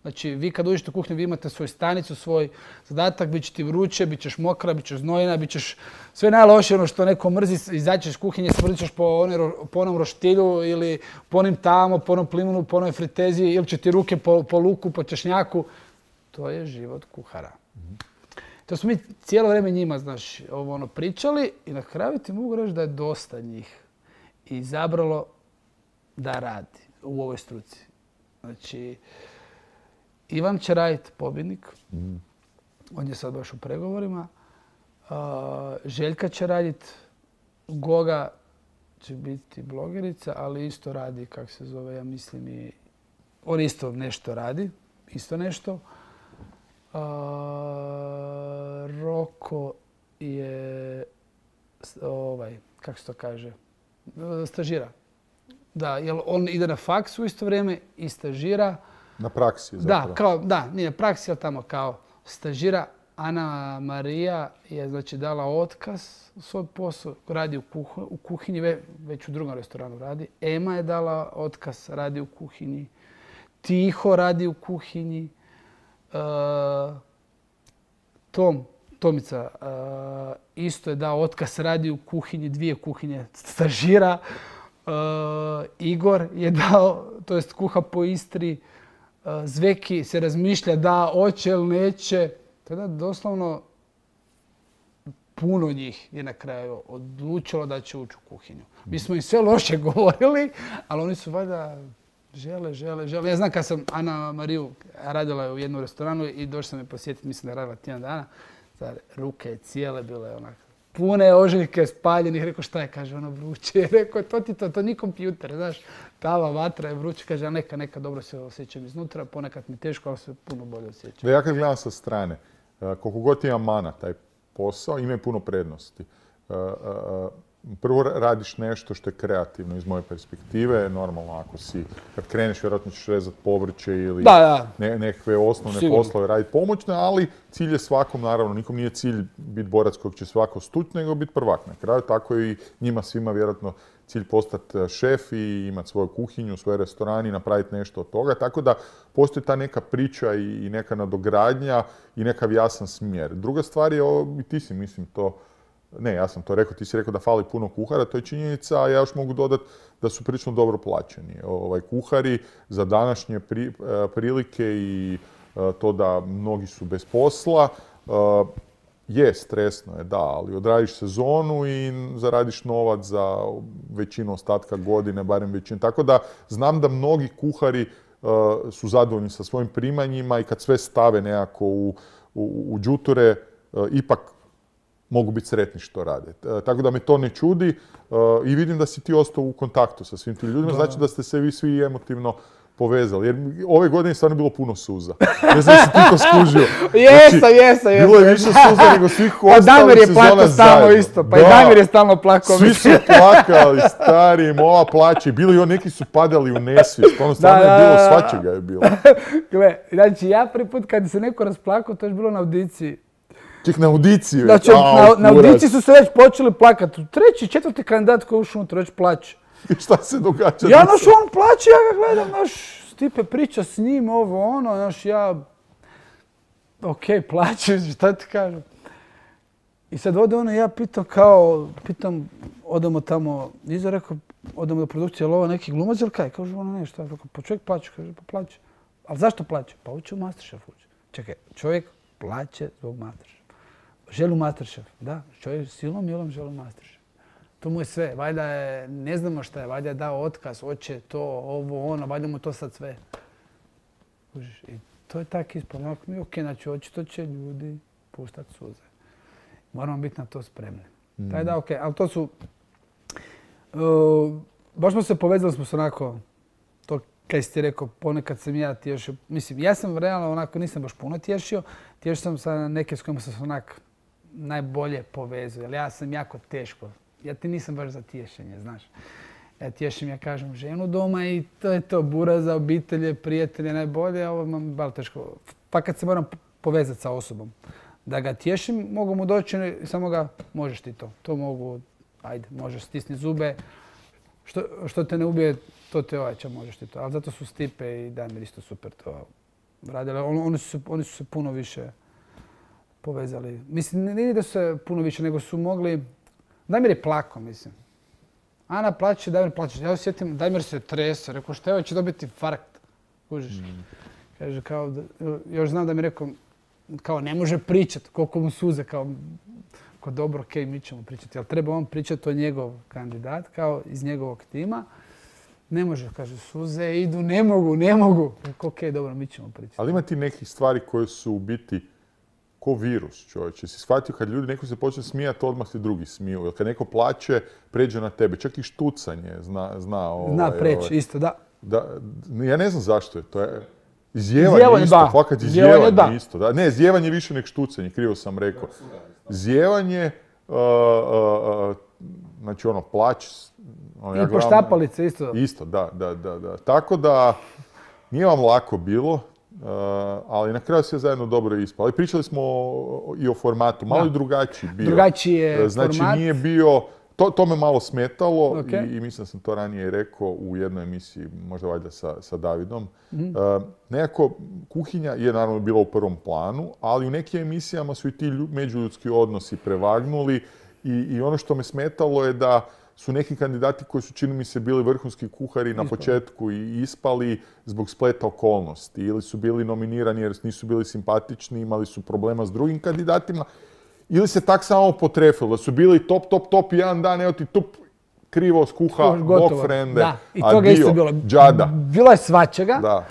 Znači, vi kad uđete u kuhnju, vi imate svoju stanicu, svoj zadatak, bit će ti vruće, bit ćeš mokra, bit ćeš znojena, bit ćeš sve najlošije ono što neko mrzi, izaćeš iz kuhinje, smrdit ćeš po, one, po onom roštilju ili po onim tamo, po onom plimunu, po onoj fritezi ili će ti ruke po, po luku, po češnjaku. To je život kuhara. Mm-hmm. To smo mi cijelo vrijeme njima, znaš, ovo ono pričali i na kraju ti mogu reći da je dosta njih izabralo da radi u ovoj struci. Znači, Ivan će raditi pobjednik. Mm. On je sad baš u pregovorima. Uh, Željka će raditi. Goga će biti blogerica, ali isto radi, kako se zove, ja mislim i... On isto nešto radi. Isto nešto. Uh, Roko je... Ovaj, kako se to kaže? Stažira. Da, jer on ide na faks u isto vrijeme i stažira. Na praksi zapravo. Da, kao, da, nije praksi, ali tamo kao stažira. Ana Marija je znači dala otkaz u svoj posao, radi u, kuh, u kuhinji, već u drugom restoranu radi. Ema je dala otkaz, radi u kuhinji. Tiho radi u kuhinji. E, Tom, Tomica e, isto je dao otkaz, radi u kuhinji, dvije kuhinje, stažira. E, Igor je dao, to jest kuha po Istri. Zveki se razmišlja da hoće ili neće. Tada doslovno puno njih je na kraju odlučilo da će ući u kuhinju. Mi smo im sve loše govorili, ali oni su valjda žele, žele, žele. Ja znam kad sam Ana Mariju radila u jednom restoranu i došla sam je posjetiti, mislim da je radila tjedan dana. Zar, ruke cijele bile onak pune ožiljke spaljenih. Rekao šta je, kaže ono vruće. Rekao to ti to, to nije kompjuter, znaš. Tava vatra je vruće, kaže a neka, neka dobro se osjećam iznutra, ponekad mi teško, ali se puno bolje osjećam. Ja kad gledam sa strane, koliko god ima mana taj posao, ima puno prednosti. Prvo radiš nešto što je kreativno iz moje perspektive, normalno ako si, kad kreneš vjerojatno ćeš rezati povrće ili da, da. Ne, nekakve osnovne Sigurno. poslove raditi pomoćne, ali cilj je svakom, naravno, nikom nije cilj biti borac kojeg će svako stući, nego biti prvak na kraju, tako i njima svima vjerojatno cilj postati šef i imati svoju kuhinju, svoj restoran i napraviti nešto od toga, tako da postoji ta neka priča i, i neka nadogradnja i nekav jasan smjer. Druga stvar je, ovo, i ti si mislim to, ne, ja sam to rekao, ti si rekao da fali puno kuhara, to je činjenica, a ja još mogu dodati da su prilično dobro plaćeni. Ovaj, kuhari za današnje pri, prilike i to da mnogi su bez posla, je stresno je, da, ali odradiš sezonu i zaradiš novac za većinu ostatka godine, barem većinu. Tako da znam da mnogi kuhari su zadovoljni sa svojim primanjima i kad sve stave nekako u, u, u đuture, ipak mogu biti sretni što rade. Tako da me to ne čudi i vidim da si ti ostao u kontaktu sa svim tim ljudima, znači da ste se vi svi emotivno povezali. Jer ove godine je stvarno bilo puno suza. Ne znam si ti to skužio. Jesam, jesam, jesam. Bilo je više suza nego svih ostalih sezona zajedno. Pa Damir je plakao stalno isto. Pa i Damir je stalno plakao. Svi su plakali, stari, ova plaća. Bili i neki su padali u nesvijest. Ono stvarno je bilo, svačega je bilo. Gle, znači ja prvi put kad se neko rasplakao, to je bilo na audiciji. Ček, na audiciji već? Znači, na, na audiciji su se već počeli plakati. Treći, četvrti kandidat koji je ušao unutra već plaće. I šta se događa? Ja, naš, on plaće, ja ga gledam, naš, Stipe priča s njim, ovo, ono, naš, ja... Okej, okay, plaće, šta ti kažem? I sad ode ono, ja pitam kao, pitam, odemo tamo, iza rekao, odemo do produkcije, ali ovo neki glumac ili kaj? Kažu, ono ne, šta? Rekao, pa čovjek plaće, kaže, pa plaće. Ali zašto plaće? Pa uče u Masterchef uče. Čekaj, čovjek plaće zbog Masterchef. Želi u Masterchef, da, čovjek silom milom želi u Masterchef. To mu je sve, valjda je, ne znamo šta je, valjda je dao otkaz, hoće to, ovo, ono, valjda mu to sad sve. I to je tak ispod, onako mi, okej, znači očito će ljudi puštati suze. Moramo biti na to spremni. Mm. Taj da, okej, ali to su, uh, baš smo se povezali, smo se onako, to kaj si ti rekao, ponekad sam ja tješio, mislim, ja sam realno onako nisam baš puno tješio, tješio sam sa neke s kojima sam se onak najbolje povezao, jer ja sam jako teško. Ja ti nisam baš za tješenje, znaš. Ja tješim, ja kažem, ženu doma i to je to, bura za obitelje, prijatelje, najbolje, a ovo imam balo teško. Pa kad se moram povezati sa osobom, da ga tješim, mogu mu doći i samo ga, možeš ti to. To mogu, ajde, možeš stisni zube. Što, što te ne ubije, to te ojača, možeš ti to. Ali zato su Stipe i Damir isto super to radili. On, oni, su, oni su se puno više povezali. Mislim, nije da su se puno više, nego su mogli... Damir je plako, mislim. Ana plaće, Damir plaće. Ja osjetim, Damir se trese. Rekao, šta je, će dobiti infarkt. Kužiš. Mm. Kaže, kao, još znam da mi rekao, kao, ne može pričati, koliko mu suze, kao, kao dobro, okej, okay, mi ćemo pričati. Ali treba on pričati o njegov kandidat, kao iz njegovog tima. Ne može, kaže, suze idu, ne mogu, ne mogu. Rekao, okej, okay, dobro, mi ćemo pričati. Ali ima ti nekih stvari koje su u biti ko virus, čovječe. Si shvatio kad ljudi, neko se počne smijati, odmah se drugi smiju. Jer kad neko plaće, pređe na tebe. Čak i štucanje zna... Zna, ovaj, zna preći, ovaj, isto, da. da. Ja ne znam zašto je to. Je, izjevanje, izjevanje isto, da. Fakat izjevanje, izjevanje isto. Da. Ne, izjevanje više nek štucanje, krivo sam rekao. Izjevanje, uh, uh, uh, znači ono, plać... Ono, I ja poštapalice isto. Isto, da, da, da, da. Tako da, nije vam lako bilo. Uh, ali na kraju sve zajedno dobro ispalo. Ali pričali smo o, i o formatu, malo i drugačiji bio. Drugačiji je znači, format. Nije bio, to, to me malo smetalo okay. i, i mislim da sam to ranije rekao u jednoj emisiji, možda valjda sa, sa Davidom. Mm-hmm. Uh, nekako, kuhinja je naravno bila u prvom planu, ali u nekim emisijama su i ti lju, međuljudski odnosi prevagnuli i, i ono što me smetalo je da su neki kandidati koji su, čini mi se, bili vrhunski kuhari na početku i ispali zbog spleta okolnosti. Ili su bili nominirani jer nisu bili simpatični, imali su problema s drugim kandidatima. Ili se tak samo potrefilo, da su bili top, top, top i jedan dan, evo ti tup, krivo skuha, bog frende, da. I toga isto bilo. Džada. Bilo je svačega. Da.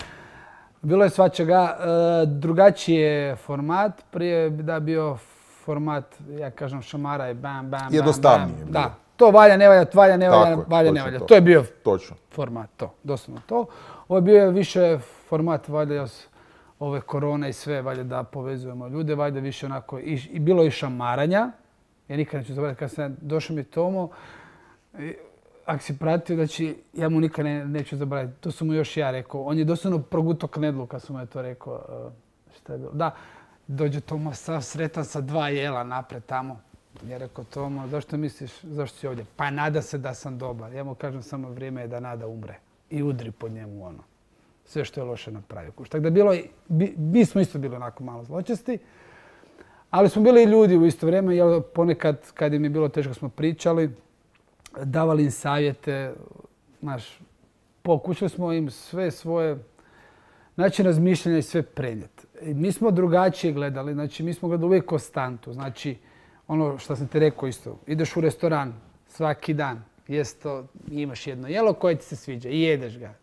Bilo je svačega. E, drugačiji je format. Prije da bio format, ja kažem, šamara i bam, bam, bam. Jednostavnije. Da. To valja, ne valja, valja, ne valja, je, valja, ne valja. To. to je bio točno. Format, to, doslovno to. Ovo je bio više format, valja, ove korone i sve, valjda da povezujemo ljude, valjda više onako, i, i bilo je šamaranja. Ja nikad neću zaboraviti, kad sam došao mi Tomo, ako si pratio, znači, ja mu nikad ne, neću zaboraviti. To sam mu još ja rekao. On je doslovno progutao knedlu kad sam mu je to rekao. Uh, šta je bilo? Da, dođe Tomo sav sretan sa dva jela napred tamo. Ja rekao, Tomo, zašto misliš, zašto si ovdje? Pa nada se da sam dobar. Ja mu kažem, samo vrijeme je da nada umre. I udri po njemu ono. Sve što je loše napravio. Tako da bilo, bi, mi smo isto bili onako malo zločesti. Ali smo bili i ljudi u isto vrijeme, jer ponekad kad im je bilo teško smo pričali, davali im savjete, znaš, pokušali smo im sve svoje način razmišljanja i sve prenijeti. Mi smo drugačije gledali, znači mi smo gledali uvijek konstantu, znači ono što sam ti rekao isto, ideš u restoran svaki dan, jesto, imaš jedno jelo koje ti se sviđa i jedeš ga.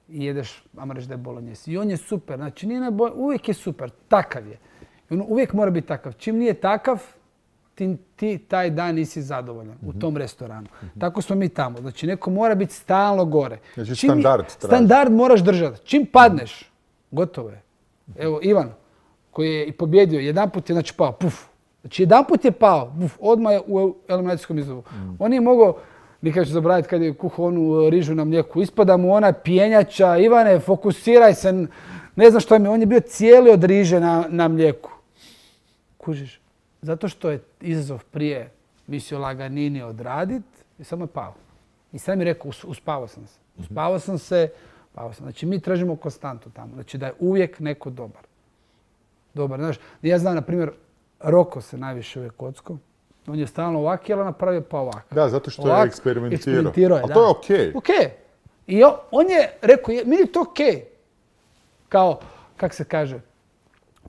I jedeš, ajmo reći da je bolognese. I on je super, znači nije najbolj, uvijek je super, takav je. I on uvijek mora biti takav. Čim nije takav, ti, ti taj dan nisi zadovoljan mm-hmm. u tom restoranu. Mm-hmm. Tako smo mi tamo. Znači neko mora biti stalno gore. Znači Čim standard je, standard moraš držati. Čim padneš, gotovo je. Evo Ivan, koji je i pobjedio, jedanput je znači pao, puf. Znači jedanput je pao, puf, odmah je u eliminacijskom izlovu. Mm. On je mogao, nikad ću zaboraviti kad je kuhao onu rižu na mlijeku, ispada mu ona pijenjača, Ivane, fokusiraj se, ne znam što mi, on je bio cijeli od riže na, na mlijeku. Kužiš? Zato što je izazov prije mislio laganini odradit i samo je pao. I sam mi rekao, us, uspavao sam se. Uspavao sam se, pao sam. Znači mi tražimo konstantu tamo. Znači da je uvijek neko dobar. Dobar, znaš, ja znam, na primjer, Roko se najviše uvijek kocko. On je stalno ovak, jel napravio pa ovak. Da, zato što ovak, je eksperimentirao. eksperimentirao je, ali to je okej. Okay. Okej. Okay. I on, on je rekao, meni je to okej. Okay. Kao, kak se kaže,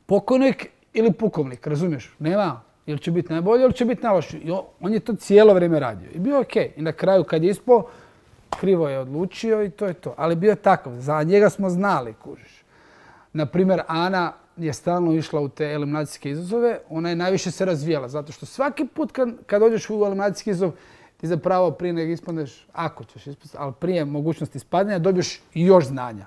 pokojnik ili pukovnik, razumiješ? Nema, ili će biti najbolji, ili će biti najlošiji. I on, on je to cijelo vrijeme radio. I bio je okej. Okay. I na kraju kad je ispao, krivo je odlučio i to je to. Ali bio je takav. Za njega smo znali, kužiš. Naprimjer, Ana je stalno išla u te eliminacijske izazove. Ona je najviše se razvijala. Zato što svaki put kad, kad dođeš u eliminacijski izazov, ti zapravo prije nego ispadneš, ako ćeš ispasti, ali prije mogućnosti ispadanja, dobiješ još znanja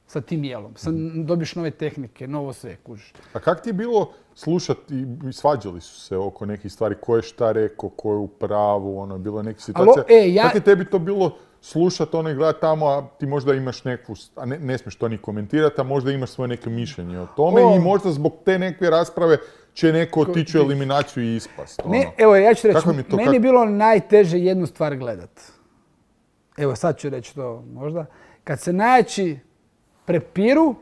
sa tim jelom. Sad dobiješ nove tehnike, novo sve, kužiš. A kak ti je bilo slušati, svađali su se oko nekih stvari, ko je šta rekao, ko je u pravu, ono, bilo je neka situacija. Alo, e, ja... Kak je tebi to bilo slušati ono i gledati tamo, a ti možda imaš neku, a ne, ne smiješ to ni komentirati, a možda imaš svoje neke mišljenje o tome o... i možda zbog te neke rasprave će neko otići u eliminaciju i ispast. Ono. Ne, evo, ja ću reći, mi to, meni je kak... bilo najteže jednu stvar gledat. Evo, sad ću reći to možda. Kad se najjači prepiru,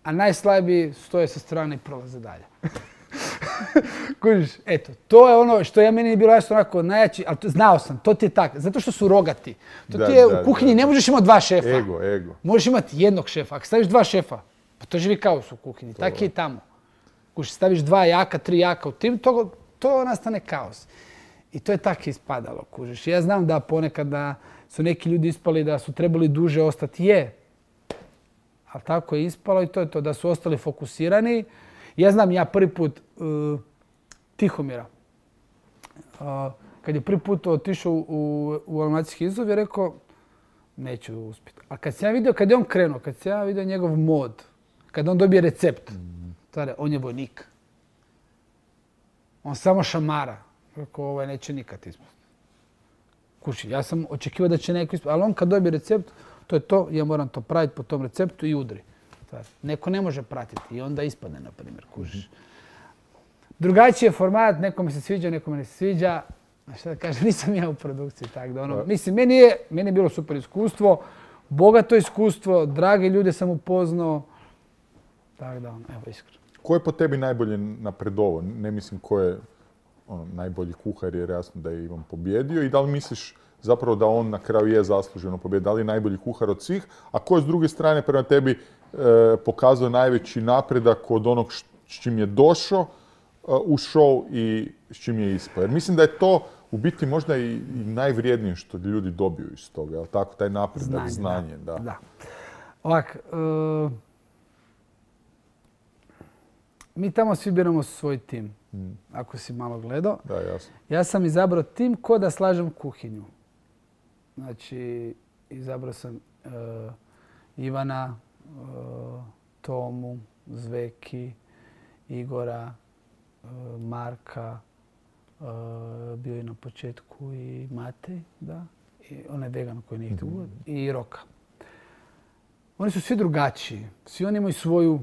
a najslabiji stoje sa strane i prolaze dalje. Kužiš, eto, to je ono što ja meni je bilo jasno onako najjači, ali to, znao sam, to ti je tako, zato što su rogati. To da, ti je da, u kuhinji, da, ne možeš imati dva šefa. Ego, ego. Možeš imati jednog šefa. Ako staviš dva šefa, pa to živi kaos u kuhinji. Tako je i tamo. Kužiš, staviš dva jaka, tri jaka u tim, to, to nastane kaos. I to je tako ispadalo, kužiš. Ja znam da ponekad da su neki ljudi ispali da su trebali duže ostati. Je. Ali tako je ispalo i to je to, da su ostali fokusirani. Ja znam, ja prvi put uh, Tihomira, uh, kad je prvi put otišao u, u eliminacijski izazov, je rekao, neću uspjeti. A kad sam ja vidio, kad je on krenuo, kad sam ja vidio njegov mod, kad on dobije recept, mm. tada, on je vojnik. On samo šamara. Rekao, ovaj neće nikad ispasti. Kuši, ja sam očekivao da će neko ispasti, ali on kad dobije recept, to je to, ja moram to praviti po tom receptu i udri. Neko ne može pratiti i onda ispadne, na primjer, kužiš. Drugačiji je format, nekome se sviđa, nekome ne se sviđa. A šta da kažem, nisam ja u produkciji, tako da ono, mislim, meni je, meni je bilo super iskustvo, bogato iskustvo, drage ljude sam upoznao, tako da ono, evo, iskreno. Ko je po tebi najbolje napredovao? Ne mislim ko je ono, najbolji kuhar, jer jasno da je Ivan pobjedio i da li misliš zapravo da on na kraju je zasluženo pobjedio, da li je najbolji kuhar od svih, a ko je s druge strane prema tebi e, pokazao najveći napredak od onog s čim je došao e, u show i s čim je ispao. Jer mislim da je to u biti možda i, i najvrijednije što ljudi dobiju iz toga, jel tako, taj napredak, znanje. znanje da. da. da. Ovak, uh, mi tamo svi biramo svoj tim, hmm. ako si malo gledao. Da, jasno. Ja sam izabrao tim ko da slažem kuhinju. Znači, izabrao sam uh, Ivana, uh, Tomu, Zveki, Igora, Marka, bio je na početku i Matej, da, i onaj vegan koji nije htio i Roka. Oni su svi drugačiji, svi oni imaju svoju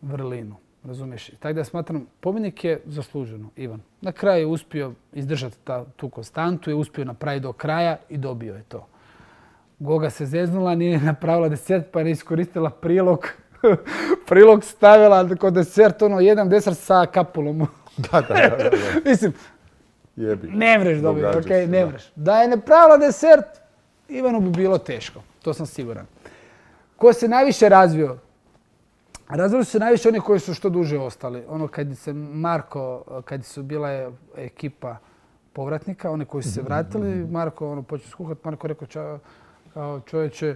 vrlinu, razumiješ? Tako da smatram, pobjednik je zasluženo, Ivan. Na kraju je uspio izdržati ta, tu konstantu, je uspio napraviti do kraja i dobio je to. Goga se zeznula, nije napravila desert pa je iskoristila prilog. Prilog stavila kod desert, ono, jedan desert sa kapulom. Da, da, da, da. Mislim, Jebi. ne mreš dobiti, Događa okej, se, ne da. mreš. Da je napravila desert, Ivanu bi bilo teško, to sam siguran. Ko se najviše razvio? Razvili su se najviše oni koji su što duže ostali. Ono kad se Marko, kad su bila ekipa povratnika, oni koji su se vratili, Marko ono počeo skuhati, Marko rekao ča, kao čovječe,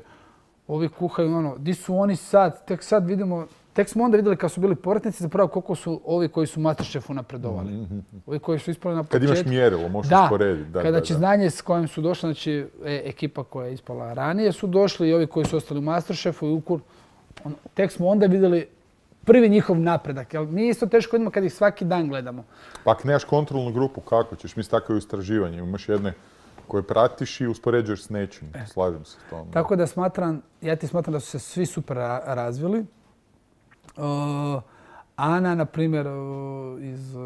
ovi kuhaju ono, di su oni sad, tek sad vidimo, tek smo onda vidjeli kad su bili povratnici zapravo koliko su ovi koji su Masterchefu napredovali. Ovi koji su ispali na početku. Kad imaš mjerilo, možeš da, usporediti. Da, kada da, će da. znanje s kojim su došli, znači e, ekipa koja je ispala ranije su došli i ovi koji su ostali u Masterchefu i Ukur, on, tek smo onda vidjeli prvi njihov napredak. Jel, nije isto teško vidimo kad ih svaki dan gledamo. Pa ako nemaš kontrolnu grupu, kako ćeš? Mislim, tako je u istraživanju. Imaš jedne koje pratiš i uspoređuješ s nečim. E. Slažem se s tom. Tako da smatram, ja ti smatram da su se svi super ra- razvili. Uh, Ana, na primjer, uh, iz uh,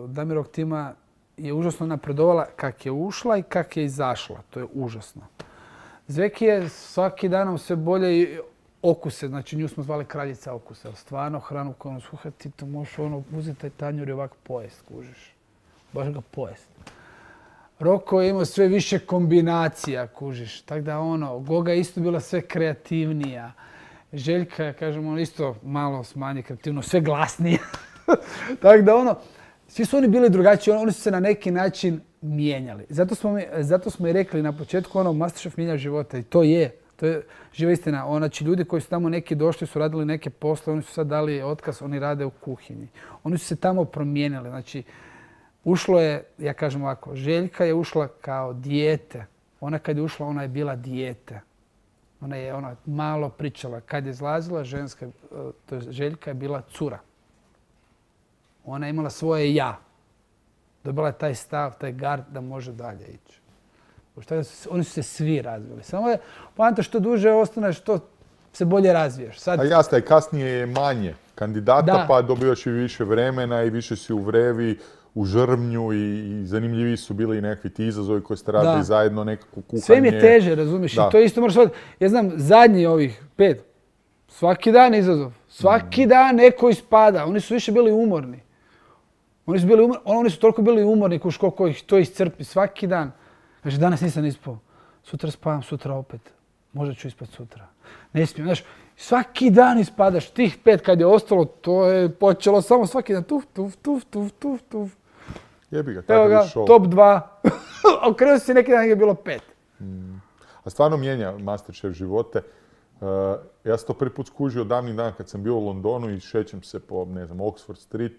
Damirovog tima je užasno napredovala kak je ušla i kak je izašla. To je užasno. Zveki je svaki dan sve bolje i okuse, znači nju smo zvali kraljica okusa. Stvarno hranu koju ono sluha, ti to možeš ono uzeti taj tanjur i ovako pojest, kužiš. Baš ga pojest. Roko je imao sve više kombinacija, kužiš. Tako da ono, Goga je isto bila sve kreativnija. Željka, kažemo, ono isto malo smanje kreativno, sve glasnije. Tako da ono, svi su oni bili drugačiji, oni su se na neki način mijenjali. Zato smo, mi, zato smo i rekli na početku, ono, Masterchef mijenja života i to je. To je živa istina. Znači, ljudi koji su tamo neki došli, su radili neke posle, oni su sad dali otkaz, oni rade u kuhinji. Oni su se tamo promijenili. Znači, ušlo je, ja kažem ovako, Željka je ušla kao dijete. Ona kad je ušla, ona je bila dijete. Ona je ona malo pričala. Kad je izlazila, ženska, to je Željka je bila cura. Ona je imala svoje ja. Dobila je taj stav, taj gard da može dalje ići. Oni su se svi razvili. Samo je poanta što duže ostaneš, što se bolje razviješ. Sad... A jasno, i kasnije je manje kandidata, Da. pa dobivaš i više vremena i više si u vrevi, u žrvnju i, i zanimljiviji su bili i nekakvi ti izazovi koji ste radili Da. zajedno, nekako kuhanje. Sve mi je teže, razumiješ? Da. I to isto moraš shvatiti. Ja znam, zadnji ovih pet, svaki dan izazov. Svaki dan neko ispada. Oni su više bili umorni. Oni su, bili umor... Oni su toliko bili umorni kuš koliko ih to iscrpi. Svaki dan. Kaže, danas nisam ispao. Sutra spavam, sutra opet. Možda ću ispati sutra. Ne smijem. Znaš, svaki dan ispadaš. Tih pet kad je ostalo, to je počelo samo svaki dan. Tuf, tuf, tuf, tuf, tuf, tuf. Jebi ga, Evo takav ga, je show. top dva. Okrenuo se neki dan je bilo pet. A stvarno mijenja Masterchef živote. Uh, ja sam to prvi put skužio davnih dana kad sam bio u Londonu i šećem se po, ne znam, Oxford Street,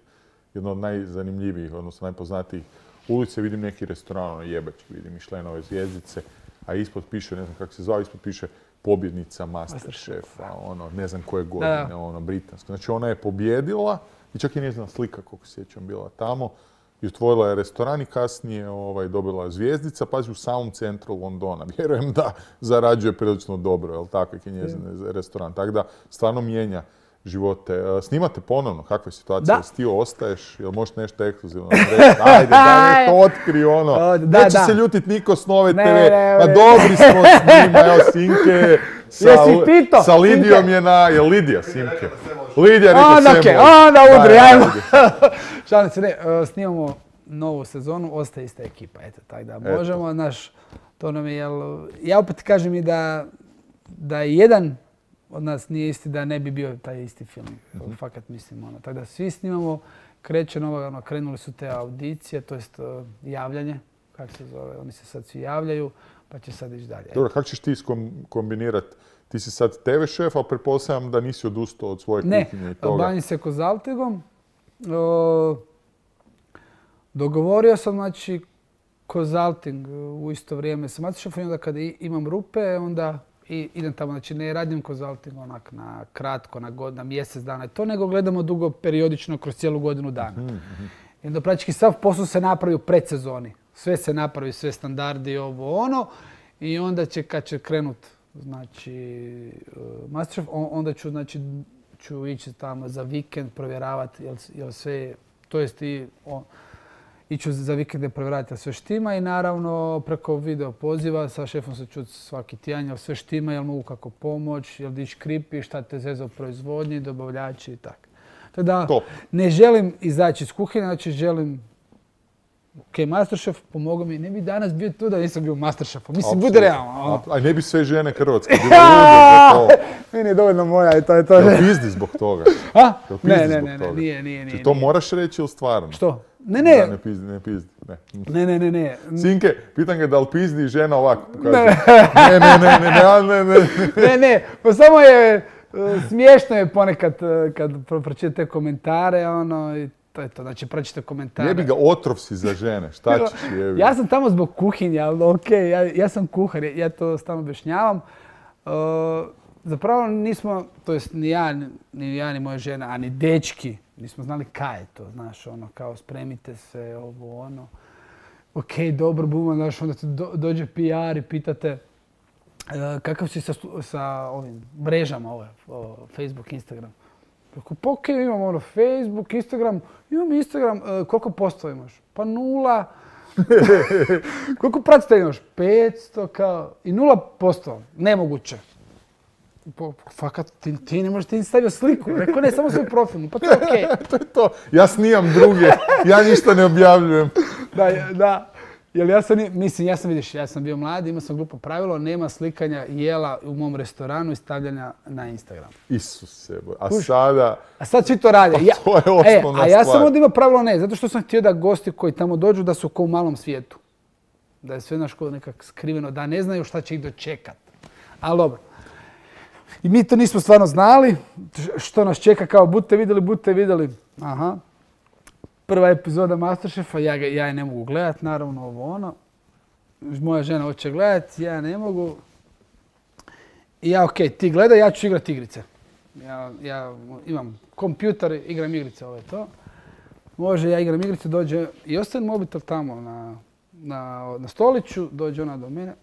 jedno od najzanimljivijih, odnosno najpoznatijih ulice, vidim neki restoran, ono jebački, vidim Michelinove zvjezdice, a ispod piše, ne znam kako se zvao, ispod piše pobjednica Masterchefa, ono, ne znam koje godine, Da. ono, britansko. Znači ona je pobjedila i čak i njezina slika, koliko se sjećam, bila tamo. I otvorila je restoran i kasnije ovaj, dobila zvjezdica, pazi, u samom centru Londona. Vjerujem da zarađuje prilično dobro, jel tako, je njezin restoran. Tako da stvarno mijenja živote. E, Snimate ponovno, kakva je situacija? Da. Jel ti ostaješ, jel možeš nešto ekskluzivno reći? Ajde, daj nešto otkri ono. O, da, Neće da. se ljutit niko s Nove Ne, te ve. ne, Ma ne. dobri smo s njima, evo Simke. Sa, Jesi pitao? sa Lidijom Simke? je na, je Lidija Simke? Lidija rekao Onda, sve okej, može. onda udri, Daj, ajmo. ajde. Šalim se, ne, e, snimamo novu sezonu, ostaje ista ekipa, eto, tako da Eto. možemo, znaš, to nam je, jel, ja opet kažem i da, da jedan od nas nije isti, da ne bi bio taj isti film, Mhm. fakat mislim, ono, tako da svi snimamo, kreće nova, ono, krenuli su te audicije, to jest e, javljanje, kako se zove, oni se sad svi javljaju, pa će sad ići dalje. Dobro, kako ćeš ti kombinirati? Ti si sad te ve šef, ali pretpostavljam da nisi odustao od svoje Ne, kuhinje i toga. bavim se kozaltigom. O, dogovorio sam, znači, kozalting u isto vrijeme sa Masterchefom i onda kad i- imam rupe, onda I idem tamo, znači ne radim konzulting onak na kratko, na, god, na mjesec dana i to, nego gledamo dugo periodično kroz cijelu godinu dana. Mm-hmm. I onda praktički sav posao se napravi u predsezoni. Sve se napravi, sve standardi, ovo ono. I onda će, kad će krenut, znači, uh, Masterchef, onda ću, znači, ću ići tamo za vikend provjeravati jel, jel sve, to jest i on, iću za vikende provjeravati jel sve štima i naravno preko video poziva sa šefom se čuti svaki tjedan jel sve štima, jel mogu kako pomoć, jel dić kripi, šta te zeza u proizvodnji, dobavljači i tako. Tako da ne želim izaći iz kuhinje, znači želim ok, Masterchef, pomogao mi. Ne bi danas bio tu da nisam bio u Masterchefu. Mislim, bude realno. A ne bi sve žene Hrvatske bile lude za to. Meni je dovoljno moja i to je to. Jel pizdi zbog toga? A? Ne, ne, ne, ne, nije, nije, nije. Ti to moraš reći ili stvarno? Što? Ne, ne. Da, ne pizdi, ne pizdi. Ne, ne, ne, ne. ne. Sinke, pitan ga da li pizdi žena ovako pokazuje. Ne, ne, ne, ne, ne, ne, ne. Ne, ne, pa samo je, smiješno je ponekad kad pročitate te komentare, ono, i to je to, znači pročite komentare. Jebi ga, otrov si za žene, šta ćeš jebi? Ja sam tamo zbog kuhinja, ali ok, ja, ja sam kuhar, ja to stalno objašnjavam. Uh, zapravo nismo, to jest ni ja, ni ja, ni moja žena, a ni dečki, nismo znali kaj je to, znaš, ono, kao spremite se, ovo, ono. Ok, dobro, buma, znaš, onda ti do, dođe P R i pitate uh, kakav si sa, sa ovim mrežama, ove, o, Facebook, Instagram. Rekao, pa ok, imam ono Facebook, Instagram, imam Instagram, uh, koliko posto imaš? Pa nula. Koliko pratitelja imaš? petsto, kao, i nula posto, nemoguće. Pa, fakat, ti, ti ne možeš, ti stavio sliku. Rekao, ne, samo svoj profil, pa to je okej. Okay. To je to, ja snijam druge, ja ništa ne objavljujem. Da, da. Jer ja sam, mislim, ja sam, vidiš, ja sam bio mlad, imao sam glupo pravilo, nema slikanja jela u mom restoranu i stavljanja na Instagram. Isuse, boj. A Uš, sada... A sad svi to rade. Pa ja, to je osnovna e, a ja stvar. sam onda imao pravilo ne, zato što sam htio da gosti koji tamo dođu da su ko u malom svijetu. Da je sve naš kod nekak skriveno, da ne znaju šta će ih dočekat. Ali dobro. I mi to nismo stvarno znali, što nas čeka, kao budite vidjeli, budite vidjeli. Aha. Prva epizoda Masterchefa, ja, ja je ne mogu gledat, naravno ovo ono. Moja žena hoće gledat, ja ne mogu. I ja, ok, ti gledaj, ja ću igrat igrice. Ja, ja imam kompjuter, igram igrice, ovo je to. Može, ja igram igrice, dođe i ostavim mobitel tamo na, na, na stoliću, dođe ona do mene.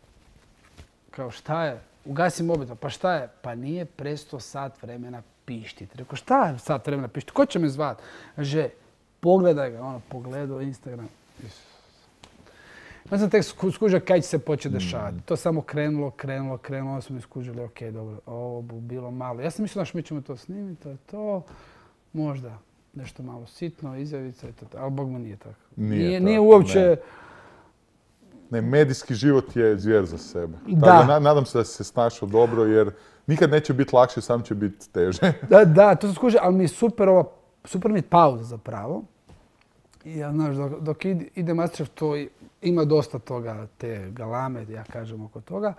Kao šta je? Ugasi mobitel, pa šta je? Pa nije presto sat vremena pištiti. Rekao, šta je sat vremena pištiti? Ko će me zvat? Že, pogledaj ga, ono, pogledao Instagram. Ja sam tek skužio kaj će se početi dešavati. To samo krenulo, krenulo, krenulo, onda smo mi skužili, ok, dobro, ovo bi bilo malo. Ja sam mislila što mi ćemo to snimiti, to je to. Možda nešto malo sitno, izjavica i to, ali bog mu nije tako. Nije, nije, tako, nije uopće... Ne. Ne, medijski život je zvijer za sebe. Da. Tako, na, nadam se da si se snašao dobro jer nikad neće biti lakše, sam će biti teže. Da, da, to se skuži, ali mi je super ova, super mi je pauza zapravo. I ja, znaš, dok, dok ide Masterchef, to ima dosta toga, te galame, ja kažem oko toga.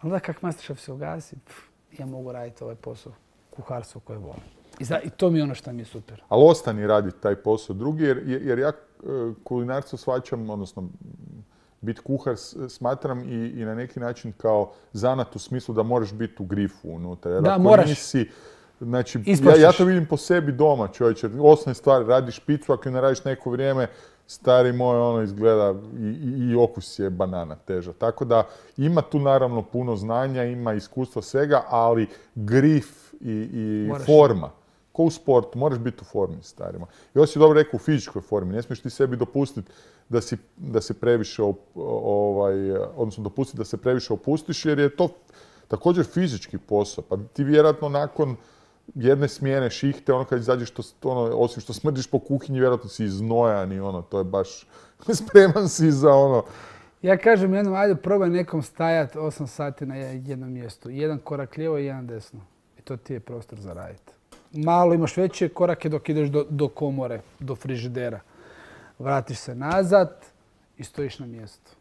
Ali da kak Masterchef se ugasi, pff, ja mogu raditi ovaj posao, kuharstvo koje volim. I, za, I to mi je ono što mi je super. Ali ostani raditi taj posao drugi jer, jer ja kulinarstvo shvaćam, odnosno biti kuhar smatram i, i na neki način kao zanat u smislu da moraš biti u grifu unutra. Jer da, ako moraš. Nisi, znači, ja, ja to vidim po sebi doma, čovječe. Osnovne stvari, radiš pizzu, ako ne radiš neko vrijeme, stari moj, ono izgleda i, i, i okus je banana teža. Tako da ima tu naravno puno znanja, ima iskustva svega, ali grif i, i forma. Ko u sportu, moraš biti u formi, starima. I ovo si dobro rekao, u fizičkoj formi. Ne smiješ ti sebi dopustiti da, si, da se previše, ovaj, odnosno dopustiti da se previše opustiš, jer je to također fizički posao. Pa ti vjerojatno nakon jedne smjene šihte, ono kad izađeš, to, ono, osim što smrdiš po kuhinji, vjerojatno si iznojan i ono, to je baš spreman si za ono. Ja kažem jednom, ajde probaj nekom stajati osam sati na jednom mjestu. Jedan korak lijevo i jedan desno. I to ti je prostor za raditi. Malo imaš veće korake dok ideš do, do komore, do frižidera. Vratiš se nazad i stojiš na mjestu.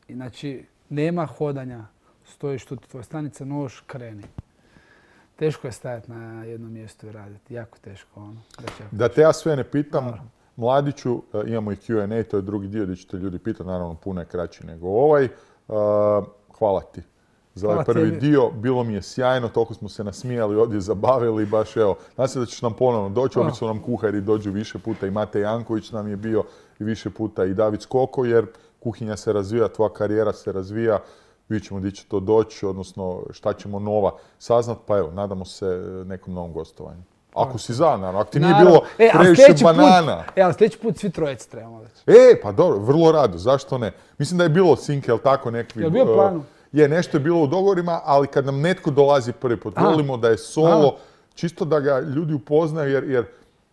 I znači, nema hodanja. Stojiš tu, tvoja stanica, nož, kreni. Teško je stajati na jednom mjestu i raditi. Jako teško. Ono. Da te ja sve ne pitam, Dobro. Mladiću, imamo i Q and A, to je drugi dio gdje ćete ljudi pitati, naravno puno je kraći nego ovaj. Hvala ti za ovaj Hvala prvi tebi. dio. Bilo mi je sjajno, toliko smo se nasmijali, ovdje zabavili, baš evo, nasmijali, ovdje zabavili, baš evo. Nadam se da ćeš nam ponovno doći, Hvala. obično nam kuhari dođu više puta, i Mate Janković nam je bio i više puta i David Skoko, jer kuhinja se razvija, tvoja karijera se razvija, vidjet ćemo gdje će to doći, odnosno šta ćemo nova saznat, pa evo, nadamo se nekom novom gostovanju. Ako si za, naravno, ako ti nije Naravno. bilo E, ali previše sljedeći put- banana. E, ali sljedeći put svi trojice trebamo već. E, pa dobro, vrlo rado, zašto ne? Mislim da je bilo Sinke, jel tako, nekakvi... Jel bio uh, planu? Je, nešto je bilo u dogovorima, ali kad nam netko dolazi prvi put, Aha. volimo da je solo, čisto da ga ljudi upoznaju, jer, jer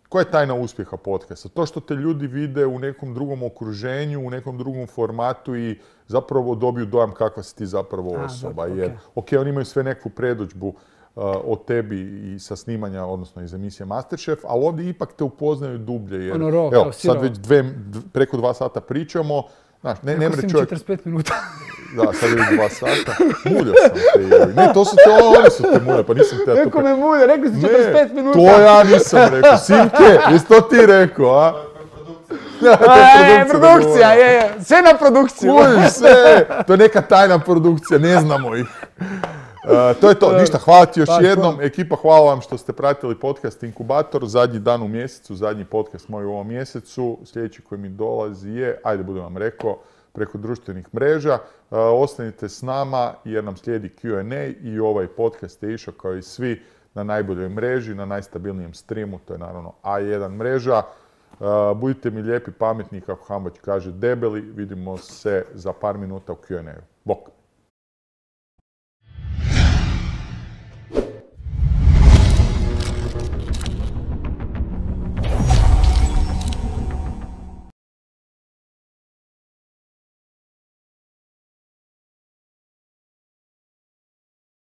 koja je tajna uspjeha podcasta? To što te ljudi vide u nekom drugom okruženju, u nekom drugom formatu i zapravo dobiju dojam kakva si ti zapravo A, osoba. dobro, Jer, ok. ok, oni imaju sve neku predodžbu uh, o tebi i sa snimanja, odnosno iz emisije Masterchef, ali ovdje ipak te upoznaju dublje. Jer, Ono raw, evo, kao sad sirovo. već dve, dv- preko dva sata pričamo, znaš, ne, ne Rekao mre si mi čovjek... četrdeset pet minuta. Da, sad je dva sata. Muljao sam te. jebi. Ne, to su te, oni su te muljali, pa nisam te ja to... Rekao me mulje, rekli si Ne, četrdeset pet minuta. to ja nisam rekao. Simke, jesi to ti rekao, a? E, produkcija, je, je. Sve na produkciju. Kužiš sve, to je neka tajna produkcija, ne znamo ih. Uh, to je to, ništa, hvala ti još Pa, jednom. hvala. Ekipa, hvala vam što ste pratili podcast Inkubator, zadnji dan u mjesecu, zadnji podcast moj u ovom mjesecu. Sljedeći koji mi dolazi je, ajde budem vam rekao, preko društvenih mreža. Uh, ostanite s nama jer nam slijedi Q and A i ovaj podcast je išao kao i svi na najboljoj mreži, na najstabilnijem streamu, to je naravno A jedan mreža. Uh, budite mi lijepi, pametni, kako Hambać kaže, debeli. Vidimo se za par minuta u Q and A-u. Bok!